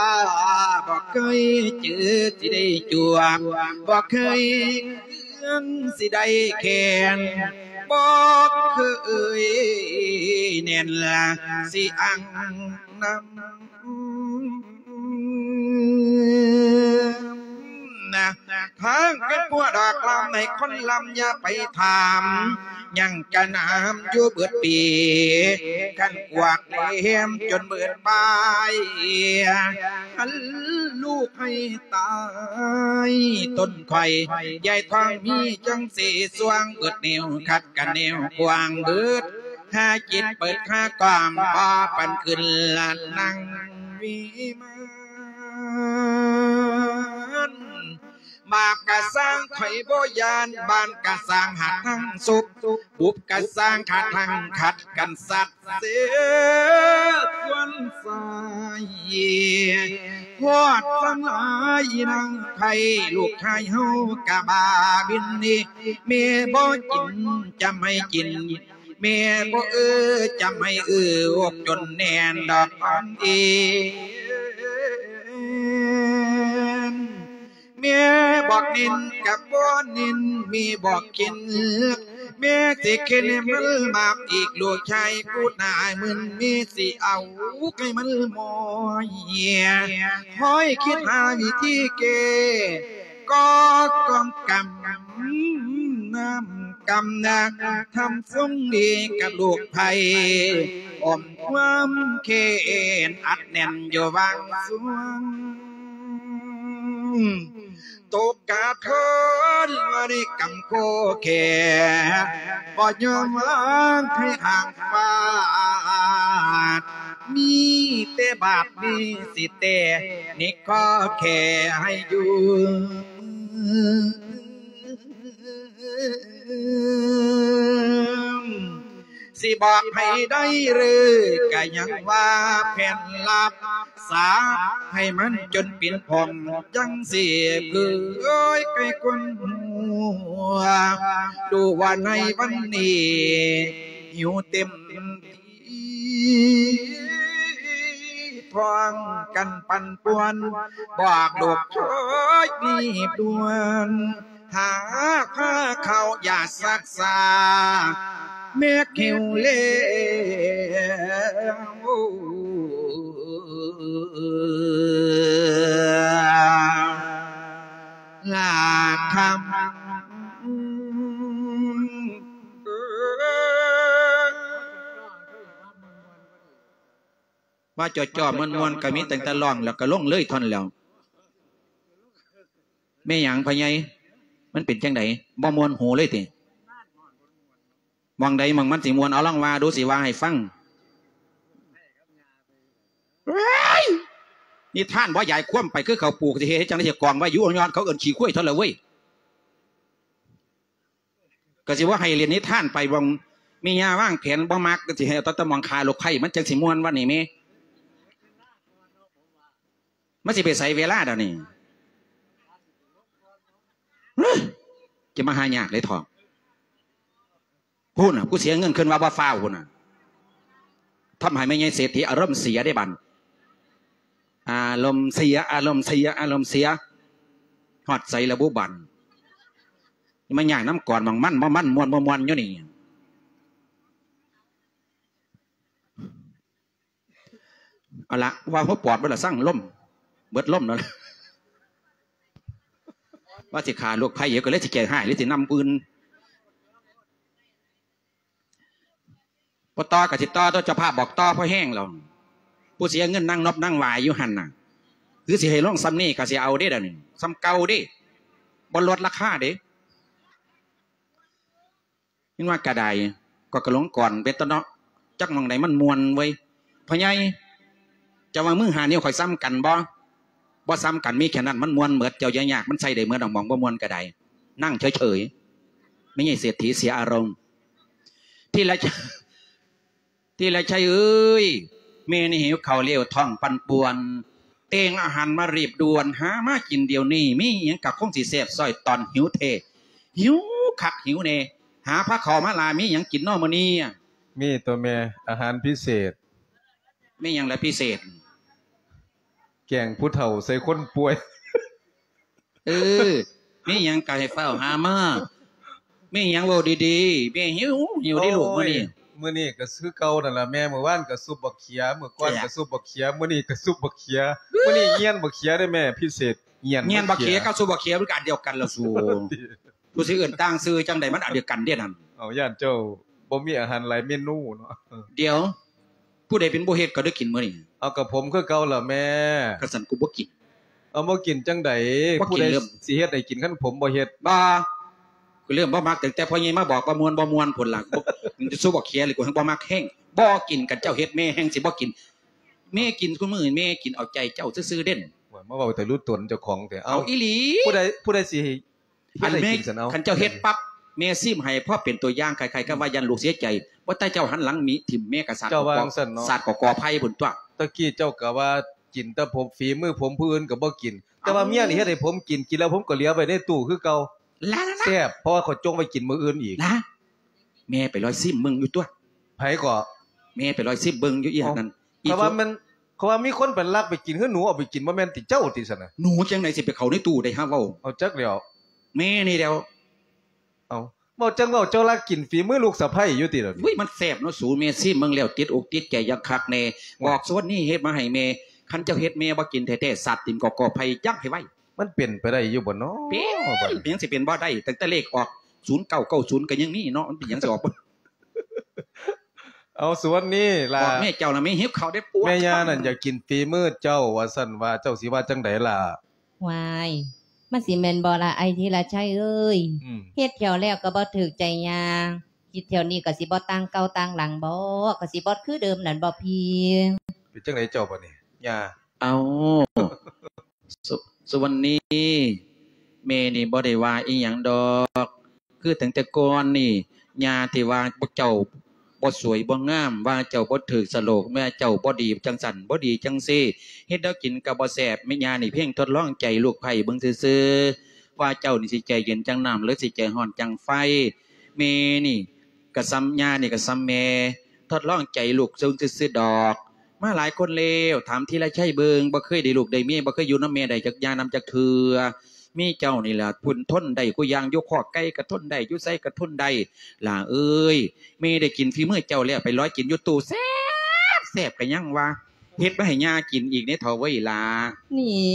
ບໍ່ເຄີຍຈື່ຊິໄດ້ຈວບ ບໍ່ເຄີຍເອື້ອນຊິໄດ້ແຂນ ບໍ່ເຄີຍແໜ້ນລະຊິອັງນຳ ນະ ທາງເປັນຜົວດອກລຳໃຫ້ຄົນລຳຢ່າໄປຖາມ ຍັງກະໜາມຢູ່ເບິດປີ ຄັນກວາດແຫຼມຈົນເບິດປາຍ ຫັນລູກໃຫ້ຕາຍຕົ້ນຂ້ອຍ ຍາຍທອງມີຈັ່ງຊິຊ່ວງເບິດແນວ ຂັດກັນແນວກວ້າງເບິດ ຫາຈິດເປີດຄາກອມ ພໍປັນຂຶ້ນລະນັ່ງວິມານ ບາບກະສ້າງຂ້ອຍບໍ່ຢ້ານ ບ້ານກະສ້າງຫາທາງສຸບ ບຸບກະສ້າງຫາທາງຂັດກັນສັດເສ ຄວນສາຍ ໂພດສັງຫຼາຍນາງໄພ ລູກຊາຍເຮົາກະບ້າບິນນີ້ ແມ່ບໍ່ກິນຈະໃຫ້ກິນ ແມ່ບໍ່ເອີຈະໃຫ້ເອີ ອົກຈົນແໜ້ນດອກຄອນເອນ ແມ່ບອກເນັ້ນກະບໍ່ເນັ້ນ ແມ່ບອກເຂັນ ແມ່ຊິເຂັນໃຫ້ມັນບາບອີກ ລູກຊາຍກູດໜ້າມຶນ ແມ່ຊິເອົາໃຫ້ມັນມອຍ ຄອຍຄິດຫາວິທີແກ້ ກໍກອງກຳ ນ້ຳກຳນາ ທຳຊົງດີກັບລູກໃຜ ອ້ອມຄວາມແຄ້ນອັດແໜ້ນຢູ່ຫວ່າງຊ່ວງ ຕົກກະທົນວ່າໄດ້ກຳໂຄແຂ ບໍ່ຍອມວາງໃຫ້ຫ່າງຟາດ ມີແຕ່ບາດນີ້ຊິແຕ່ນິກຂໍແຄ່ໃຫ້ຢູ່ ຊິບອກໃຫ້ໄດ້ເລີຍ ກະຍັງວ່າແຜນລັບ ສາບໃຫ້ມັນຈົນເປັນຜົນ ຈັ່ງຊິເຄີຍໃຫ້ຄົນຮູ້ ຮູ້ວ່າໃນວັນນີ້ ຫິວເຕັມ ທີ່ພ້ອມກັນປັ່ນປ່ວນ ບອກລູກຊ່ອຍຮີບດ່ວນ ຫາພາເຂົ້າຢາສັກສາ ແມ່ຫິວແລ້ວ ລາຄຳ. ວ່າຈ່ອໆມ່ວນໆ ກໍມີຕັ້ງແຕ່ຮ້ອງ ແລ້ວກໍລົງເລີຍທ່ອນແລ້ວ. ແມ່ນຫຍັງພໍ່ໃຫຍ່? ມັນເປັນຈັ່ງໃດ? ບໍ່ມ່ວນຫູເລີຍຕິ? ໝ່ອງໃດໝ່ອງມັນຊິມ່ວນ? ເອົາລອງວ່າດູ ຊິວ່າໃຫ້ຟັງ. ເອີຍ! ນິທານບໍ່ຢາຍຄວາມໄປ ຄືເຂົາປູກ ຊິເຮັດ ເຮັດຈັ່ງໃດ ຊິກອງໄວ້ຢູ່ຍອດ ເຂົາເອີ້ນຂີ້ຄວາຍເທົ່າລະເວີຍ. ກໍຊິບໍ່ໃຫ້ເລ່ນນິທານໄປ ບ່ອງແມ່ຍ່າວາງແຜນບໍ່ມັກ ກໍຊິໃຫ້ເອົາແຕ່ໝ່ອງຂ້າລູກໃພ້ ມັນຈັ່ງຊິມ່ວນວັນນີ້ແມ່. ມັນຊິໄປໃສເວລາດຽວນີ້? ຮະ! ຈະມາຫາຍາກເລີຍເຖາະ. ພຸ້ນນະ ຜູ້ເສຍເງິນຂຶ້ນວ່າບໍ່ຟ້າວພຸ້ນນະ. ທຳໃຫ້ແມ່ໃຫຍ່ເສດຖີອາລົມເສຍເດ້ບັດ. ອາລົມເສຍ ອາລົມເສຍ ອາລົມເສຍ. ຮອດໃສລະບຸບັດ? ມາຍາກນຳກ່ອນໝ່ອງມັນບໍ່ມັນ ມ່ວນບໍ່ມ່ວນຢູ່ນີ້. ເອົາລະ ວ່າຫົວປອດເບິດລະ ສັງລົມ ເບິດລົມແລ້ວລະ ວ່າຊິຂ້າລູກໃພ້ ກໍເລີຍຊິແກ້ງຮ້າຍ ຫຼືຊິນຳອື່ນ. ບໍ່ຕໍ່ກໍຊິຕໍ່ຕົວະ ເຈົ້າພາບບອກຕໍ່ພໍແຮງແລ້ວ. ຜູ້ເສຍເງິນນັ່ງນົບນັ່ງຫວາຍຢູ່ຫັ້ນນະ ຄືຊິໃຫ້ລົງສ່ຳນີ້ກໍຊິເອົາເດ້ດຽວນີ້ ສ່ຳເກົ່າເດ້ ບໍ່ລົດລາຄາເດ້. ເຫັນວ່າກະໄດ້ ກໍກະຫຼົງກ່ອນເປັນຕະເນາະ ຈັກໝ່ອງໃດມັນມ່ວນເວີຍ. ພໍ່ໃຫຍ່ ເຈົ້າວ່າມືຫ້ານິ້ວຂ້ອຍສ່ຳກັນບໍ່? ບໍ່ສ່ຳກັນ ມີແຄ່ນັ້ນມັນມ່ວນເໝິດ. ເຈົ້າຢ່າຍາກ ມັນໃຊ້ໄດ້ເໝິດດອກ ໝ່ອງບໍ່ມ່ວນກະໄດ້. ນັ່ງເສີຍໆ ແມ່ໃຫຍ່ເສດຖີເສຍອາລົມ. ທີລະ ທີລະໄຊເອີຍ ແມ່ນີ້ຫິວເຂົ້າແລ້ວ ທ້ອງປັ່ນປ່ວນ ແຕ່ງອາຫານມາຮີບດ່ວນ ຫາມາກິນດຽວນີ້ ມີຫຍັງກະຄົງຊິແຊບ ຊ້ອຍຕອນຫິວແທ້ ຫິວຄັກຫິວແນ່ ຫາພາເຂົ້າມາຫຼາ ມີຫຍັງກິນນໍມື້ນີ້? ມີຕົວແມ່ ອາຫານພິເສດ. ມີຫຍັງລະພິເສດ? ແກງຜູ້ເຖົ້າໃສ່ຄົນປ່ວຍ. ເອີ ມີຫຍັງກະໃຫ້ຟ້າວຫາມາ ມີຫຍັງເວົ້າດີໆ ແມ່ຫິວ ຫິວເດ້ລູກ. ໂອ້ຍ ມື້ນີ້ ມື້ນີ້ກໍຄືເກົ່ານັ້ນລະແມ່ ມື້ວານກໍຊຸບບັກເຂຍ ມື້ກ່ອນກໍຊຸບບັກເຂຍ ມື້ນີ້ກໍຊຸບບັກເຂຍ ມື້ນີ້ຍຽນບັກເຂຍເດ້ແມ່ ພິເສດ ຍຽນ ຍຽນບັກເຂຍກັບຊຸບບັກເຂຍມັນກໍອັນດຽວກັນລະສູ ຜູ້ຊິເອີ້ນຕ່າງຊື່ຈັ່ງໃດ ມັນອັນດຽວກັນເດ້ນັ້ນ. ເອົາ ຢ້ານເຈົ້າບໍ່ມີອາຫານຫຼາຍເມນູເນາະ. ດຽວ ຜູ້ໃດເປັນຜູ້ເຮັດ ກໍໄດ້ກິນມື້ນີ້? ເອົາ ກໍຜົມຄືເກົ່າລະແມ່. ຄັນຊັ້ນກູບໍ່ກິນ. ເອົາ ບໍ່ກິນຈັ່ງໃດ? ບໍ່ກິນ ຜູ້ໃດເລີ່ມ ຊິເຮັດໃຫ້ກິນ ຄັນຜົມບໍ່ເຮັດ? ບໍ່ ກູເລີ່ມບໍ່ມັກຕັ້ງແຕ່ພໍ່ໃຫຍ່ມາບອກວ່າມ່ວນບໍ່ມ່ວນພຸ້ນລະ. ບໍ່ ມັນຊິຊູບັກເຂຍນີ້ ກູແຮ່ງບໍ່ມັກແຮງ. ບໍ່ກິນ ຄັນເຈົ້າເຮັດແມ່ແຮ່ງຊິບໍ່ກິນ. ແມ່ກິນ ຄຸມື້ແມ່ກິນເອົາໃຈເຈົ້າຊື່ໆເດ້. ໂອ້ຍ ມາເວົ້າແຕ່ຮູ້ຕົນເຈົ້າຂອງແທ້. ເອົາ ເອົາອີ່ຫຼີ. ຜູ້ໃດ ຜູ້ໃດຊິ ອັນແມ່ ເຮັດໃຫ້ກິນຊັ້ນເອົາ. ຄັນເຈົ້າເຮັດປັບ ແມ່ຊີມໃຫ້ພໍເປັນຕົວຢ່າງ ຄ້າຍໆກັບວ່າຢ້ານລູກເສຍໃຈ ບໍ່ແຕ່ເຈົ້າຫັນຫຼັງມີຖິ້ມແມ່ກໍສາດ ເຈົ້າວ່າຈັ່ງຊັ້ນເນາະ ສາດກໍກໍໄພພຸ້ນຕົວະ. ຕະກີ້ເຈົ້າກໍວ່າ ກິນແຕ່ຜົມ ຝີມືຜົມຜູ້ອື່ນກໍບໍ່ກິນ ແຕ່ວ່າເມຍນີ້ເຮັດໃຫ້ຜົມກິນ ກິນແລ້ວຜົມກໍເຫຼືອໄວ້ໃນຕູ້ຄືເກົ່າ ລະ ລະ ລະ ແຊບ ເພາະວ່າຂ້ອຍຈົ່ງໄວ້ກິນມື້ອື່ນອີກ ລະ ແມ່ໄປລອຍຊິມເບິ່ງຢູ່ຕົວະ ໃຜກໍ ແມ່ໄປລອຍຊິມເບິ່ງຢູ່ອີ່ຫຍັງນັ້ນ ເພາະວ່າມັນ ເພາະວ່າມີຄົນໄປລັກໄປກິນ ຄືໜູເອົາໄປກິນ ບໍ່ແມ່ນຕິເຈົ້າຕິຊັ້ນນະ ໜູຈັ່ງໃດຊິໄປເຂົ້າໃນຕູ້ໄດ້ຫາເວົ້າ ເອົາ ຈັກແລ້ວ ແມ່ນີ້ແຫຼ້ວ ເອົາ ເວົ້າຈັ່ງເວົ້າ ເຈົ້າລັກກິນຝີມືລູກສະໃພ້ຢູ່ຕິດຽວນີ້ ອຸ້ຍ ມັນແຊບເນາະສູ ແມ່ຊີມເບິ່ງແລ້ວຕິດອົກຕິດໃຈຢ່າງຄັກແນ່ ບອກສ່ວນນີ້ເຮັດມາໃຫ້ແມ່ ຄັນເຈົ້າເຮັດແມ່ບໍ່ກິນແທ້ໆ ສາດຖິ້ມກອກໆ ໃຜຍັງໃຫ້ໄວ້ ມັນເປັນໄປໄດ້ຢູ່ບໍ່ເນາະ ເປັນ ເປັນຫຍັງຊິເປັນບໍ່ໄດ້ ຕັ້ງແຕ່ເລກອອກ ສູນເກົ້າເກົ້າສູນ ກໍຍັງມີເນາະ ມັນເປັນຫຍັງຊິອອກບໍ່ ເອົາ ສ່ວນນີ້ລະ ບອກແມ່ເຈົ້ານະ ແມ່ຫິວເຂົ້າເດ້ ປວດ ແມ່ຍ່ານັ້ນຢາກກິນຝີມືເຈົ້າວ່າຊັ້ນວ່າ ເຈົ້າຊິວ່າຈັ່ງໃດລະ ຫວາຍ ມັນຊິແມ່ນບໍ່ລະ ອ້າຍທີລະໄຊເອີຍ? ອືມ ເຮັດແຖວແລ້ວກໍບໍ່ຖືກໃຈຍ່າ ຄິດແຖວນີ້ກໍຊິບໍ່ຕ່າງເກົ່າຕ່າງຫຼັງບໍ? ກໍຊິບໍ່ຄືເດີມນັ້ນບໍພີ່? ເປັນຈັ່ງໃດເຈົ້າບາດນີ້ ຍ່າ? ເອົາ ສຸ ສຸວັນນີ ແມ່ນີ້ບໍ່ໄດ້ວ່າອີ່ຫຍັງດອກ. ຄືຕັ້ງແຕ່ກ່ອນນີ້ ຍ່າທີ່ວ່າພວກເຈົ້າບໍ່ສວຍບໍ່ງາມ, ວ່າເຈົ້າບໍ່ຖືກສະໂຫຼກ, ວ່າເຈົ້າບໍ່ດີຈັ່ງຊັ້ນ ບໍ່ດີຈັ່ງຊີ້, ເຮັດແນວກິນກໍບໍ່ແຊບ, ແມ່ຍ່ານີ້ພຽງທົດລອງໃຈລູກໃພ້ເບິ່ງຊື່ໆ ວ່າເຈົ້ານີ້ຊິໃຈເຢັນຈັ່ງນ້ຳ ຫຼືຊິໃຈຮ້ອນຈັ່ງໄຟ. ແມ່ນີ້ກໍສ່ຳ ຍ່ານີ້ກໍສ່ຳແມ່ ທົດລອງໃຈລູກເບິ່ງຊື່ໆດອກ. ມາຫຼາຍຄົນແລ້ວ, ຖາມທີລະໄຊເບິ່ງ, ບໍ່ເຄີຍໄດ້ລູກໄດ້ເມຍ, ບໍ່ເຄີຍຢູ່ນຳແມ່ໄດ້ຈັກຢ່ານຳຈັກເທື່ອ. ມີເຈົ້ານີ້ລະ ເພິ່ນທົນໄດ້ ຄູ່ຢ່າງ ຢູ່ຄອກໄກ່ກໍທົນໄດ້ ຢູ່ໃສກໍທົນໄດ້. ຫຼ້າເອີຍ ແມ່ໄດ້ກິນຝີມືເຈົ້າແລ້ວ ໄປລອຍກິນຢູ່ຕູ້ແຊບໆ ກໍຍັງວ່າ ເຮັດມາໃຫ້ຍ່າກິນອີກເດ້ເຖົ້າເວີຍຫຼ້າ. ນີ້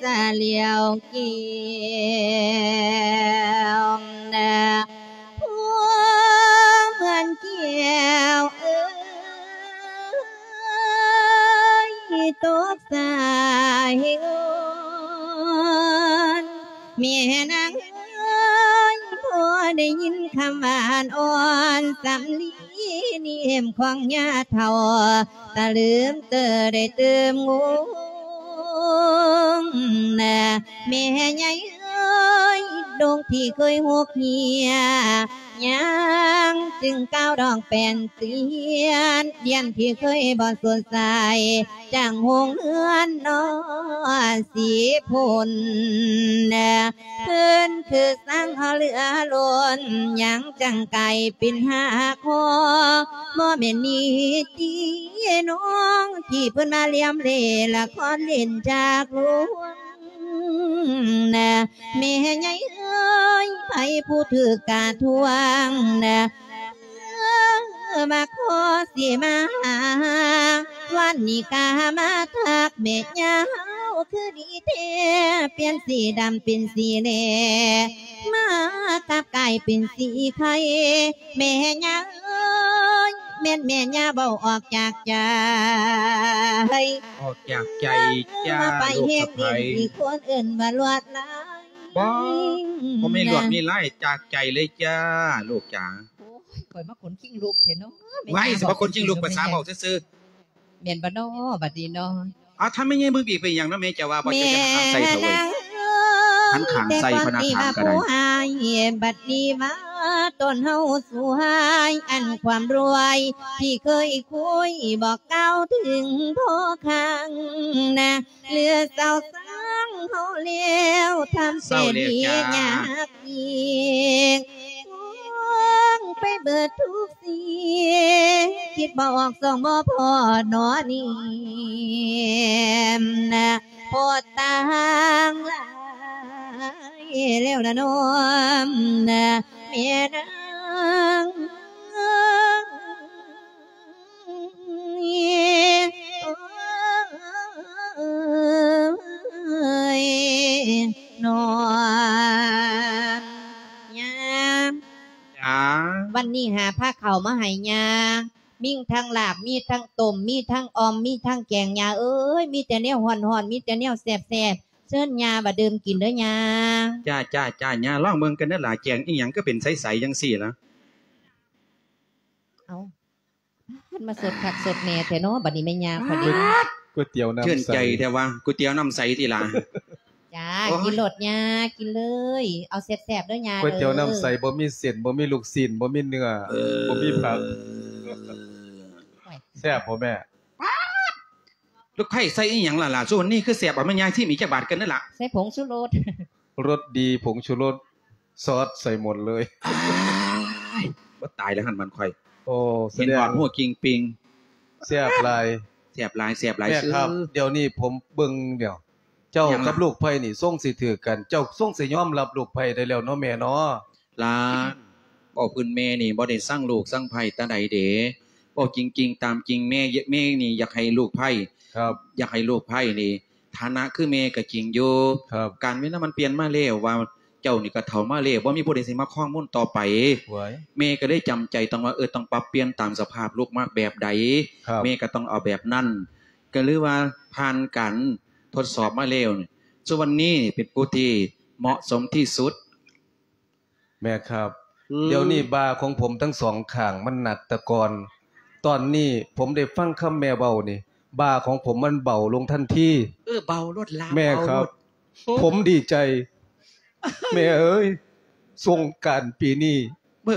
ສະຫຼຽວແກ້ວນະ ຜູ້ເມືອນແກ້ວເອີຍ ຕົກສາຍອ່ອນ ແມ່ນາງເອີຍ ພໍໄດ້ຍິນຄຳຫວານອ່ອນ ສຳລີນິ້ມຂອງຍ່າເຖົ້າ ຕະລຶມເຕີໄດ້ຕື່ມງົງນະ ແມ່ໃຫຍ່ເອີຍ ດົງທີ່ເຄີຍຫົກເຫ່ຍ ຍ່າງຈຶ່ງກ້າວດອງແປ່ນຕຽນ ດຽນທີ່ເຄີຍບໍ່ສົດໃສ ຈາກໂຮງເຮືອນນອນສີພຸ້ນນະ ເພິ່ນຄືສ້າງເຮົາເຫຼືອລົ້ນ ຍັງຈັ່ງກາຍເປັນຮາກຫໍ ບໍ່ແມ່ນນີ້ຕິນ້ອງ ທີ່ເພິ່ນມາລຽມເລ່ລະຄອນຫຼິ້ນຈາກລຸງນະ ແມ່ໃຫຍ່ເອີຍ ໃຜຜູ້ຖືກກະທວງນະ ເອີ ມາຂໍຊິມາຫາ ວັນນີ້ກະມາທັກແມ່ຍ່າເຮົາ ຄືດີແທ້ ປ່ຽນສີດຳເປັນສີແຫຼ ມາກັບກາຍເປັນສີໄຂ່ ແມ່ຍ່າເອີຍ ແມ່ນແມ່ຍ່າເວົ້າອອກຈາກໃຈ ອອກຈາກໃຈຈ້າ ມາໄປເຮັດຫຼິ້ນ ລູກສະໃພ້ ທີ່ຄົນເອີ້ນວ່າລວດລາຍ ບໍ່ ບໍ່ແມ່ນລວດມີລາຍ ຈາກໃຈເລີຍຈ້າ ລູກຈ໋າ. ໂອ້ຍ ຂ້ອຍມາຂົນຄີງລຸກແທ້ເນາະ ໄວ້ ຊິມາຂົນຄີງລຸກ ພາສາເວົ້າຊື່ໆ ແມ່ນບໍ່ນໍ ບັດນີ້ນໍ. ອ້າວ ຖ້າແມ່ໃຫຍ່ເບິ່ງອີກເປັນຫຍັງເນາະ ແມ່ເຈົ້າວ່າບໍ່ ເຈົ້າຈະຫັນຂ້າງໃສ່ເຂົາເວີຍ ຫັນຂ້າງໃສ່ ພະນະຖາມກໍໄດ້ ບັດນີ້ວ່າຕົນເຮົາສວຍ ອັນຄວາມລວຍທີ່ເຄີຍຄຸຍ ບໍ່ກ່າວເຖິງພໍຄັ້ງນະ ເຫຼືອເສົ້າຊາງເຮົາແລ້ວ ທຳແຕ່ດີຍາກອີກ ຄວງໄປເບີດທຸກສິ່ງ ຄິດບໍ່ອອກຊ່ອງບໍ່ພໍ້ໜໍນີ້ນະ ໂພດຕ່າງຫຼາຍແລ້ວລະນ້ອມນະ ແມ່ນາງ. ເອີຍ ນ້ອງ ຍ່າ ຈ້າ ວັນນີ້ຫາພາເຂົ້າມາໃຫ້ຍ່າ ມີທັງລາບ ມີທັງຕົ້ມ ມີທັງອ່ອມ ມີທັງແກງ ຍ່າເອີຍ ມີແຕ່ແນວຮ້ອນໆ ມີແຕ່ແນວແຊບໆ ເຊີນຍ່າວ່າດື່ມກິນເດີຍ່າ. ຈ້າ ຈ້າ ຈ້າ ຍ່າລອງເບິ່ງກັນເດີຫຼ້າ ແກງອີ່ຫຍັງຄືເປັນໃສໆ ຈັ່ງຊີ້ລະ. ເອົາ ມັນມາສົດຄັກສົດແນ່ແທ້ເນາະ ບັດນີ້ແມ່ຍ່າຂ້ອຍເດ້ ກ໋ວຍຕຽວນ້ຳໃສ ຊື່ນໃຈແທ້ວ່າ ກ໋ວຍຕຽວນ້ຳໃສຕິຫຼ້າ. ຈ້າ ໂອ້ຍ ກິນໂລດຍ່າ ກິນເລີຍ ເອົາແຊບໆເດີຍ່າ ກ໋ວຍຕຽວນ້ຳໃສ ເອີ ບໍ່ມີເສັ້ນ ບໍ່ມີລູກຊີ້ນ ບໍ່ມີເນື້ອ ເອີ ບໍ່ມີຜັກ ໂອ້ຍ ແຊບບໍ່ແມ່? ລູກໃພ້ໃສ່ອີ່ຫຍັງລະລະ? ຊຸມື້ນີ້ຄືແຊບ ເອົາມາຍາຍຊີມອີກຈັກບາດກັນເດີລະ. ໃສ່ຜົງຊູລົດ ລົດດີ ຜົງຊູລົດ ຊອດໃສ່ໝົດເລີຍ. ອ້າຍ ບໍ່ຕາຍແລ້ວຫັ້ນມັນຂ້ອຍ. ໂອ້ ເຫັນຮອດຫົວກິ່ງປິງ ແຊບຫຼາຍ ແຊບຫຼາຍ ແຊບຫຼາຍ. ແມ່ຄັບ ດຽວນີ້ຜົມເບິ່ງດຽວ ເຈົ້າກັບລູກໃພ້ນີ້ຊົງຊິຖືກກັນ ເຈົ້າຊົງຊິຍອມຮັບລູກໃພ້ໄດ້ແລ້ວເນາະແມ່ເນາະ. ຫຼານ ເວົ້າພື້ນແມ່ນີ້ບໍ່ໄດ້ຊັງລູກຊັງໃພ້ຕາໃດເດ. ເວົ້າຈິງໆຕາມຈິງ ແມ່ ແມ່ນີ້ຢາກໃຫ້ລູກໃພ້ ຄັບ ຢາກໃຫ້ລູກໃພ້ນີ້ ຖານະຄືແມ່ກໍຈິງຢູ່ ຄັບ ການເວລາມັນປ່ຽນມາແລ້ວ ວ່າເຈົ້ານີ້ກໍເຖົ້າມາແລ້ວ ບໍ່ມີຜູ້ໃດຊິມາຄອງມົນຕໍ່ໄປ. ໂອ້ຍ ແມ່ກໍເລີຍຈຳໃຈຕ້ອງວ່າ ເອີ ຕ້ອງປັບປ່ຽນຕາມສະພາບລູກມັກແບບໃດ ຄັບ ແມ່ກໍຕ້ອງເອົາແບບນັ້ນ. ກໍເລີຍວ່າຜ່ານການທົດສອບມາແລ້ວ ສຸວັນນີເປັນຜູ້ທີ່ເໝາະສົມທີ່ສຸດ. ແມ່ຄັບ ອືມ ດຽວນີ້ບ່າຂອງຜົມທັງສອງຂ້າງມັນໜັກແຕ່ກ່ອນ ຕອນນີ້ຜົມໄດ້ຟັງຄຳແມ່ເວົ້ານີ້ ບ່າຂອງຜົມມັນເບົາລົງທັນທີ. ເອີ ເບົາໂລດລະ ແມ່ຄັບ ເບົາໂລດ. ໂອ້ ຜົມດີໃຈ ແມ່ເອີຍ ສົງການປີນີ້ ເອີ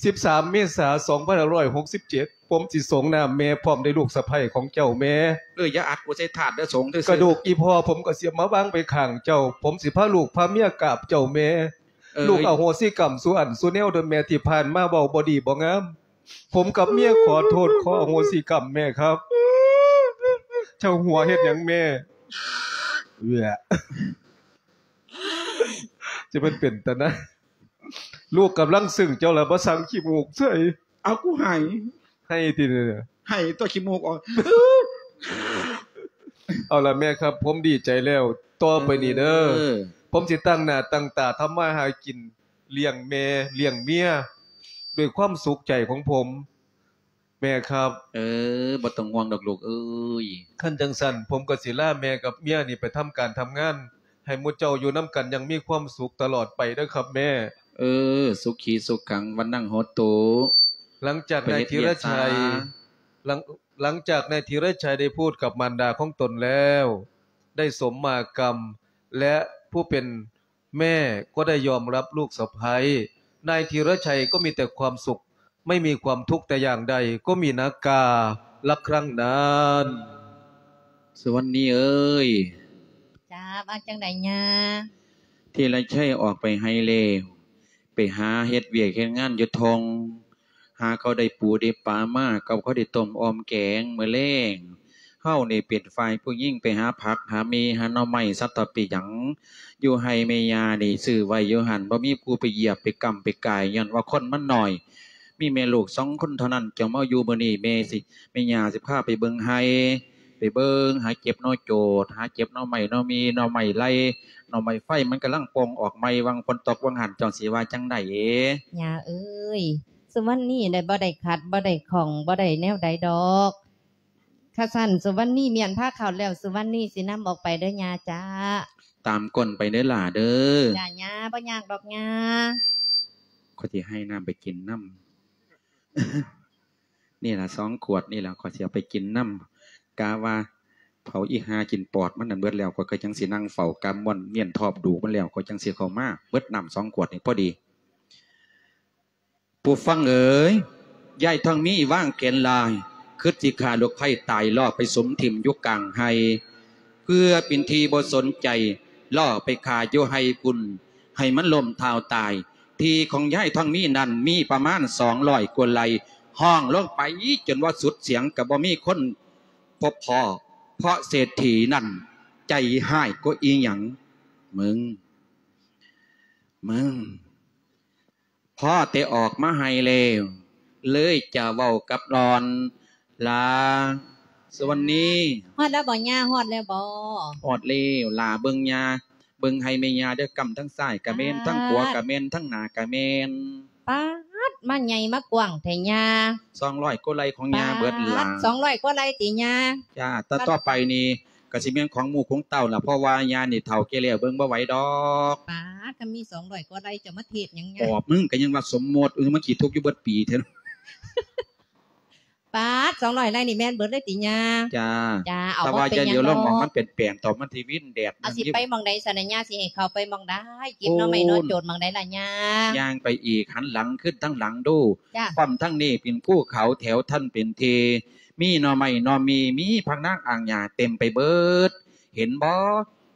ສິບສາມ ເມສາ ສອງພັນຫ້າຮ້ອຍຫົກສິບເຈັດ ຜົມຊິສົງນ້ຳແມ່ ພ້ອມດ້ວຍລູກສະໃພ້ຂອງເຈົ້າແມ່. ເອີ ຢ່າອັດກູໃສ່ຖາດເດີ ສົງຊື່ໆ. ກະດູກອີ່ພໍ່ຜົມກໍຊິເອົາມາວາງໄວ້ຂ້າງເຈົ້າ ຜົມຊິພາລູກພາເມຍກາບເຈົ້າແມ່. ເອີຍ ລູກອະໂຫສິກຳສູ່ອັນສູ່ແນວເດີແມ່ ທີ່ຜ່ານມາເວົ້າບໍ່ດີບໍ່ງາມ ຜົມກັບເມຍຂໍໂທດ ຂໍອະໂຫສິກຳແມ່ຄັບ. ເຈົ້າຫົວເຮັດຫຍັງແມ່? ເອື້ອ ຈະແມ່ນເປັນຕາໜ້າ ລູກກຳລັງຊຶ້ງເຈົ້າລະມາສັ່ງຂີ້ມູກໃສ່. ເອົາ ກູໄຫ້ ໄຫ້ຕິ ໄຫ້ຕົວະ ຂີ້ມູກອອກ. ເອົາລະແມ່ຄັບ ຜົມດີໃຈແລ້ວ ຕໍ່ໄປນີ້ເດີ ເອີ ຜົມຊິຕັ້ງໜ້າຕັ້ງຕາທຳມາຫາກິນ ລ້ຽງແມ່ລ້ຽງເມຍ ດ້ວຍຄວາມສຸກໃຈຂອງຜົມ ແມ່ຄັບ. ເອີ ບໍ່ຕ້ອງຫ່ວງດອກລູກເອີຍ. ຄັນຈັ່ງຊັ້ນ ຜົມກໍຊິລາແມ່ກັບເມຍນີ້ໄປທຳການທຳງານ ໃຫ້ໝູ່ເຈົ້າຢູ່ນຳກັນຢ່າງມີຄວາມສຸກຕະຫຼອດໄປເດີຄັບແມ່. ເອີ ສຸຂີສຸຂັງ ວັນນັງໂຫຕຸ. ຫຼັງຈາກນາຍທີລະໄຊ ໄປເຮັດວຽກຊາ ຫຼັງ ຫຼັງຈາກນາຍທີລະໄຊໄດ້ພູດກັບມານດາຂອງຕົນແລ້ວ ໄດ້ສົມມາກຳ ແລະ ຜູ້ເປັນ ແມ່ກໍໄດ້ຍອມຮັບລູກສະໃພ້. ນາຍທີລະໄຊກໍມີແຕ່ຄວາມສຸກ ໄມ່ມີຄວາມທຸກແຕ່ຢ່າງໃດ ກໍມີນາກາລະຄັ້ງນັ້ນ. ສຸວັນນີເອີຍ. ຈ້າ ວ່າຈັ່ງໃດຍ່າ? ທີລະໄຊອອກໄປໄຮ່ແລ້ວ ໄປຫາເຮັດວຽກເຮັດງານຢູ່ທົ່ງ ຫາເຂົາໄດ້ປູໄດ້ປາມາ ກັບເຂົາໄດ້ຕົ້ມອ່ອມແກງມື້ແລງ. ເຮົານີ້ເປັນຝ່າຍຜູ້ຍິງໄປຫາຜັກຫາໝີ່ຫາໜໍ່ໄມ້ສັດຕະປີຫຍັງ ຢູ່ໄຮ່ແມ່ຍ່ານີ້ຊື້ໄວ້ຢູ່ຫັ້ນ ບໍ່ມີຜູ້ໄປຢຽບໄປກຳໄປກາຍ ຍ້ອນວ່າຄົນມັນໜ້ອຍ ມີແມ່ລູກສອງຄົນເທົ່ານັ້ນ. ເຈົ້າມາຢູ່ມື້ນີ້ ແມ່ຊິ ແມ່ຍ່າຊິພາໄປເບິ່ງໄຮ່ ໄປເບິ່ງ ຫາເກັບໜໍ່ໂຈດ ຫາເກັບໜໍ່ໄມ້ໜໍ່ໝີ່ ໜໍ່ໄມ້ໄລ່ ໜໍ່ໄມ້ໄຟ ມັນກຳລັງປ່ອງອອກໃໝ່ ຫວ່າງຝົນຕົກຫວ່າງຫັ້ນ ເຈົ້າຊິວ່າຈັ່ງໃດ? ຍ່າເອີຍ ສຸວັນນີໄດ້ ບໍ່ໄດ້ຂັດ ບໍ່ໄດ້ຂ້ອງ ບໍ່ໄດ້ແນວໃດດອກ. ຄັນຊັ້ນ ສຸວັນນີມ້ຽນພາເຂົ້າແລ້ວ ສຸວັນນີຊິນຳອອກໄປເດີຍ່າຈ້າ. ຕາມກົ້ນໄປເດີຫຼ້າເດີ. ຈ້າຍ່າ ບໍ່ຍາກດອກຍ່າ. ຂ້ອຍຊິໃຫ້ນ້ຳໄປກິນນຳ. ນີ້ລະ ສອງຂວດນີ້ລະ ຂ້ອຍຊິເອົາໄປກິນນຳ. ກະວ່າເຜົາອີ່ຫ່າກິນປອດມັນນັ້ນເບິດແລ້ວ ຂ້ອຍກໍຈັ່ງຊິນັ່ງເຝົ້າກຳມ່ວນ ມ້ຽນທອບດູມັນແລ້ວ ຂ້ອຍຈັ່ງຊິເຂົ້າມາ. ເບິດນ້ຳສອງຂວດນີ້ພໍດີ. ຜູ້ຟັງເອີຍ, ຍາຍທອງມີວາງແຜນຮ້າຍ, ຄິດຊິຂ້າລູກໃພ້ຕາຍ ເລາະໄປສຸມຖິ້ມຢູ່ກາງໄຮ່ ເພື່ອເປັນທີ່ບໍ່ສົນໃຈ, ເລາະໄປຂ້າຢູ່ໄຮ່ພຸ້ນ ໃຫ້ມັນລົ້ມເທົ້າຕາຍ. ທີ່ຂອງຍາຍທອງມີນັ້ນມີປະມານສອງຮ້ອຍກວ່າໄຮ່, ຮ້ອງລົງໄປຈົນວ່າສຸດສຽງກໍບໍ່ມີຄົນພົບພໍ້, ເພາະເສດຖີນັ້ນໃຈຮ້າຍກວ່າອີ່ຫຍັງ. ມຶງ, ມຶງ. ພໍແຕ່ອອກມາໄຮ່ແລ້ວ ເລີຍຈະເວົ້າກັບຫຼອນ. ຫຼາ ສຸວັນນີ. ຮອດແລ້ວບໍ່ຍ່າ? ຮອດແລ້ວບໍ່? ຮອດແລ້ວ. ຫຼາເບິ່ງຍ່າ, ເບິ່ງໄຮ່ແມ່ຍ່າເດີ, ກ້ຳທາງຊ້າຍກະແມ່ນ, ປາດ ທາງຂວາກະແມ່ນ, ທາງໜ້າກະແມ່ນ. ປາດ ມາໃຫຍ່ມາກວ້າງແທ້ຍ່າ. ສອງຮ້ອຍກວ່າໄຮ່ຂອງຍ່າເບິດຫຼາ. ປາດ ສອງຮ້ອຍກວ່າໄຮ່ຕິຍ່າ? ຈ້າ, ຕໍ່ ຕໍ່ໄປນີ້ ກະຊິແມ່ນຂອງໝູ່ຂອງເຕົ້າລະ ເພາະວ່າຍ່ານີ້ເຖົ້າແກ່ແລ້ວ ເບິ່ງບໍ່ໄຫວດອກ. ປາດ ຄັນມີສອງຮ້ອຍກວ່າໄຮ່ ເຈົ້າມາເທດຫຍັງຍ່າ? ອອກ ມຶງກະຍັງວ່າສົມມຸດ, ເອີ ມາຂີ້ທຸກຢູ່ເບິດປີແທ້. ປາດ ສອງຮ້ອຍໄຮ່ນີ້ແມ່ນເບິດເລີຍຕິຍ່າ? ຈ້າ ຈ້າ ເອົາ ແຕ່ວ່າຢ່າຫຼຽວລົງໝ່ອງມັນເປັນແປງ ຕໍ່ມັນຊິວິນແດດ ເອົາ ມັນ ຊິໄປໝ່ອງໃດຊັ້ນນະຍ່າ? ຊິໃຫ້ເຂົາໄປໝ່ອງໃດ? ເກັບໜໍ່ໄມ້ໜໍ່ໂຈນໝ່ອງໃດລະຍ່າ? ຍ່າງໄປອີກ ຫັນຫຼັງຄືນທາງຫຼັງດູ. ປ້ອມທາງນີ້ເປັນພູເຂົາ ແຖວທັນເປັນທີ່ ມີໜໍ່ໄມ້ໜໍ່ມີ ມີຜັກນາງອ່າງຫຍ້າເຕັມໄປເບິດ ເຫັນບໍ່?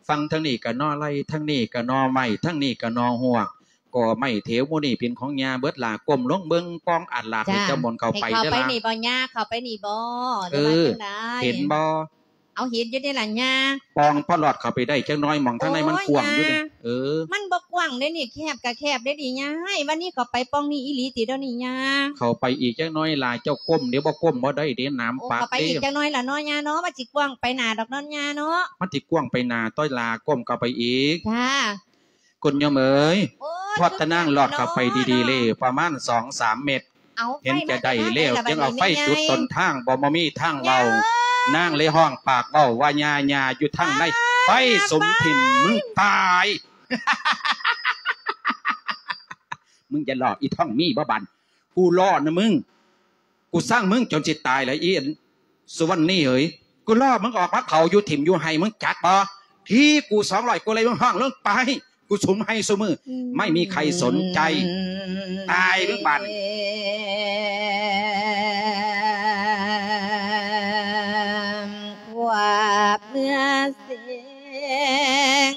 ຝັ່ງທາງນີ້ກະໜໍ່ໄລ່ ທາງນີ້ກະໜໍ່ໄມ້ ທາງນີ້ກະໜໍ່ຮວກ ກໍໄມ້ແຖວໝູ່ນີ້ເປັນຂອງຍ່າເບິດລະ. ກົ້ມລົງເບິ່ງປ່ອງອາດລາດ ໃຫ້ເຈົ້າໝົນເຂົ້າໄປເດີລະ. ໃຫ້ເຂົ້າໄປນີ້ບໍ່ຍ່າ? ເຂົ້າໄປນີ້ບໍ່ ຫຼືວ່າຈັ່ງໃດ? ເອີ ເຫັນບໍ່? ເອົາ ເຫັນຢູ່ເດລະຍ່າ. ປ່ອງພໍລອດເຂົ້າໄປໄດ້ຈັກໜ້ອຍ ໝ່ອງທາງໃນມັນກວ້າງຢູ່ເດ. ໂອ້ຍ ເອີ ມັນບໍ່ກວ້າງເດນີ້ ແຄບກະແຄບເດນີ້ຍ່າ. ວັນນີ້ເຂົ້າໄປປ່ອງນີ້ອີ່ຫຼີຕິດຽວນີ້ຍ່າ? ເຂົ້າໄປອີກຈັກໜ້ອຍລະ ເຈົ້າກົ້ມເດ ບໍ່ກົ້ມບໍ່ໄດ້ເດ ໜາມປາກເດ. ໂອ້ ເຂົ້າໄປອີກຈັກໜ້ອຍລະເນາະຍ່າເນາະ ມັນຊິກວ້າງໄປໜ້າດອກເນາະຍ່າເນາະ. ມັນຊິກວ້າງໄປໜ້າຕົວະລະ ກົ້ມເຂົ້າໄປອີກ. ຈ້າ ຄຸນໂຍມເອີຍ ໂອ້ຍ ພວກຕານາງລອດເຂົ້າໄປດີໆເລີຍ ປະມານສອງສາມເມັດ ເຫັນຈະໄດ້ແລ້ວ ຈຶ່ງເອົາໄຟຈຸດຕົ້ນທາງ ບໍ່ ບໍ່ມີທາງເວົ້າ. ນາງເລີຍຮ້ອງປາກເວົ້າວ່າ ຍ່າ ຍ່າຢູ່ທາງໃນ ໄຟສຸມຖິ້ມ ມຶງຕາຍ. ມຶງຢ່າຫຼອກ ອີ່ທ້ອງມີບໍ່ບາດ ກູລໍນະມຶງ ກູຊັງມຶງຈົນຊິຕາຍລະ ອີ່ອັນສຸວັນນີເອີຍ. ກູລໍມຶງອອກມາເຜົາຢູ່ຖິ້ມຢູ່ໄຮ່ ມຶງຈັກບໍ່? ທີ່ກູສອງຮ້ອຍ ກູໄລ່ມຶງຮ້ອງລົງໄປ ກູສຸມໄຫ້ຊຸມື້ ໄມ່ມີໃຄສົນໃຈ ຕາຍເບິ່ງບາດນີ້. ຄວາບເມື່ອເສງ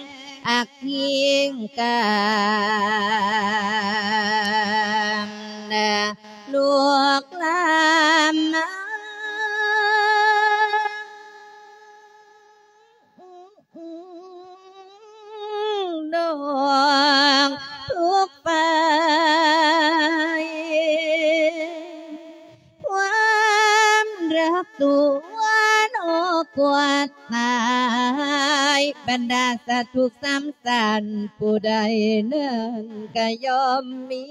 ອັກພິງການ ລຸກລາມມາ ນ້ອງທຸກໄຟ ຄວາມຮັກຕົວນ້ອງກວາດຕາຍ ບັນດາສັດທຸກສາມສັນ ຜູ້ໃດນັ້ນກະຍ່ອມມີ.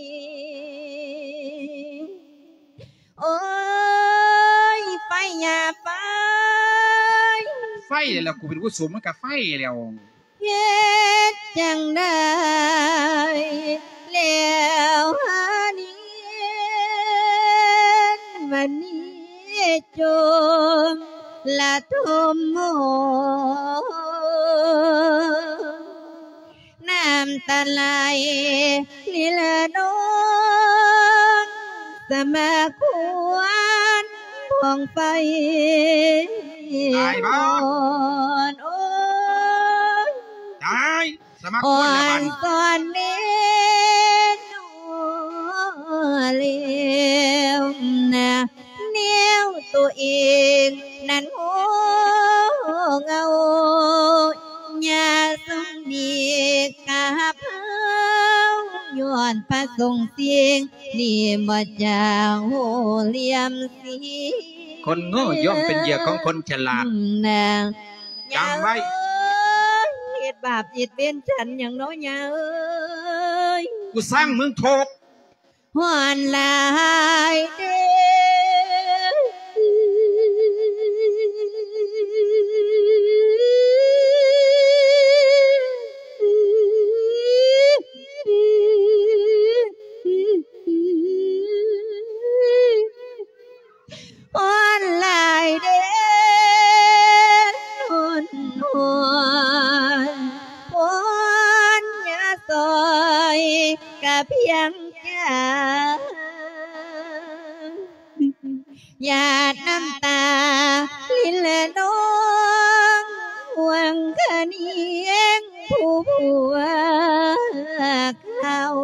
ໂອ້ຍ ໄຟ ຢ່າໄຟ ໄຟແລ້ວ ກູເປັນຜູ້ສຸມມັນກະໄຟແລ້ວ. ເຮັດຈັ່ງໃດແລ້ວຫານີ້ ວັນນີ້ຈົມລະທົມໂມ ນ້ຳຕາໄຫຼລິລະນອງ ສະມາຄວນພອງໄຟ ຕາຍບໍ່? ໂອ້ຍ ຕາຍ ສະມາຄວນລະບັດ ອ່ອນຊອນເນໂນເລວນະ ແນວໂຕເອງນັ້ນໂຫເຫງົາ ຢ່າຊົງດີກັບເຮົາ ຍ້ອນພະສົງສິງນີ້ບໍ່ຈາໂຫລ່ຽມສີ ຄົນໂງ່ຍ່ອມເປັນເຫຍື່ອຂອງຄົນສະຫຼາດ ນາງ ຈຳໄວ້ ເອີຍ ເຮັດບາບເຮັດເວນສັນຫຍັງເນາະຍ່າເອີຍ ກູສ້າງມຶງໂທດ ຮ້ອນຫຼາຍເດ້. ຮ້ອນຫຼາຍເດ້ ຮ້ອນ ຮ້ອນ ຮ້ອນ ຢ່າຊ່ອຍກະພຽງຈາ ຫຍາດນ້ຳຕາລິນລະນອງ ຫວັງຄະນຽງຜູ້ພວກເຮົາ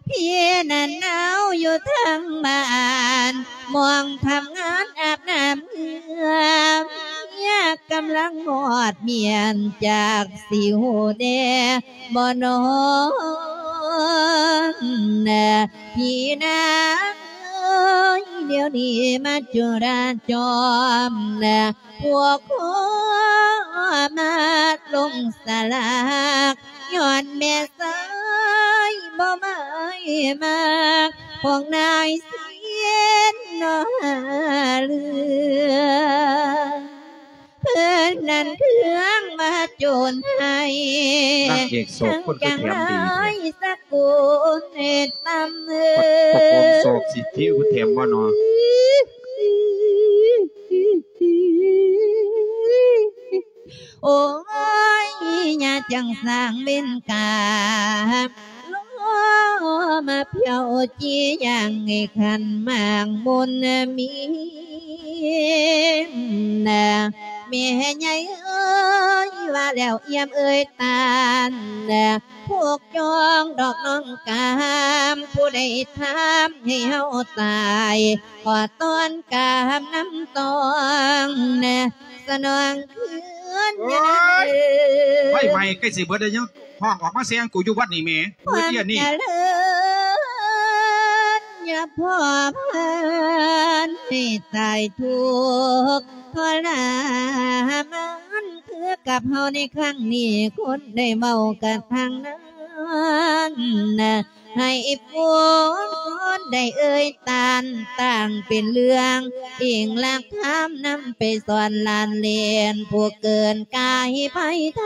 ພີ່ນັ້ນເອົາຢູ່ທາງບ້ານ ໝ່ອງທຳງານອາບນ້ຳເຫື່ອ ຍາກກຳລັງຮອດມ້ຽນ ຈັກຊິຮູ້ແດ່ບໍ່ນ້ອງນະ ພີ່ນາງເອີຍ ດຽວນີ້ມາຈຸລາຈອມນະ ພວກຂໍມາລົງສະຫຼາກ ຍ້ອນແມ່ຊາຍບໍ່ໝາຍມັກ ພວກນາຍເຊນໜໍ່ຫາເຫຼືອ ເພິ່ນນັ້ນເຄືອງມາໂຈນໃຫ້ ນາງເອກໂສດຄົນຄືແຖມດີແທ້ ທັງຈັ່ງຮ້າຍສັກ ກຸນເຮັດນຳເອີຍ ປະໂຄມໂສກສິທິແຖມບໍ່ນໍ ໂອ້ຍ ຢ່າຈັ່ງສ້າງເວນກາມ ລໍມາພຽວຈີ່ຢ່າງໃຫ້ຄັນໝາກມຸນມີນະ ແມ່ໃຫຍ່ເອີຍ ວ່າແລ້ວອຽມເອີຍຕານນະ ຜູກຈ່ອງດອກນ້ອງກາມ ຜູ້ໃດທຳໃຫ້ເຮົາຕາຍ ຂໍຕ້ອນກາມນຳຕ້ອງນະ ສະໜອງຄືນ ໂອ້ຍ ໄຟໄໝ້ໃກ້ຊິເບິດແລ້ວ ຍັງຮ້ອງອອກມາແຊງກູຢູ່ວັດນີ້ແໝ ຄວາມຈະເລີນ ຢ່າພໍພານໃຫ້ຕາຍທຸກທໍລະມານ ຄືກັບເຮົາໃນຄັ້ງນີ້ ຄົນໄດ້ເວົ້າກັນທາງນັ້ນນະ ໃຫ້ຝູງຊົນໄດ້ເອີ່ຍຕ້ານ ຕ່າງເປັນເລື່ອງອີງຫຼັກທຳນຳໄປສອນຫຼານເລນ ຜູ້ເກີນກາຍໄພໄທ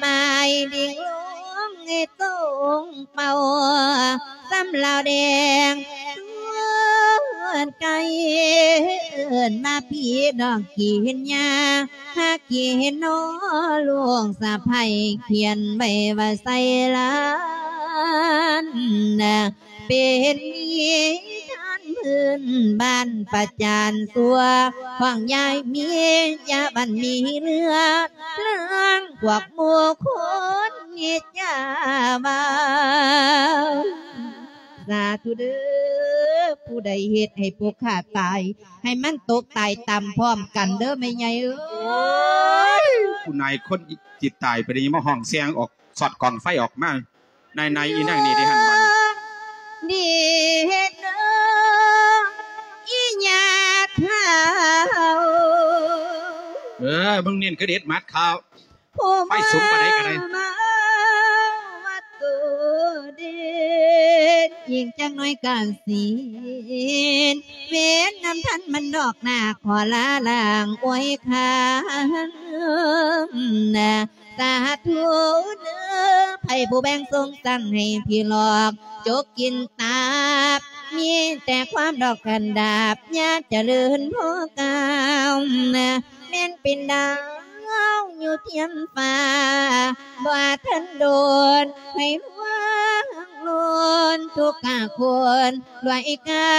ໝາຍດິງລົງໃຫ້ຕົງເປົ້າ ສຳລາວແດງ ຊວນໄກ່ເອີ້ນມາພີ່ນ້ອງກີນຫຍ້າ ຫາກກີນນໍລູກສະໃພ້ ຂຽນໄວ້ວ່າໃສ່ລານນະ ເປັນນິທານພື້ນບ້ານປະຈານຊົ່ວ ຂອງຍາຍມີ ຢ່າບັນມີເຫຼືອ ເລື່ອງພວກໝູ່ຄົນນິດຈາເວົ້າ ສາທຸເດີ້ ຜູ້ໃດເຮັດໃຫ້ພວກຂ້າຕາຍ ໃຫ້ມັນຕົກຕາຍຕາມພ້ອມກັນເດີ້ແມ່ໃຫຍ່ເອີຍ ຜູ້ນາຍຄົນຊິຕາຍໄປໄດ້ ຍັງມາຮ້ອງແຊງອອກ ສອດກອງໄຟອອກມາ ນາຍໆ ອີນາງນີ້ໄດ້ຫັ້ນບັດນີ້ ດີເຮັດເດີ ອີຍາເຖົ້າ ເອີ ມຶງເນັ້ນຄືເດັດໝາດຂາວ ຜູ້ໄຟສູງປານໃດກໍໄດ້ ມາວ່າໂຕເດັ່ນ ອີກຈັກໜ້ອຍກະສິ້ນ ເວນນຳທັນມັນດອກໜ້າ ຂໍລາລ້າງອວຍຄານນະ ສາທຸເດີ້ ໃຜຜູ້ແບ່ງຊົງສັ່ງໃຫ້ຜີຫຼອກ ຈົກກິນຕັບ ມີແຕ່ຄວາມດອກກັນດາບ ຢ່າຈະເລີນພໍກ້າວນະ ແມ່ນເປັນດາວຢູ່ທຽມຟ້າ ບໍ່ທັນໂດນໃຜວາງໂລນ ທຸກກະຄົນດ້ວຍກາ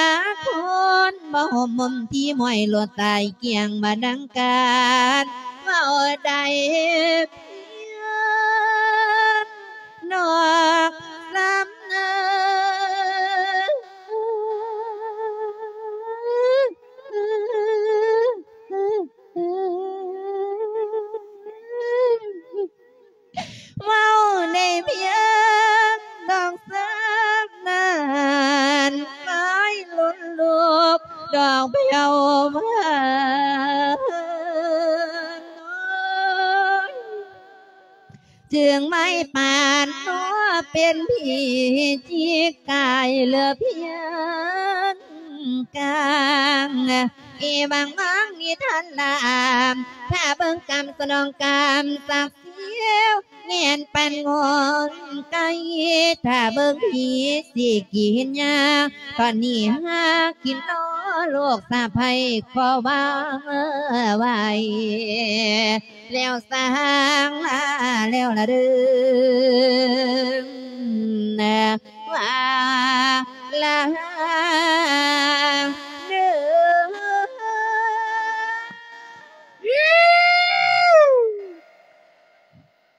ຄົນ ບໍ່ຫົບຫົມທີ່ມວຍໂລດຕາຍກ້ຽງ ບໍ່ດັງການເວົ້າໄດ້ ພຽງນອກສຳເນີ ເວົ້າໄດ້ພຽງດອກສາມນັ້ນ ໄປລຸນລູກດອກພຽວເພິ່ນ ຈຶ່ງໄມ້ປານຕົວເປັນຜີຈີກາຍເຫຼືອພຽງກາງ ອີຫວັງວາງນິທານລາມ ຖ້າເບິ່ງກຳສະໜອງກຳສັກ ສຽວແມ່ນປານງອນໄກ່ ຖ້າເບິ່ງຜີຊິກິນຫຍ້າ ຕອນນີ້ຫາກິນນໍລູກສະໃພ້ ຂໍວາງໄວ້ແລ້ວ ສ້າງລາແລ້ວລະເດີ ວ່າລາເດີ.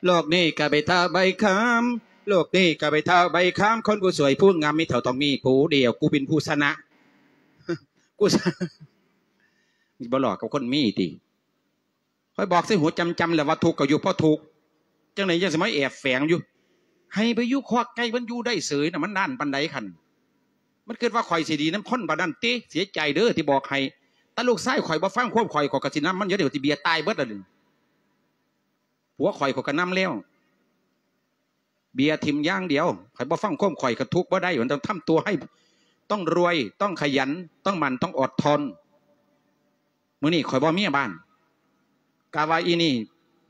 ໂລກນີ້ກະໄປຖ້າໃບຄຳ ໂລກນີ້ກະໄປຖ້າໃບຄຳ ຄົນຜູ້ສວຍຜູ້ງາມມີເທົ່າຕ້ອງມີຜູ້ດຽວ ກູເປັນຜູ້ຊະນະ ກູຊະ ບໍ່ຫຼອກກັບຄົນມີຕິ ຂ້ອຍບອກໃສ່ຫູຈຳໆ ແລ້ວວ່າທຸກກໍຢູ່ພໍທຸກ ຈັ່ງໃດຍັງຊິມາແອບແຝງຢູ່ ໃຫ້ໄປຢູ່ຄອກໄກ່ ມັນຢູ່ໄດ້ເສີຍນະ ມັນດ້ານປານໃດຄັນ ມັນຄິດວ່າຂ້ອຍຊິດີນຳຄົນປານນັ້ນຕິ ເສຍໃຈເດີທີ່ບອກໃຫ້ ແຕ່ລູກຊາຍຂ້ອຍບໍ່ຟັງຄວາມຂ້ອຍ ຂ້ອຍກໍຊິນຳມັນຢູ່ເດ ຊິເບຍຕາຍເບິດລະນີ້ ຜົວຂ້ອຍ ຂ້ອຍກໍນຳແລ້ວ ເບຍຖິ້ມຢ່າງດຽວ ຂ້ອຍບໍ່ຟັງຄວາມຂ້ອຍ ກໍທຸກບໍ່ໄດ້ ມັນຕ້ອງທຳຕົວໃຫ້ ຕ້ອງລວຍ ຕ້ອງຂະຫຍັນ ຕ້ອງໝັ່ນ ຕ້ອງອົດທົນ. ມື້ນີ້ຂ້ອຍບໍ່ເມຍບ້ານ ກະວ່າອີນີ້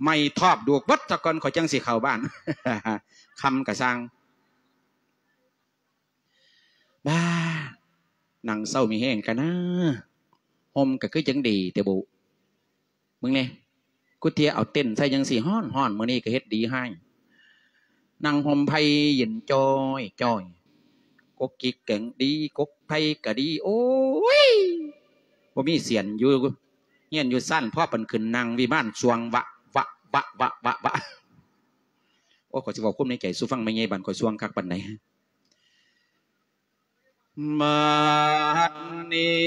ໄໝ້ທອບດູກເບິດຊະກ່ອນ ຂ້ອຍຈັ່ງຊິເຂົ້າບ້ານ ຄ່ຳກະຊ່າງ ບ້າ ນັ່ງເຊົາມີແຮງກະນາ ຮົ່ມກະຄືຈັ່ງດີແຕ່ບຸ ເບິ່ງແນ່ ກູເທຍເອົາເຕັນໃສ່ຈັ່ງຊີ້ ຮ້ອນໆ ມື້ນີ້ກະເຮັດດີຮ້າຍ ນັ່ງຮົ່ມໄຜ່ເຢັນຈ້ອຍໆ ກົກກິກກະດີ ກົກໄຜ່ກະດີ ໂອ້ຍ ບໍ່ມີສຽນ ຢູ່ເຮືອນຢູ່ຊານ ພໍປານຂຶ້ນນັ່ງວິມານ ສ່ວງວະວະວະວະວະວະ ໂອ້ຍ ຂ້ອຍຊິເວົ້າຄວາມໃນໃຈສູ່ຟັງ ແມ່ໃຫຍ່ບ້ານຂ້ອຍສ່ວງຄັກປານໃດ. ບັດນີ້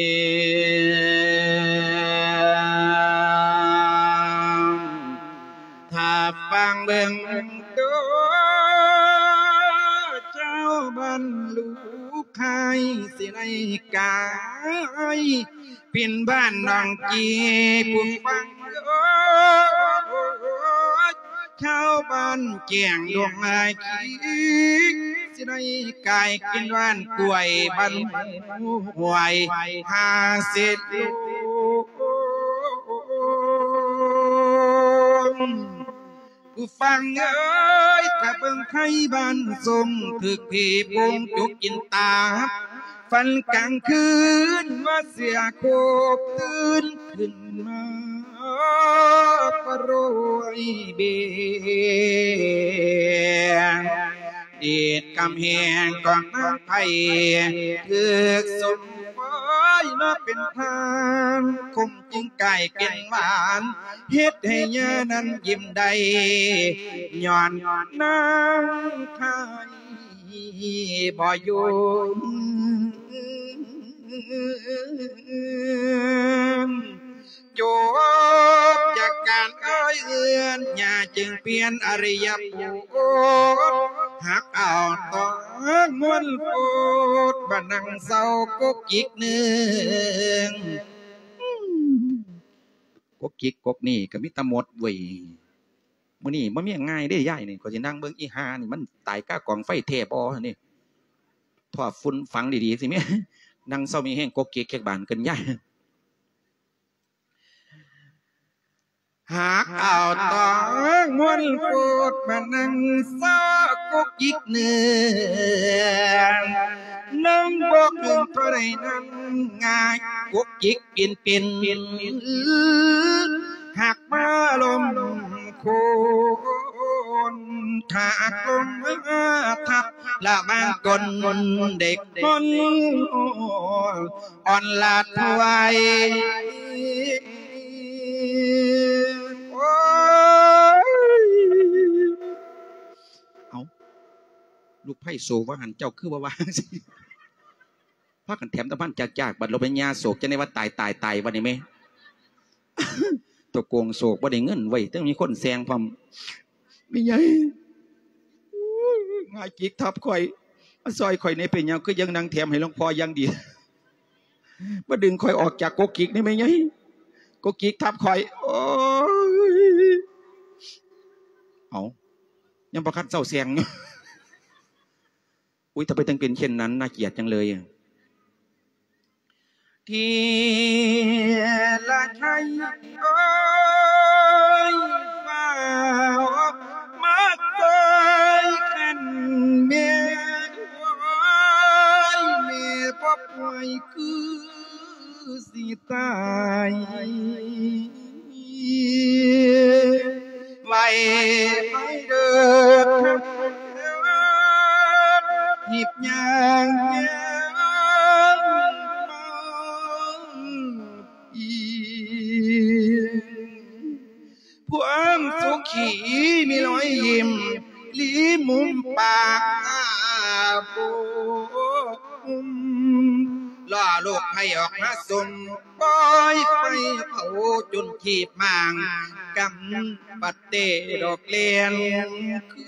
ຖ້າຟັງເບິ່ງໂຕ ເຈົ້າບັນລຸໄຄ ຊິໄດ້ກາຍ ເປັນບ້ານໜອງກີ ຜູ້ຟັງເອີຍ ຊາວບ້ານແກ້ງດົງໄມ້ຂີ ຊິໄດ້ກາຍເປັນບ້ານກ້ວຍ ບ້ານຫ້ວຍ ຫາເສດໂລ ຜູ້ຟັງເອີຍ ຖ້າເບິ່ງໄທບ້ານຊົງ ຖືກຜີໂປ່ງຈຸກກິນຕາ ຝັນກາງຄືນວ່າເສືອໂຄບ ຕື່ນຂຶ້ນມາປະໂຣຍເບຍ ເດດກຳແຫງຂອງນາງໄພ ຖືກສົມປອຍມາເປັນທານ ຄົມຈຶ່ງກາຍເປັນຫວານ ເຮັດໃຫ້ຍານັ້ນຍິ້ມໄດ້ ຍ້ອນນາງໄພບໍ່ຢູ່ ຈົບຈາກການເອີ່ຍເອື້ອນ ຍ່າຈຶ່ງປ່ຽນອະລິຍະໂພດ ຮັກເອົາຕອນມ່ວນໂພດ ມານັ່ງເຊົາກົກກິກເໜືອງ ກົກກິກກົກນີ້ກະມີແຕ່ມົດເວີຍ ມື້ນີ້ບໍ່ມີຫຍັງງ່າຍເດ້ຍາຍນີ້ ຂ້ອຍຊິນັ່ງເບິ່ງອີຫ່ານີ້ ມັນຕາຍຄາກອງໄຟແທ້ບໍ່ນີ້ ຖ້າຝຸ່ນຝັງດີໆ ຊິມີ ນັ່ງເຊົາມີແຮງກົກກິກຈັກບານເກີນຍາຍ. ຫາກເອົາຕອງມ່ວນໂພດ ມານັ່ງຊອກກົກກິກເໜືອງ ນັ່ງບໍ່ເຖິງເທົ່າໃດນັ້ນ ງ່າຍກົກກິກປິ່ນເປັນ ຫາກມາລົມໂຄນ ຖ້າລົມມາທັບ ລະບາງກົນເດັກຄົນ ອ່ອນລາດຖວາຍ ໂອ້ຍ ເອົ້າ ລູກໃພ້ໂສວ່າຫັ້ນ ເຈົ້າຄືບໍ່ວ່າຈັ່ງຊີ້ ພາກັນແຖມຕະພັນຈາກໆ ບັດລົມຍາໂສກ ຈັ່ງໄດ້ວ່າຕາຍ ຕາຍ ຕາຍ ບັດນີ້ແມ່ ຕົວໂກງໂສກ ບໍ່ໄດ້ເງິນເວີຍ ແຕ່ມີຄົນແຊງພ້ອມ ແມ່ໃຫຍ່ ງ່າຍກິກທັບຂ້ອຍ ມາຊ່ອຍຂ້ອຍແດ່ ເປັນຫຍັງຄືຍັງນັ່ງແຖມໃຫ້ຫຼວງພໍ່ຢ່າງດີ ມາດຶງຂ້ອຍອອກຈາກກົກກິກນີ້ແມ່ໃຫຍ່ ກົກກິກທັບຂ້ອຍ ໂອ້ຍ ເອົ້າ ຍັງບໍ່ທັນເຊົາແຊງຢູ່ ອຸ້ຍ ທຳໄມຈຶ່ງເປັນເຊັ່ນນັ້ນ ໜ້າກຽດຈັງເລີຍ. ທີລະໄທ ໂອ້ຍ ຟ້າວມາເຕີຍຄັນແມ່ ໂອ້ຍ ແມ່ບໍ່ປ່ວຍຄືຊິຕາຍ ໄວໄປເດີ ຮີບຍ່າງຍ່າງມາອີກ ຄວາມສຸຂີມີລອຍຍິ້ມ ລີມຸມປາກ ອາໂປ ອຸມ ລໍລູກໃຫ້ອອກມາຊົມ ປ່ອຍໄຟເຜົາຈົນຄີບໝາງ ກຳປະເຕດອກແລ່ນຄື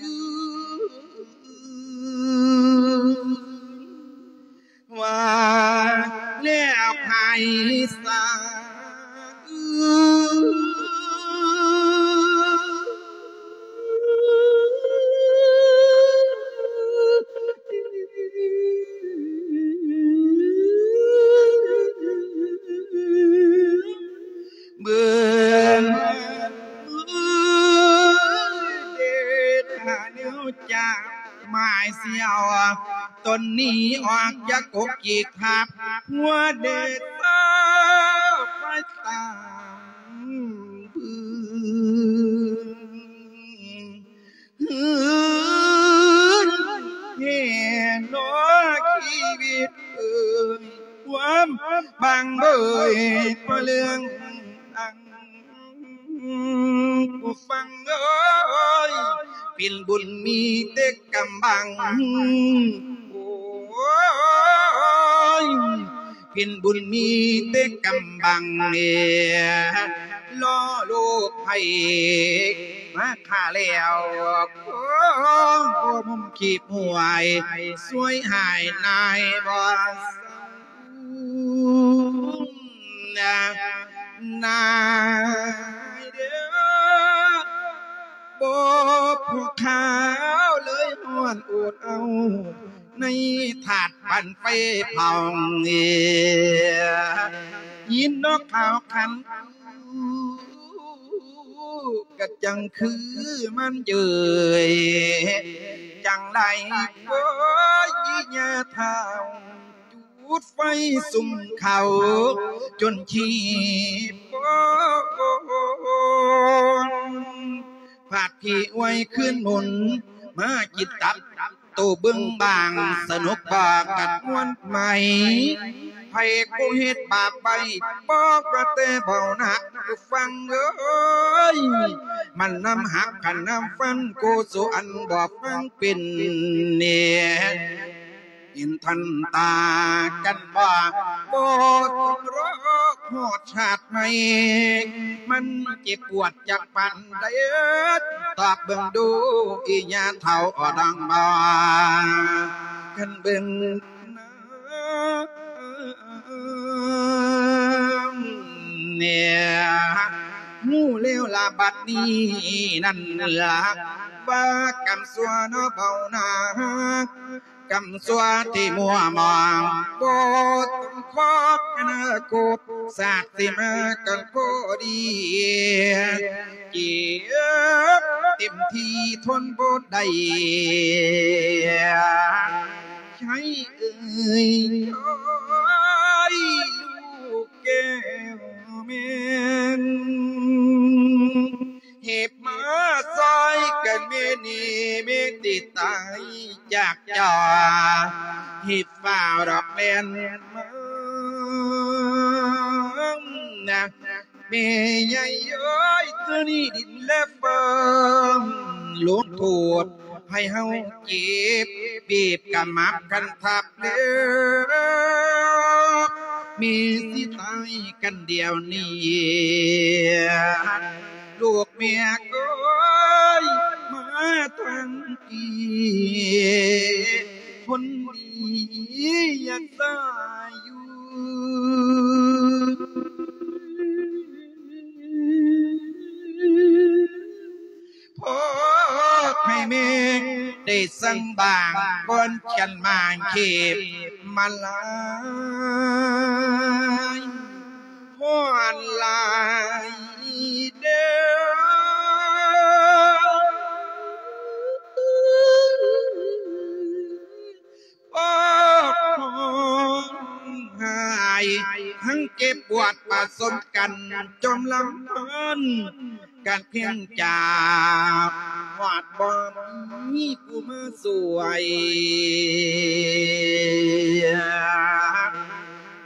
ນ ວ່າແລ້ວໃຜສາ ເບິ່ງເດດ ຖ້າແນວຈາກໝາຍສຽວ ຕົນໜີອອກຈາກກົກຈີກທາບຫົວເດຊາໄປຕາມບຶງ ເຮີນແຫ່ນອກຊີວິດເອີຍ ຄວາມບາງເບີຍ ພະເລື່ອງອັງ ຜູ້ຟັງເອີຍ ເປັນບຸນມີແຕ່ກຳບັງ ໂອ້ຍ ເປັນບຸນມີແຕ່ກຳບັງ ລໍລູກໃຜມາຂ້າແລ້ວ ໂອ້ ບໍ່ມຸມຄີບຫວຍ ຊ່ວຍຫາຍນາຍບໍ່ເຊົາ ນາຍເດີ ບໍ່ພໍຂາວເລີຍຮ້ອນອົດເອົາ ໃນທາດປັນໄຟເຜົາ ຍິນນອກຂາວຂັນ ກະຈັ່ງຄືມັນເຈີຍ ຈັ່ງໃດໂອ້ຍ ອີ່ຍ່າທ້າວ ຈູດໄຟສຸມເຂົ້າ ຈົນຂີ້ໂປນ ພາກຜີອວຍຄືນໝູນ ມາກິນຕັບ ໂຕເບິ່ງບາງ ສະໜຸກບໍ່ກັດມ່ວນໄໝ ໃຜຜູ້ເຮັດບາບໄວ້ ບອກວ່າແຕ່ເບົາໜັກ ຟັງເອີຍ ມັນນຳຫັກ ຄັນນຳຟັນ ໂກສຸອັນບໍ່ຟັງເປັນແນ່ ເຫັນທັນຕາກັນບໍ່ ບໍ່ຕ້ອງລໍຮອດຊາດໃໝ່ ມັນເຈັບປວດຈັກປານໃດ ຕອບເບິ່ງດູ ອີ່ຍ່າເຖົ້າອອດອງບໍ່ ຄັນເບິ່ງ ເນຍ ຮູ້ແລ້ວລະບັດນີ້ນັ້ນລະ ວ່າກຳຊົ່ວເນາະເບົາໜັກ ກຳຊົ່ວທີ່ມົວມອງ ບໍ່ຕ້ອງຄອກອະນາຄົດ ຊາດຊິມາກັນພໍດີ ເຈັບເຕັມທີ່ທົນບໍ່ໄດ້ ໃຫ້ເອີຍ ໂອ້ຍ ລູກແກ້ວແມ່ນ ເຮັບມາຊ່ອຍກັນແມ່ນີ້ ແມ່ຕິຕາຍຈາກເຈົ້າ ເຮັດຟ້າວດອກແລ່ນມາ ນະ ແມ່ໃຫຍ່ເອີຍ ເທື່ອນີ້ດິນແລະຟ້າ ລົງໂທດໃຫ້ເຮົາເຈັບ ບີບກະໝັບກັນທັບແລ້ວ ແມ່ຊິຕາຍກັນດຽວນີ້ ລູກແມ່ເອີຍ ມາທາງທີ່ ຄົນດີຢາກສາຍຢູ່ ພໍໃຫ້ແມ່ໄດ້ສັ່ງບາງ ກ່ອນກັນມາເຂບມາລາຍ ຮ້ອນຫຼາຍເດີ້ ໂອ້ ຮ້ອງໄຫ້ ທັງເຈັບປວດປະສົມກັນ ຈົມລຳພັນກັນພຽງຈາກ ຮອດບໍ່ມີຜູ້ມາຊ່ວຍ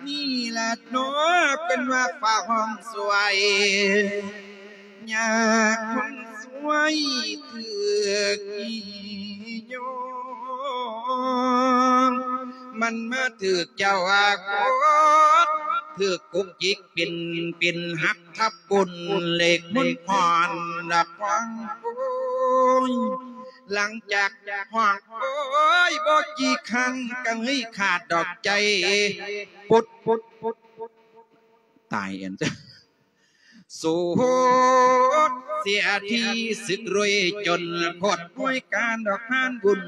ນີ້ລະເນາະ ເພິ່ນວ່າຟ້າຮ້ອງຊ່ວຍ ຍາຄົນຊ່ວຍຖືກຂີ້ຍ້ອງ ມັນມາຖືກເຈົ້າອາກົດ ຖືກກົກຈິກປິ່ນ ປິ່ນຫັກທັບກົ້ນ ເຫຼັກມົນພອນດອກຄວາງໂອ້ຍ ຫຼັງຈາກຮ້ອງໂອ້ຍບໍ່ກີ່ຄັ້ງ ກະເລີຍຂາດດອກໃຈ ປົດ ປົດ ປົດ ປົດ ຕາຍອັນ ສູນເສຍທີ່ສຶກລວຍຈົນ ໂຄດປ່ວຍການດອກງານບຸນ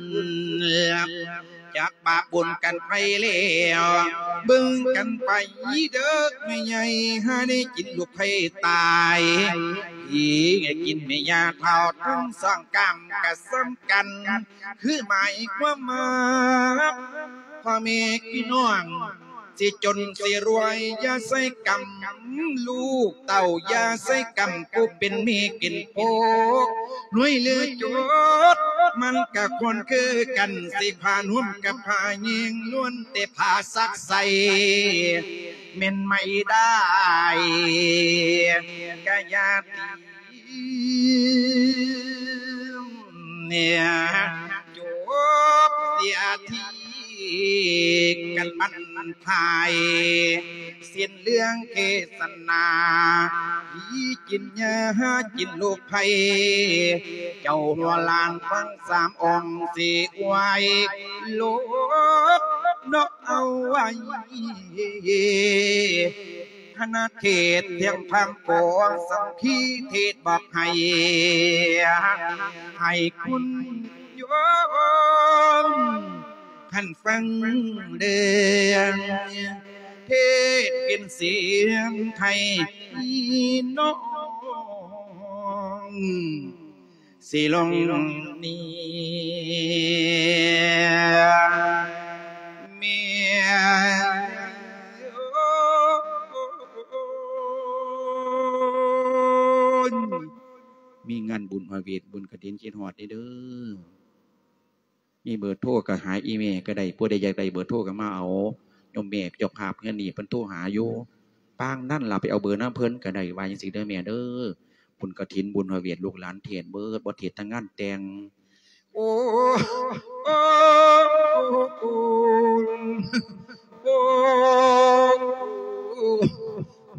ຈາກບາບບຸນກັນໄປແລ້ວ ເບິ່ງກັນໄປເດີແມ່ໃຫຍ່ ຫາໄດ້ກິນລູກໃຜຕາຍ ອີກະກິນແມ່ຍ່າເຖົ້າທັງສອງກາມກະສຳຄັນ ຄືໝາຍຄວາມວ່າ ພໍ່ແມ່ພີ່ນ້ອງ ຊິຈົນຊິລວຍຢ່າໃສ່ກຳ ລູກເຕົ້າຢ່າໃສ່ກຳ ຜູ້ເປັນແມ່ເປັນພໍ່ ລວຍຫຼືຈົນ ມັນກະຄວນຄືກັນ ຊິພານຸ່ມກັບພາຍິງ ລ້ວນແຕ່ພາສັກໃສ່ ແມ່ນໄມ່ໄດ້ ກະຢ່າຕີ ຈົບເສຍທີກັນບັ້ນທ້າຍ ເສັ້ນເລື່ອງເທດສະໜາ ຜີກິນຫຍ້າຫາກິນລູກໃຜ ເຈົ້າຫົວຫຼານຟັງສາມອອງ ຊິອວຍໂລກເນາະ ເອົາໄວ້ ຄະນະເທດທຽງທຳໂກ ສັງຄີເທດບອກໃຫ້ ໃຫ້ຄຸນໂຍມ ຄັນຟັງເດີ ເທດເປັນສຽງໄທພີ່ນ້ອງ ຊິລົງນີ້ແມ່ນ ມີງານບຸນພະເວດ ບຸນກະຖິນ ຄິດຮອດເດີ. ມີເບີໂທກະຫາອີ່ແມ່ກະໄດ້ ຜູ້ໃດຢາກໄດ້ເບີໂທກະມາເອົາ ໂຍມແມ່ເຈົ້າພາບເຮືອນນີ້ເພິ່ນໂທຫາຢູ່ ປາງນັ້ນລະໄປເອົາເບີນຳເພິ່ນກະໄດ້ ວ່າຈັ່ງຊີ້ເດີແມ່ເດີ. ບຸນກະຖິນ ບຸນພະເວດ ລູກຫຼານເທດເບີດ ບໍ່ເທດແຕ່ງງານແຕ່ງ ໂອ້ ໂອ້ ໂອ້ ໂອ້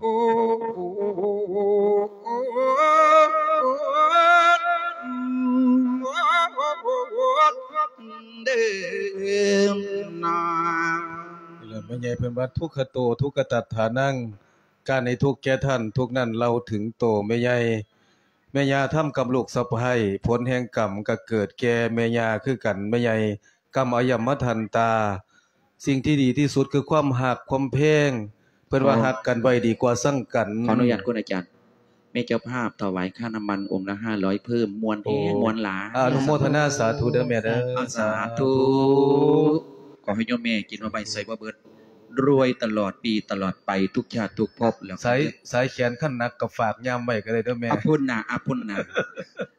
ໂອ້ ໂອ້ ເດີນາ. ນີ້ແຫຼະ ແມ່ໃຫຍ່ເພິ່ນວ່າ ທຸກຂະໂຕ ທຸກຂະຕັດຖານັງ ການໃຫ້ທຸກແກ່ທ່ານ ທຸກນັ້ນເລົ່າເຖິງໂຕແມ່ໃຫຍ່. ແມ່ຍ່າທຳກັບລູກສະໃພ້ ຜົນແຫ່ງກຳກໍເກີດແກ່ແມ່ຍ່າຄືກັນ ແມ່ໃຫຍ່ ກຳອະຍົມມະທັນຕາ. ສິ່ງທີ່ດີທີ່ສຸດຄືຄວາມຮັກຄວາມແພງ ເພິ່ນວ່າ ໂອ້ ຮັກກັນໄວ້ດີກວ່າຊັງກັນ. ຂໍອະນຸຍາດຄຸນອາຈານ ແມ່ເຈົ້າພາບຖວາຍຄ່ານ້ຳມັນອົງລະຫ້າຮ້ອຍເພີ່ມ ມ່ວນແຮງ ໂອ້ ມ່ວນຫຼາຍ. ອະນຸໂມທະນາສາທຸເດີແມ່ເດີ. ສາທຸ ສາທຸ ຂໍໃຫ້ໂຍມແມ່ກິນບໍ່ໄໝ້ໃສ່ບໍ່ເບິດ ລວຍຕະຫຼອດປີຕະຫຼອດໄປ ທຸກຊາດທຸກພົບແລ້ວ. ສາຍ ສາຍແຂນຄັນໜັກກໍຝາກຍາມໄວ້ກໍໄດ້ເດີແມ່. ອະພຸ້ນນາ ອະພຸ້ນນາ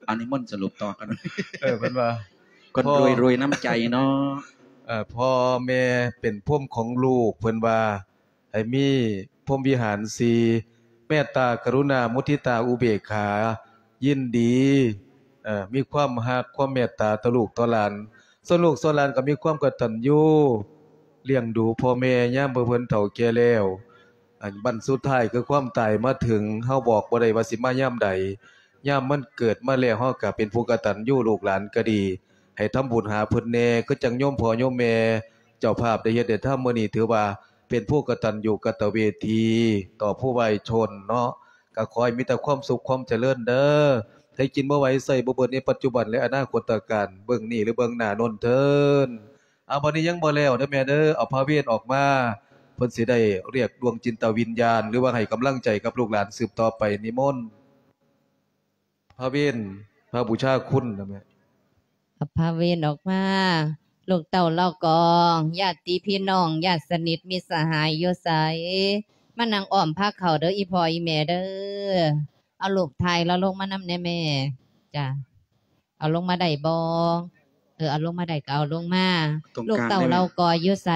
ອັນນີ້ມົນສະຫຼຸບຕໍ່ກັນ. ເອີ ເພິ່ນວ່າ ຄົນ ພໍ່ ລວຍໆ ນ້ຳໃຈເນາະ. ເອີ ພໍ່ແມ່ເປັນພົມຂອງລູກ ເພິ່ນວ່າ ໃຫ້ມີພົມວິຫານສີ່ ເມດຕາ ກະລຸນາ ມຸທິຕາ ອຸເບກຂາ ຍິນດີ ເອີ ມີຄວາມຮັກຄວາມເມດຕາຕໍ່ລູກຕໍ່ຫຼານ. ສ່ວນລູກສ່ວນຫຼານກໍມີຄວາມກະຕັນຍູ ລ້ຽງດູພໍ່ແມ່ຍາມເພິ່ນເຖົ້າແກ່ແລ້ວ. ອັນບັ້ນສຸດທ້າຍຄືຄວາມຕາຍມາເຖິງ ເຮົາບອກບໍ່ໄດ້ວ່າຊິມາຍາມໃດ. ຍາມມັນເກີດມາແລ້ວ ເຮົາກໍເປັນຜູ້ກະຕັນຍູ ລູກຫຼານກໍດີ ໃຫ້ທຳບຸນຫາເພິ່ນແດ່ ຄືຈັ່ງໂຍມພໍ່ໂຍມແມ່ເຈົ້າພາບໄດ້ເຮັດໄດ້ທຳ. ມື້ນີ້ຖືວ່າເປັນຜູ້ກະຕັນຍູກະຕະເວທີຕໍ່ຜູ້ວາຍຊົນເນາະ. ກໍຂໍໃຫ້ມີແຕ່ຄວາມສຸກຄວາມຈະເລີນເດີ ໃຫ້ກິນບໍ່ໄຫວໃຊ້ບໍ່ເບິດໃນປັດຈຸບັນ ແລະ ອະນາຄົດຕະການ ເບື້ອງນີ້ ຫຼື ເບື້ອງໜ້າໂນ້ນເທີ້ນ. ເອົາ ບັດນີ້ຍັງບໍ່ແລ້ວເດີແມ່ເດີ ເອົາພະເວນອອກມາ ເພິ່ນຊິໄດ້ຮຽກດວງຈິດຕະວິນຍານ ຫຼືວ່າໃຫ້ກຳລັງໃຈກັບລູກຫຼານສືບຕໍ່ໄປ. ນິມົນພະເວນ ພະບູຊາຄຸນນະແມ່. ເອົາພະເວນອອກມາ ລູກເຕົ້າເຫຼົ່າກອງ ຍາດຕິພີ່ນ້ອງ ຍາດສະໜິດມິດສະຫາຍຢູ່ໃສ ມານັ່ງອ້ອມພາເຂົ້າເດີ ອີ່ພໍ່ອີ່ແມ່ເດີ. ເອົາ ລູກຖ່າຍລາວລົງມານຳແດ່ແມ່. ຈ້າ ເອົາລົງມາໄດ້ບໍ່? ເອີ ເອົາລົງມາໄດ້ກໍເອົາລົງມາ. ຕຣົງກາງ ລູກເຕົ້າເຫຼົ່າກອຢູ່ໃສ?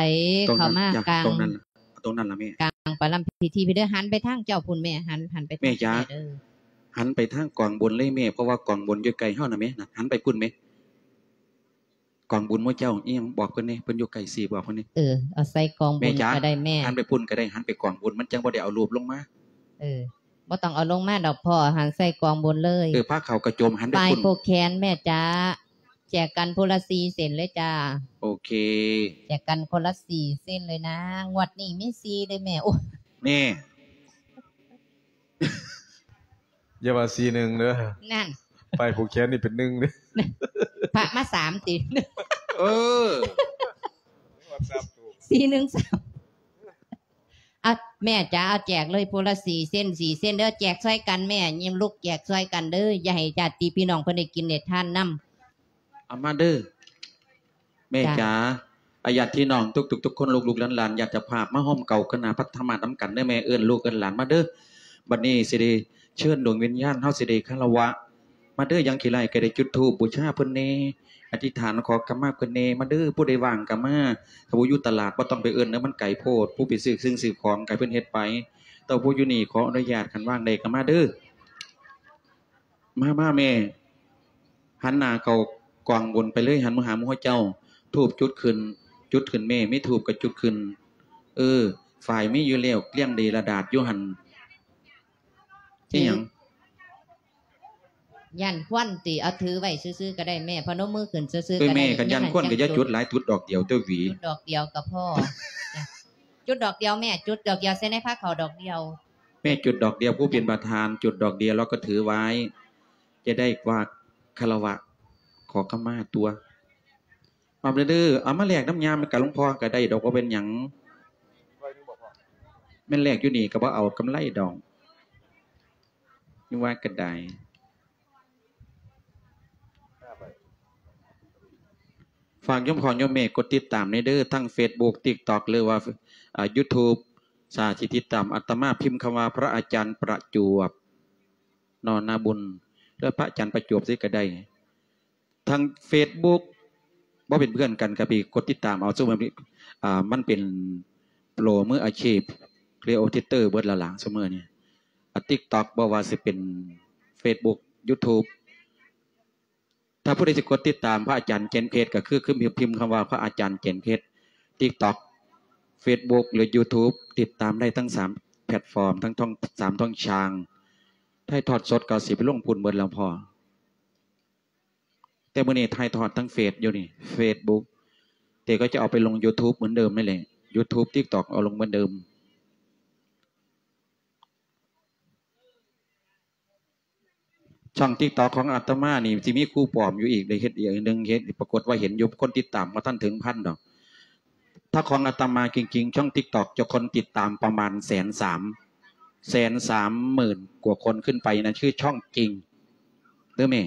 ເຂົ້າມາກາງ ຕຣົງນັ້ນລະແມ່ ກາງປະລຳພິທີພີ້ເດີ. ຫັນໄປທາງເຈົ້າພຸ້ນແມ່ ຫັນ ຫັນໄປທາງແມ່ເດີ ຫັນໄປທາງກອງບຸນເລີຍແມ່ ເພາະວ່າກອງບຸນຢູ່ໃກ້ເຮົານະແມ່. ນະ ຫັນໄປພຸ້ນແມ່ ກອງບຸນໝູ່ເຈົ້າ ອີ່ຫຍັງ ບອກເພິ່ນແດ່ ເພິ່ນຢູ່ໃກ້ຊິບອກເພິ່ນແດ່. ເອີ ເອົາໃສ່ກອງບຸນກໍໄດ້ແມ່ ຫັນໄປພຸ້ນກໍໄດ້ ຫັນໄປກອງບຸນ ມັນຈັ່ງບໍ່ໄດ້ເອົາຮູບລົງມາ. ເອີ ບໍ່ຕ້ອງເອົາລົງມາດອກພໍ່ ຫັນໃສ່ກອງບຸນເລີຍ. ເອີ ພາເຂົ້າກະໂຈມ ຫັນໄປພຸ້ນ ປ້າຍຜູກແຂນແມ່ຈ໋າ ແຈກກັນຜູ້ລະສີ່ເສັ້ນເລີຍຈ້າ. ໂອເຄ ແຈກກັນຄົນລະສີ່ເສັ້ນເລີຍນາ. ງວດນີ້ມີສີ່ເດ້ແມ່. ໂອ້ ແນ່ ຢ່າວ່າສີ່ໜຶ່ງເດີ ນັ້ນ ປ້າຍຜູກແຂນນີ້ເປັນໜຶ່ງເດ້. ພະມາສາມຕິ. ເອີ ສາມໂຕ ສີ່ໜຶ່ງສາມ ອ່ະ ແມ່ຈ໋າ ເອົາແຈກເລີຍ ຜູ້ລະສີ່ເຊັນ ສີ່ເຊັນເດີ ແຈກຊ່ອຍກັນແມ່ ຍິ້ມລຸກແຈກຊ່ອຍກັນເດີ ຢ່າໃຫ້ຍາດຕິພີ່ນ້ອງເພິ່ນໄດ້ກິນໄດ້ທານນຳ. ເອົາມາເດີແມ່ຈ໋າ ອາ ຍາດພີ່ນ້ອງທຸກໆຄົນ ລູກໆຫຼານໆ ຍາດເຈົ້າພາບ ມາໂຮມເກົ້າຄະນະພັດທະມາດນຳກັນເດີແມ່ ເອີ້ນລູກເອີ້ນຫຼານມາເດີ. ບັດນີ້ຊິໄດ້ເຊີນດວງວິນຍານ ເຮົາຊິໄດ້ຄາລະວະ ມາເດີ ຢ່າງຂີ້ໄລ່ກໍໄດ້ ຈຸດທູບບູຊາເພິ່ນແດ່ ອະທິຖານຂໍຂະມາເພິ່ນແດ່ ມາເດີ ຜູ້ໃດວ່າງກໍມາ ຖ້າຜູ້ຢູ່ຕະຫຼາດບໍ່ຕ້ອງໄປເອີ້ນເດີ ມັນໄກໂພດ ຜູ້ໄປຊື້ສິ່ງຊື້ຂອງກໍໃຫ້ເພິ່ນເຮັດໄປ ແຕ່ຜູ້ຢູ່ນີ້ຂໍອະນຸຍາດ ຄັນວ່າງໄດ້ກໍມາເດີ. ມາ ມາແມ່ ຫັນໜ້າເຂົ້າກອງບຸນໄປເລີຍ ຫັນມາຫາໝູ່ເຈົ້າ ທູບຈຸດຂຶ້ນ ຈຸດຂຶ້ນແມ່ ມີທູບກໍຈຸດຂຶ້ນ. ເອີ ຝ້າຍມີຢູ່ແລ້ວ ລຽງໄດ້ລະດາດຢູ່ຫັ້ນ. ອີຫຍັງ? ຢ້ານຄວັນຕິ? ເອົາຖືໄວ້ຊື່ໆກໍໄດ້ແມ່ ພະນົມມືຂຶ້ນຊື່ໆກໍໄດ້. ເອີ ແມ່ ຄັນຢ້ານຄວັນກໍຢ່າຈຸດຫຼາຍ ຈຸດດອກດຽວຕົວະຫວີ ຈຸດດອກດຽວກໍພໍ. ຈຸດດອກດຽວແມ່ ຈຸດດອກດຽວໃສ່ໃນພາເຂົ້າດອກດຽວ. ແມ່ຈຸດດອກດຽວ ຜູ້ເປັນປະທານຈຸດດອກດຽວ ແລ້ວກໍຖືໄວ້ ຈະໄດ້ວ່າຄາລະວະ ຂໍຂະມາຕົວະ. ເອົາເດີ ເອົາມາແລກນຳຍາມກັບຫຼວງພໍ່ກໍໄດ້ດອກ ບໍ່ເປັນຫຍັງ. ແມ່ນແລກຢູ່ນີ້ກໍບໍ່ເອົາກຳໄລດອກ ຢູ່ວ່າກໍໄດ້. ຝາກໂຍມພໍ່ໂຍມແມ່ກົດຕິດຕາມແດ່ເດີ ທັງເຟສບຸກ ຕິກຕັອກ ຫຼືວ່າ ເອີ ຢູທູບ ຖ້າຊິຕິດຕາມອາດຕະມາ ພິມຄຳວ່າ ພະອາຈານປະຈວບ ນໍ ນາບຸນ ຫຼືພະອາຈານປະຈວບຊິກໍໄດ້. ທາງເຟສບຸກ ບໍ່ເປັນເພື່ອນກັນກໍໄປກົດຕິດຕາມເອົາ ຊຸມ ອາ ມັນເປັນໂປຣມືອາຊີບ ຄຣີເອເຕີເບິດແລ້ວລະ ຊຸມມື້ນີ້. ອາ ຕິກຕັອກ ບໍ່ວ່າຊິເປັນເຟສບຸກ ຢູທູບ ຖ້າຜູ້ໃດຊິກົດຕິດຕາມພະອາຈານເຈນເພດ ກໍຄື ຄືພິມຄຳວ່າພະອາຈານເຈນເພດ ຕິກຕັອກ ເຟສບຸກ ຫຼື ຢູທູບ ຕິດຕາມໄດ້ທັງສາມແພລດຟອມ ທັງ ທັງສາມຊ່ອງທາງ. ຖ່າຍທອດສົດກໍຊິໄປລົງພຸ້ນເບິດແລ້ວພໍ່ ແຕ່ມື້ນີ້ຖ່າຍທອດທາງເຟສຢູ່ນີ້ ເຟສບຸກ ແຕ່ກໍຈະເອົາໄປລົງຢູທູບເໝືອນເດີມນັ້ນແຫຼະ ຢູທູບ ຕິກຕັອກ ເອົາລົງເໝືອນເດີມ. ຊ່ອງຕິກຕັອກຂອງອາດຕະມານີ້ຊິມີຄູປອມຢູ່ອີກ ໄດ້ເຮັດອີກອັນໜຶ່ງ ເຮັດ ປາກົດວ່າເຫັນຢູ່ ຄົນຕິດຕາມບໍ່ທັນເຖິງພັນດອກ. ຖ້າຂອງອາດຕະມາຈິງໆ ຊ່ອງຕິກຕັອກເຈົ້າຄົນຕິດຕາມປະມານແສນສາມ ແສນສາມໝື່ນກວ່າຄົນຂຶ້ນໄປ ນັ້ນຄືຊ່ອງຈິງເດີແມ່.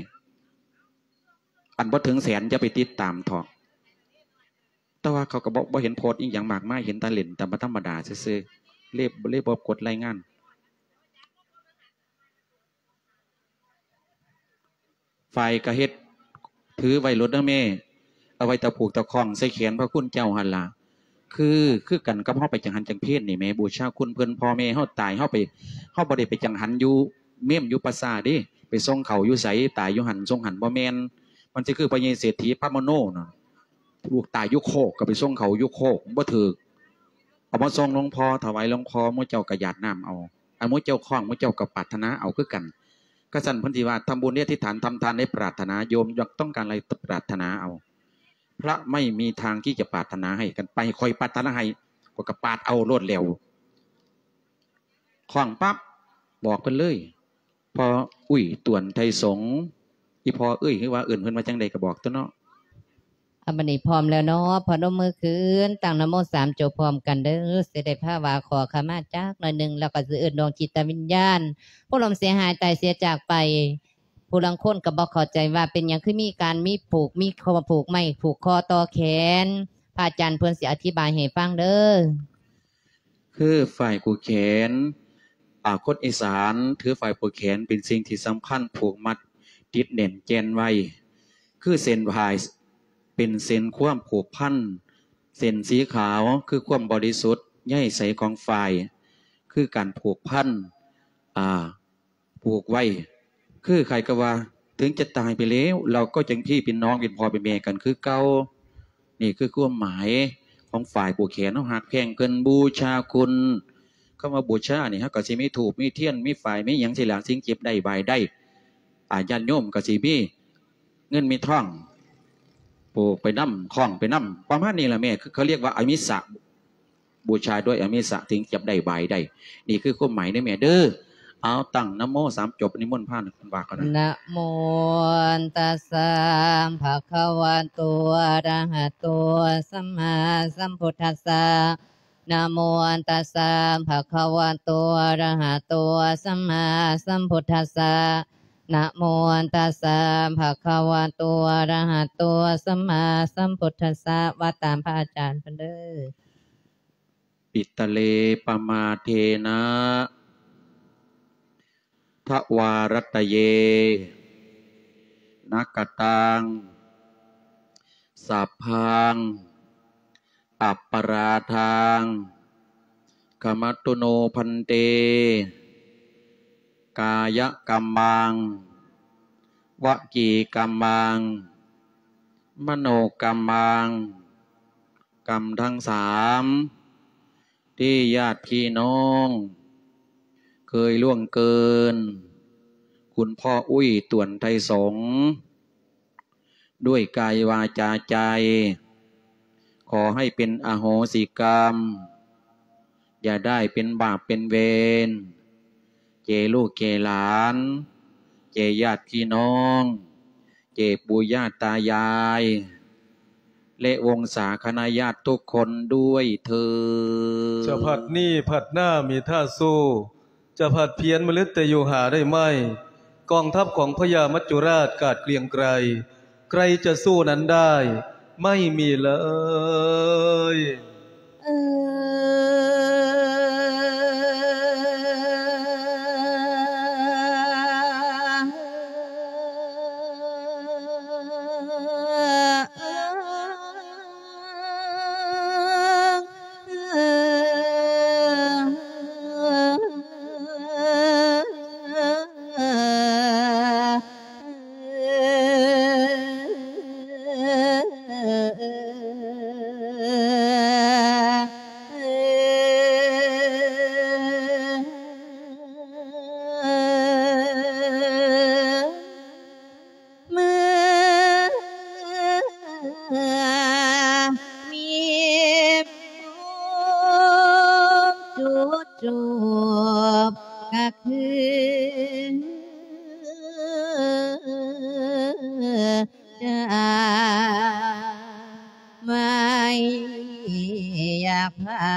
ອັນບໍ່ເຖິງແສນຢ່າໄປຕິດຕາມເຖາະ. ແຕ່ວ່າເຂົາກໍບໍ່ ບໍ່ເຫັນໂພສອີ່ຫຍັງມາກມາຍ ເຫັນແຕ່ຫຼິ້ນຕາມ ທຳມະດາຊື່ໆ ເລີຍ ເລີຍບໍ່ກົດລາຍງານ. ຝ້າຍກໍເຮັດ ຖືໄວ້ໂລດເດີແມ່ ເອົາໄວ້ຕະຜູກຕະຂ້ອງໃສ່ແຂນພະຄຸນເຈົ້າຫັ້ນລະ. ຄື ຄືກັນກັບເຮົາໄປຈັງຫັນຈັງເພນນີ້ແໝ ບູຊາຄຸນເພິ່ນ ພໍ່ແມ່ເຮົາຕາຍ ເຮົາໄປ ເຮົາບໍ່ໄດ້ໄປຈັງຫັນຢູ່ເມມຢູ່ປ່າຊ້າເດ້ ໄປສົ່ງເຂົາຢູ່ໃສ ຕາຍຢູ່ຫັ້ນສົ່ງຫັ້ນ ບໍ່ແມ່ນ. ມັນຊິຄືພະຍາເສດຖີພະມະໂນນະ ລູກຕາຍຢູ່ໂຄກກໍໄປສົ່ງເຂົາຢູ່ໂຄກ ບໍ່ຖືກ. ເອົາມາສົ່ງຫຼວງພໍ່ ຖວາຍຫຼວງພໍ່ ໝູ່ເຈົ້າກໍຢາດນ້ຳເອົາ ອັນໝູ່ເຈົ້າຄ້ອງ ໝູ່ເຈົ້າກໍປາດຖະໜາເອົາຄືກັນ. ກະຊັ້ນເພິ່ນຊິວ່າ ທຳບຸນໃຫ້ອະທິຖານ ທຳທານໃຫ້ປາດຖະໜາ ໂຍມຢາກຕ້ອງການອະໄລປາດຖະໜາເອົາ. ພະໄມ່ມີທາງທີ່ຈະປາດຖະໜາໃຫ້ກັນໄປ ຂ້ອຍປາດຖະໜາໃຫ້ ຂ້ອຍກໍປາດເອົາໂລດແລ້ວ. ຄ້ອງປັບ ບອກເພິ່ນເລີຍ ພໍ່ອຸ້ຍ ຕວນ ໄທສົງ ອີພໍ່ເອີຍ ຫຼືວ່າເອີ້ນເພິ່ນວ່າຈັ່ງໃດກໍບອກຕົວະເນາະ. ອາ ບັດນີ້ພ້ອມແລ້ວເນາະ ພະນົມມືຂຶ້ນ ຕັ້ງນະໂມສາມຈົບພ້ອມກັນເດີ. ຊິໄດ້ພາວາຂໍຂະມາຈັກໜ້ອຍໜຶ່ງ ແລ້ວກໍຊິເອີ້ນດວງຈິດຕະວິນຍານ ຜູ້ລ່ວງເສຍຫາຍຕາຍເສຍຈາກໄປ. ຜູ້ລາງຄົນກໍບໍ່ເຂົ້າໃຈວ່າເປັນຫຍັງຄືມີການມີຜູກ ມີຂໍ້ຜູກໄມ້ຜູກຄໍຕໍ່ແຂນ. ພະອາຈານເພິ່ນຊິອະທິບາຍໃຫ້ຟັງເດີ. ຄືຝ້າຍຜູກແຂນ ອາ ຄົນອີສານຖືຝ້າຍຜູກແຂນເປັນສິ່ງທີ່ສຳຄັນ ຜູກມັດຕິດແໜ້ນແກ່ນໄວ້ ຄືເສັ້ນຝ້າຍ ເປັນເສັ້ນຄວາມຜູກພັນ ເສັ້ນສີຂາວຄືຄວາມບໍລິສຸດໃຍໃສຂອງຝ້າຍ ຄືການຜູກພັນ ອາ ຜູກໄວ້ ຄືໃຜກໍວ່າ ເຖິງຈະຕາຍໄປແລ້ວ ເຮົາກໍຍັງພີ່ເປັນນ້ອງ ເປັນພໍ່ເປັນແມ່ກັນຄືເກົ່າ. ນີ້ຄືຄວາມໝາຍຂອງຝ້າຍຜູກແຂນ ເຮົາຮັກແພງເພິ່ນ ບູຊາຄຸນ. ຄຳວ່າບູຊານີ້ ເຮົາກໍຊິມີທູບ ມີທຽນ ມີຝ້າຍ ມີຫຍັງຊີ້ລະ ສິ່ງເຈັບໄດ້ບາຍໄດ້ ອາ ຍາດໂຍມກໍຊິມີເງິນມີທອງ ຜູກໄປນຳ ຄ້ອງໄປນຳ ປະມານນີ້ລະແມ່ ຄືເຂົາຮຽກວ່າອາມິສະ ບູຊາດ້ວຍອາມິສະ ເຖິງຈະໄດ້ບາຍໄດ້. ນີ້ຄືຄວາມໝາຍເດີແມ່ເດີ. ເອົາ ຕັ້ງນະໂມສາມຈົບ ນິມົນພານເພິ່ນວ່າກ່ອນນະ. ນະໂມຕັດສະ ພະຄະວະໂຕ ອະຣະຫະໂຕ ສຳມາສຳພຸດທັດສະ. ນະໂມຕັດສະ ພະຄະວະໂຕ ອະຣະຫະໂຕ ສຳມາສຳພຸດທັດສະ. ນະໂມຕັດສະ ພະຄະວະໂຕ ອະຣະຫະໂຕ ສຳມາສຳພຸດທັດສະ. ວ່າຕາມພະອາຈານເພິ່ນເດີ. ປິຕະເລ ປະມາເທນະ ທະວາຣັດຕະເຍ ນະກະຕັງ ສັບພັງ ອັບປະລາທັງ ຂະມະຕຸໂນ ພັນເຕ. ກາຍະກຳມັງ ວະຈີກຳມັງ ມະໂນກຳມັງ ກຳທັງສາມ ທີ່ຍາດພີ່ນ້ອງເຄີຍລ່ວງເກີນ ຄຸນພໍ່ອຸ້ຍ ຕວນ ໄທສົງ ດ້ວຍກາຍວາຈາໃຈ ຂໍໃຫ້ເປັນອະໂຫສິກຳ ຢ່າໄດ້ເປັນບາບເປັນເວນ ແກ່ລູກແກ່ຫຼານ ແກ່ຍາດພີ່ນ້ອງ ແກ່ປູ່ຍ່າຕາຍາຍ ແລະ ວົງສາຄະນະຍາດທຸກຄົນດ້ວຍເທີ້ນ. ຈະພັດນີ້ພັດໜ້າມີທ່າສູ້ ຈະພັດພຽນມະລຶດແຕ່ຢູ່ຫາໄດ້ໄໝ? ກອງທັບຂອງພະຍາມັດຈຸລາດກາດເກລຽງໄກລ ໃຄຈະສູ້ນັ້ນໄດ້ ໄມ່ມີເລີຍ. ເມື່ອມີພູມຈຸດຈົບກະຄືຈາກ ໄມ່ຢາກພາ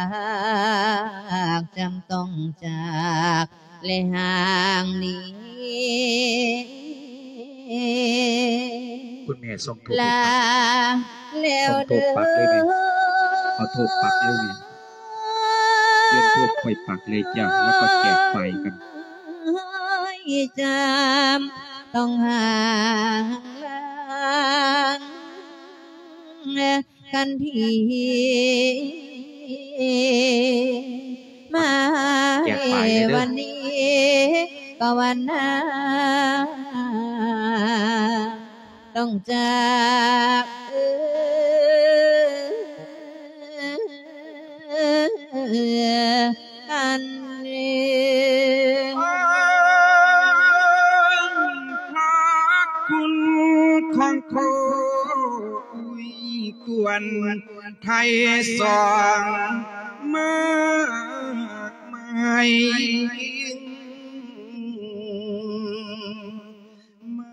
ກ ຈຳຕ້ອງຈາກ ແລະ ຫ່າງໜີ. ຄຸນແມ່ສົ່ງທູບ ລາແລ້ວເດີ ເອົາທູບປັກເລີຍນີ້ ເອົາທູບປັກເລີຍນີ້ ເລື່ອນທູບຂ້ອຍປັກເລີຍຈ້າ ແລ້ວກໍແຈກໄປກັນ ຈຳຕ້ອງຫ່າງລາງ ກັນທີມາ ແຈກປາຍເລີຍເດີ ວັນນີ້ກໍວັນໜ້າ ຕ້ອງຈາກ ເອີ ກັນເອງ ພະຄຸນຂອງພໍ່ອຸ້ຍ ກວນໄທສອງມາກມາຍ ໄມ່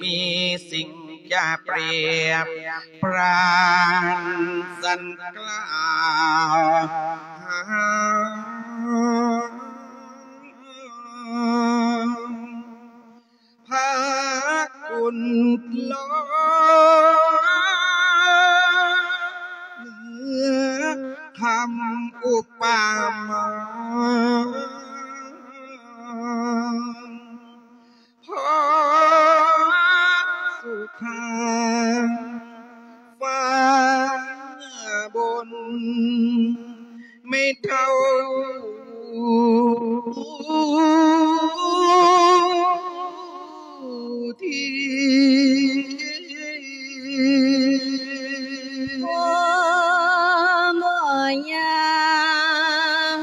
ມີສິ່ງຈະປຽບປານ ສັນກ່າວຫາ ພະຄຸນຫຼອງ ເໜືອຄຳອຸປະມາ ພໍສຸຂາງຟ້າບົນ ແມ່ເຖົ້າທີ່ ໂອ້ ບໍ່ຍາກ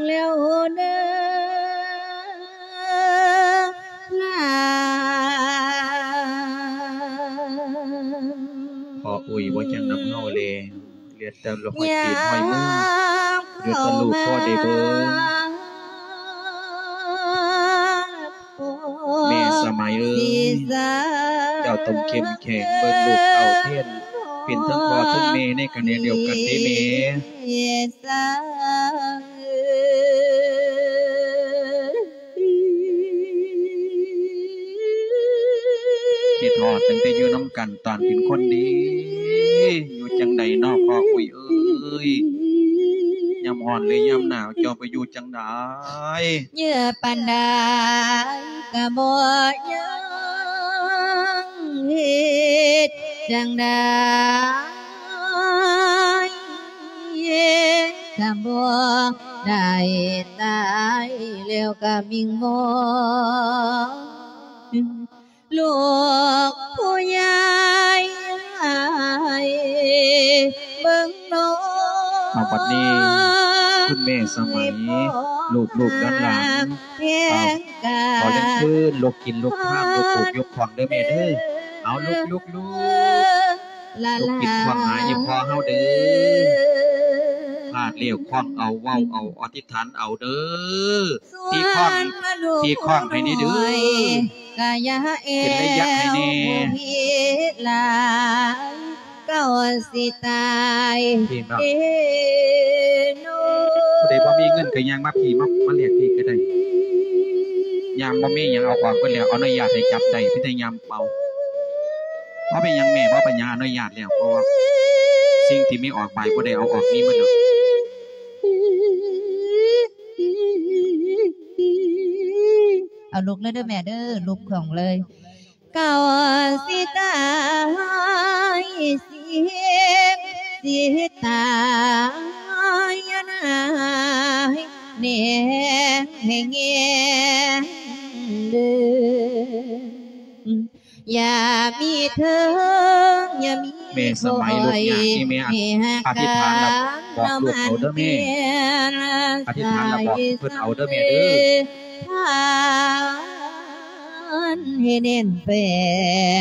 ແລ້ວເດີ ພໍ່ອຸ້ຍບໍ່ຍັງນຳເຮົາແລ້ວ. ເຫຼືອແຕ່ຮອຍຕີນຮອຍມື ເຫຼືອແຕ່ຮູບພໍໄດ້ເບິ່ງ. ແມ່ສະໄໝເອີຍ ເຈົ້າຕ້ອງເຂັ້ມແຂງເບິ່ງລູກເຕົ້າແທນ ເປັນທັງພໍ່ທັງແມ່ໃນຂະແໜງດຽວກັນເດ້ແມ່. ຄິດຮອດຕັ້ງແຕ່ຢູ່ນຳກັນຕອນເປັນຄົນເດ້ ຢູ່ຈັ່ງໃດນໍພໍ່ອຸ້ຍເອີຍ ຍາມຮ້ອນ ຫຼື ຍາມໜາວ ເຈົ້າໄປຢູ່ຈັ່ງໃດ? ເຍອະປານໃດກະບໍ່ຍັງ ເຮັດຈັ່ງໃດ ກະບໍ່ໄດ້ ຕາຍແລ້ວກະວິງວອນ ລູກຜູ້ໃຫຍ່ໃຫ້ເບິ່ງນ້ອງ. ເອົາ ບັດນີ້ ຄຸນແມ່ສະໄໝ ລູກໆ ຫຼານໆ ເອົາ ຂໍລຽນເຊີນ ຍົກກິນຍົກຄານ ຍົກຂອງເດີແມ່ເດີ. ເອົາ ລຸກໆໆ ລຸກກິນຂອງຫາອີ່ພໍ່ເຮົາເດີ. ພາດແລ້ວຄອງເອົາ ເວົ້າເອົາ ອະທິຖານເອົາເດີ. ຕີຄອງ ຕີຄອງໃຫ້ແດ່ເດີ ເປັນໄລຍະໃຫ້ແດ່. ເຈົ້າຊິຕາຍເດ້ໂນ. ຜູ້ໃດບໍ່ມີເງິນກໍຍ່າງມາພີ້ ມາ ມາແລກພີ້ກໍໄດ້. ຍາມບໍ່ມີຫຍັງເອົາອອກເບິດແລ້ວ ອະນຸຍາດໃຫ້ຈັບໄດ້ ມີແຕ່ຍາມເປົ່າ. ບໍ່ເປັນຫຍັງແມ່ ບໍ່ເປັນຫຍັງ ອະນຸຍາດແລ້ວ ເພາະວ່າສິ່ງທີ່ມີອອກໄປບໍ່ໄດ້ເອົາອອກ ມີໝົດແລ້ວ. ເອົາລຸກເລີຍເດີແມ່ເດີ ລຸກຂອງເລີຍ. ເຈົ້າຊິຕາຍ ຊິເຮັດ ຊິຕາຍ ນາຍແນງໃຫ້ແງງເດີ. ຢ່າມີເທີງ ຢ່າມີ ແມ່ສະໄໝ ລູກຍາກນີ້ແມ່ ອະທິຖານລະບອກລູກເອົາເດີແມ່. ອະທິຖານລະບອກເພິ່ນເອົາເດີແມ່ເດີ. ໃຫ້ແໜ້ນແຟ້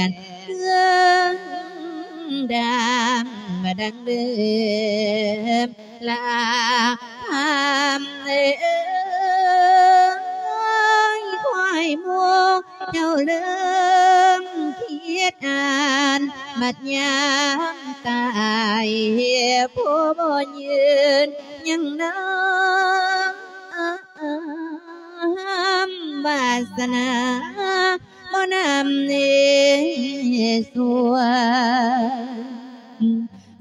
ນ ເຄື່ອງດຳມາດັງເດີມ ລາຄຳເອີຍ ຄວາຍໝູເຈົ້າເລີ່ມຄິດອ່ານ ບັດຍາມຕາຍ ຜູ້ບໍ່ຢືນຍັງນຳ ວາສະໜາບໍ່ນຳເນສວນ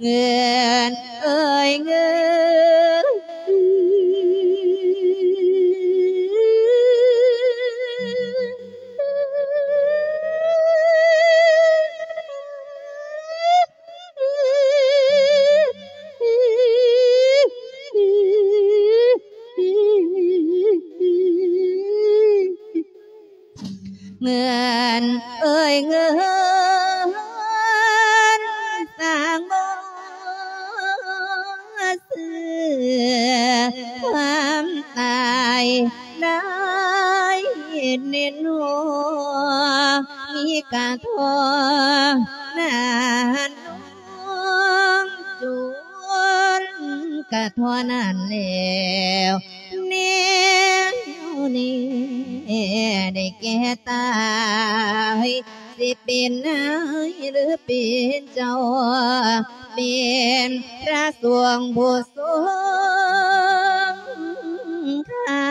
ເງິນເອີຍເງິນ. ເງິນເອີຍເງິນ ສ້າງບໍ່ຊື້ຄວາມຕາຍໄດ້ແນ່ນອນ ມີກະທໍ່ນານ ນ້ອງຈູນກະທໍ່ນັ້ນແລ້ວ ແນວນີ້ໄດ້ແກ່ຕາຍ ຊິເປັນນາຍຫຼືເປັນເຈົ້າ ເປັນພະສົງຜູ້ຊົງຄ່າ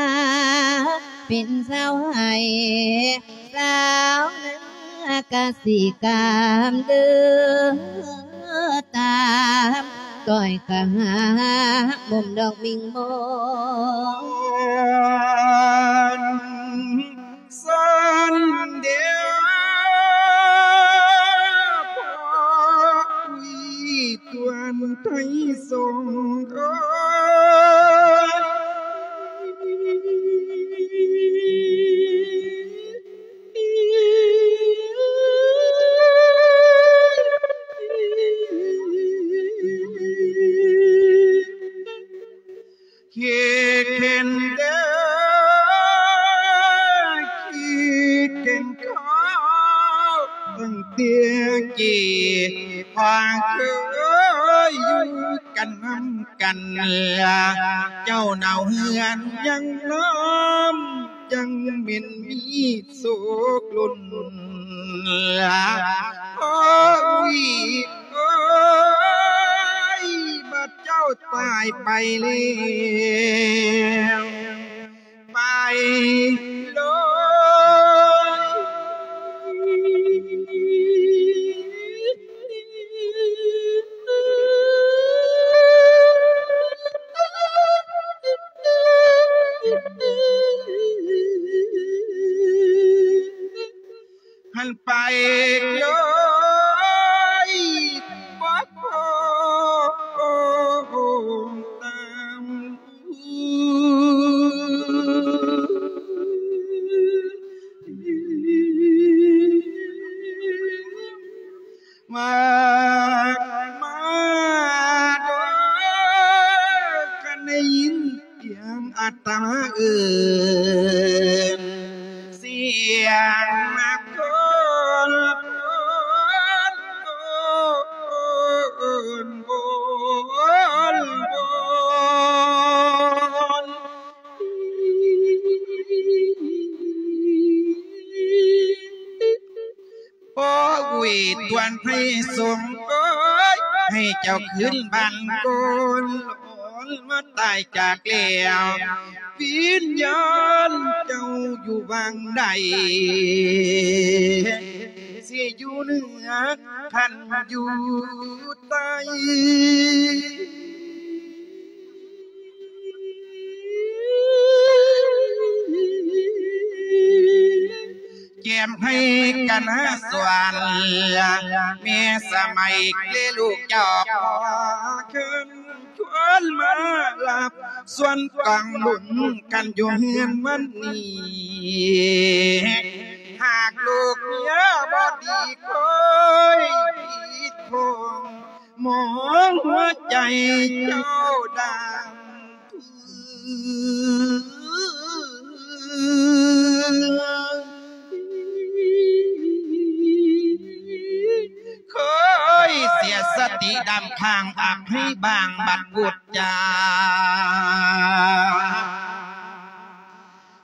ເປັນຊາວໄຮ່ ຊາວນາກະສິກຳເດີ ຕາມກ້ອຍກະຫາມຸມດອກມິງມອນ ສັນເດວ ພໍ່ອຸ້ຍ ຕວນໄທຊົງເອີຍ. ເຮັດເຫັນເດີ ຄິດເຫັນເຂົາ ຕັ້ງແຕ່ກີ້ຄວາງເຄີຍ ຢູ່ກັນນຳກັນ ເຈົ້າໜາວເຮືອນຍັງນ້ອມ ຍັງແມ່ນມີໂສກລົ້ນ ໂອ້ຍ ໂອ້ຍ ບັດເຈົ້າຕາຍໄປແລ້ວ ໄປເລີຍ ຫັ້ນໄປເລີຍ ບໍ່ພໍຕາມ ມາ ມາເດີ ຄັນໄດ້ຍິນສຽງອາດຕະມາເອີ້ນ ສຽງນະຄົນ ໂອນ ໂອນ ໂອນ ໂອນ ໂອ້ຍ ຕວນໄພສົງເອີຍ ໃຫ້ເຈົ້າຄືນບ້ານໂກນ ມາຕາຍຈາກແລ້ວ ວິນຍານເຈົ້າຢູ່ຫວ່າງໃດ ຊິຢູ່ເໜືອ ຄັນຢູ່ໃຕ້ ແກ້ມໃຫ້ກັນຫາສວນ ແມ່ສະໄໝເລລູກເຈົ້າ ຂໍເຊີນຊວນມາຮັບສ່ວນກອງບຸນກັນຢູ່ເຮືອນວັນນີ້ ຫາກລູກເມຍບໍ່ດີຄ່ອຍຜິດພົງ ມອງຫົວໃຈເຈົ້າດຳ ເຄີຍເສຍສະຕິດຳຂ້າງອັກໃຫ້ບາງບັດບຸດຈາ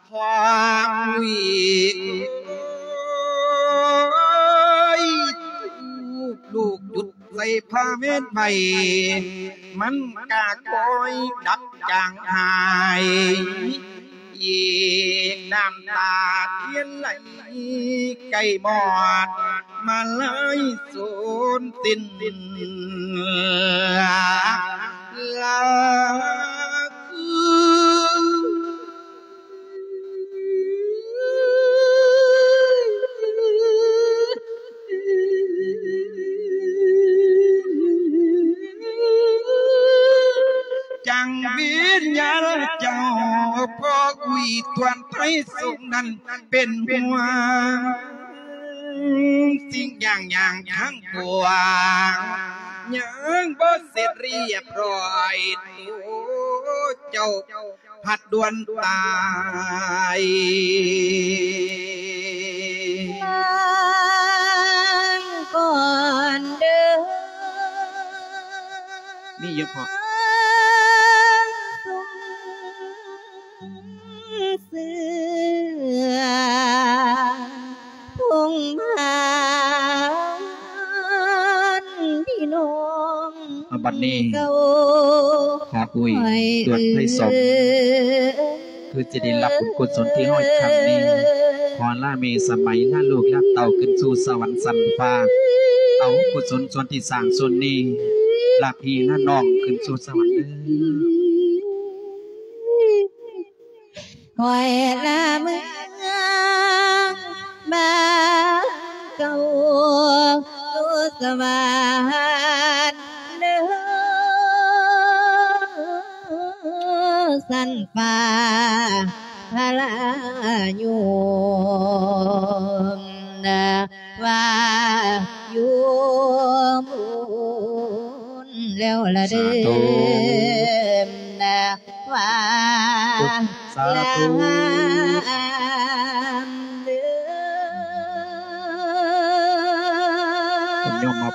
ຄວາມວິກ ໂອ້ຍ ລູກຈຸດໃສ່ຜ້າແມ່ນໄວ້ ມັນກະຄ່ອຍດັບຈາງຫາຍ ອີກນ້ຳຕາທຽນໄຫຼ ໃກ້ມອດມາລາຍສູນສິ້ນ ລາຄື ຈັງວິນຍານເຈົ້າ ພໍ່ອຸ້ຍ ຕວນໄພສົງນັ້ນ ເປັນຫ່ວງ ສິ່ງຢ່າງຢ່າງທັງປວງ ຍັງບໍ່ເສັດລຽບຮ້ອຍ ໂຕເຈົ້າພັດດ່ວນຕາຍ ລາກ່ອນເດີ ມີຢູ່ພໍ່ ເສືອ ພົງພານພີ່ນ້ອງ ອາ ບັດນີ້ ເກົ່າ ພາອຸ້ຍ ຕວນໄພສົງ ຄືຈະໄດ້ຮັບບຸນກຸສົນທີ່ເຮົາເຮັດຄັ້ງນີ້ ຂໍລາແມ່ສະໄໝ ລາລູກລາເຕົ້າຂຶ້ນສູ່ສະຫວັນຊັ້ນຟ້າ ເອົາກຸສົນສ່ວນທີ່ສ້າງສ່ວນນີ້ ລາພີ່ລານ້ອງຂຶ້ນສູ່ສະຫວັນເດີ. ຂ້ອຍລາເມືອງບ້ານເກົ່າ ຢູ່ສະຫວັນເດີ ຊັ້ນຟ້າພະລາຍົມນະ ວ່າຢູ່ບຸນແລ້ວລະເດີ ສາທຸ ນະ ວ່າ ສາທຸ ລາເດີ ເພິ່ນຍອມຮັບ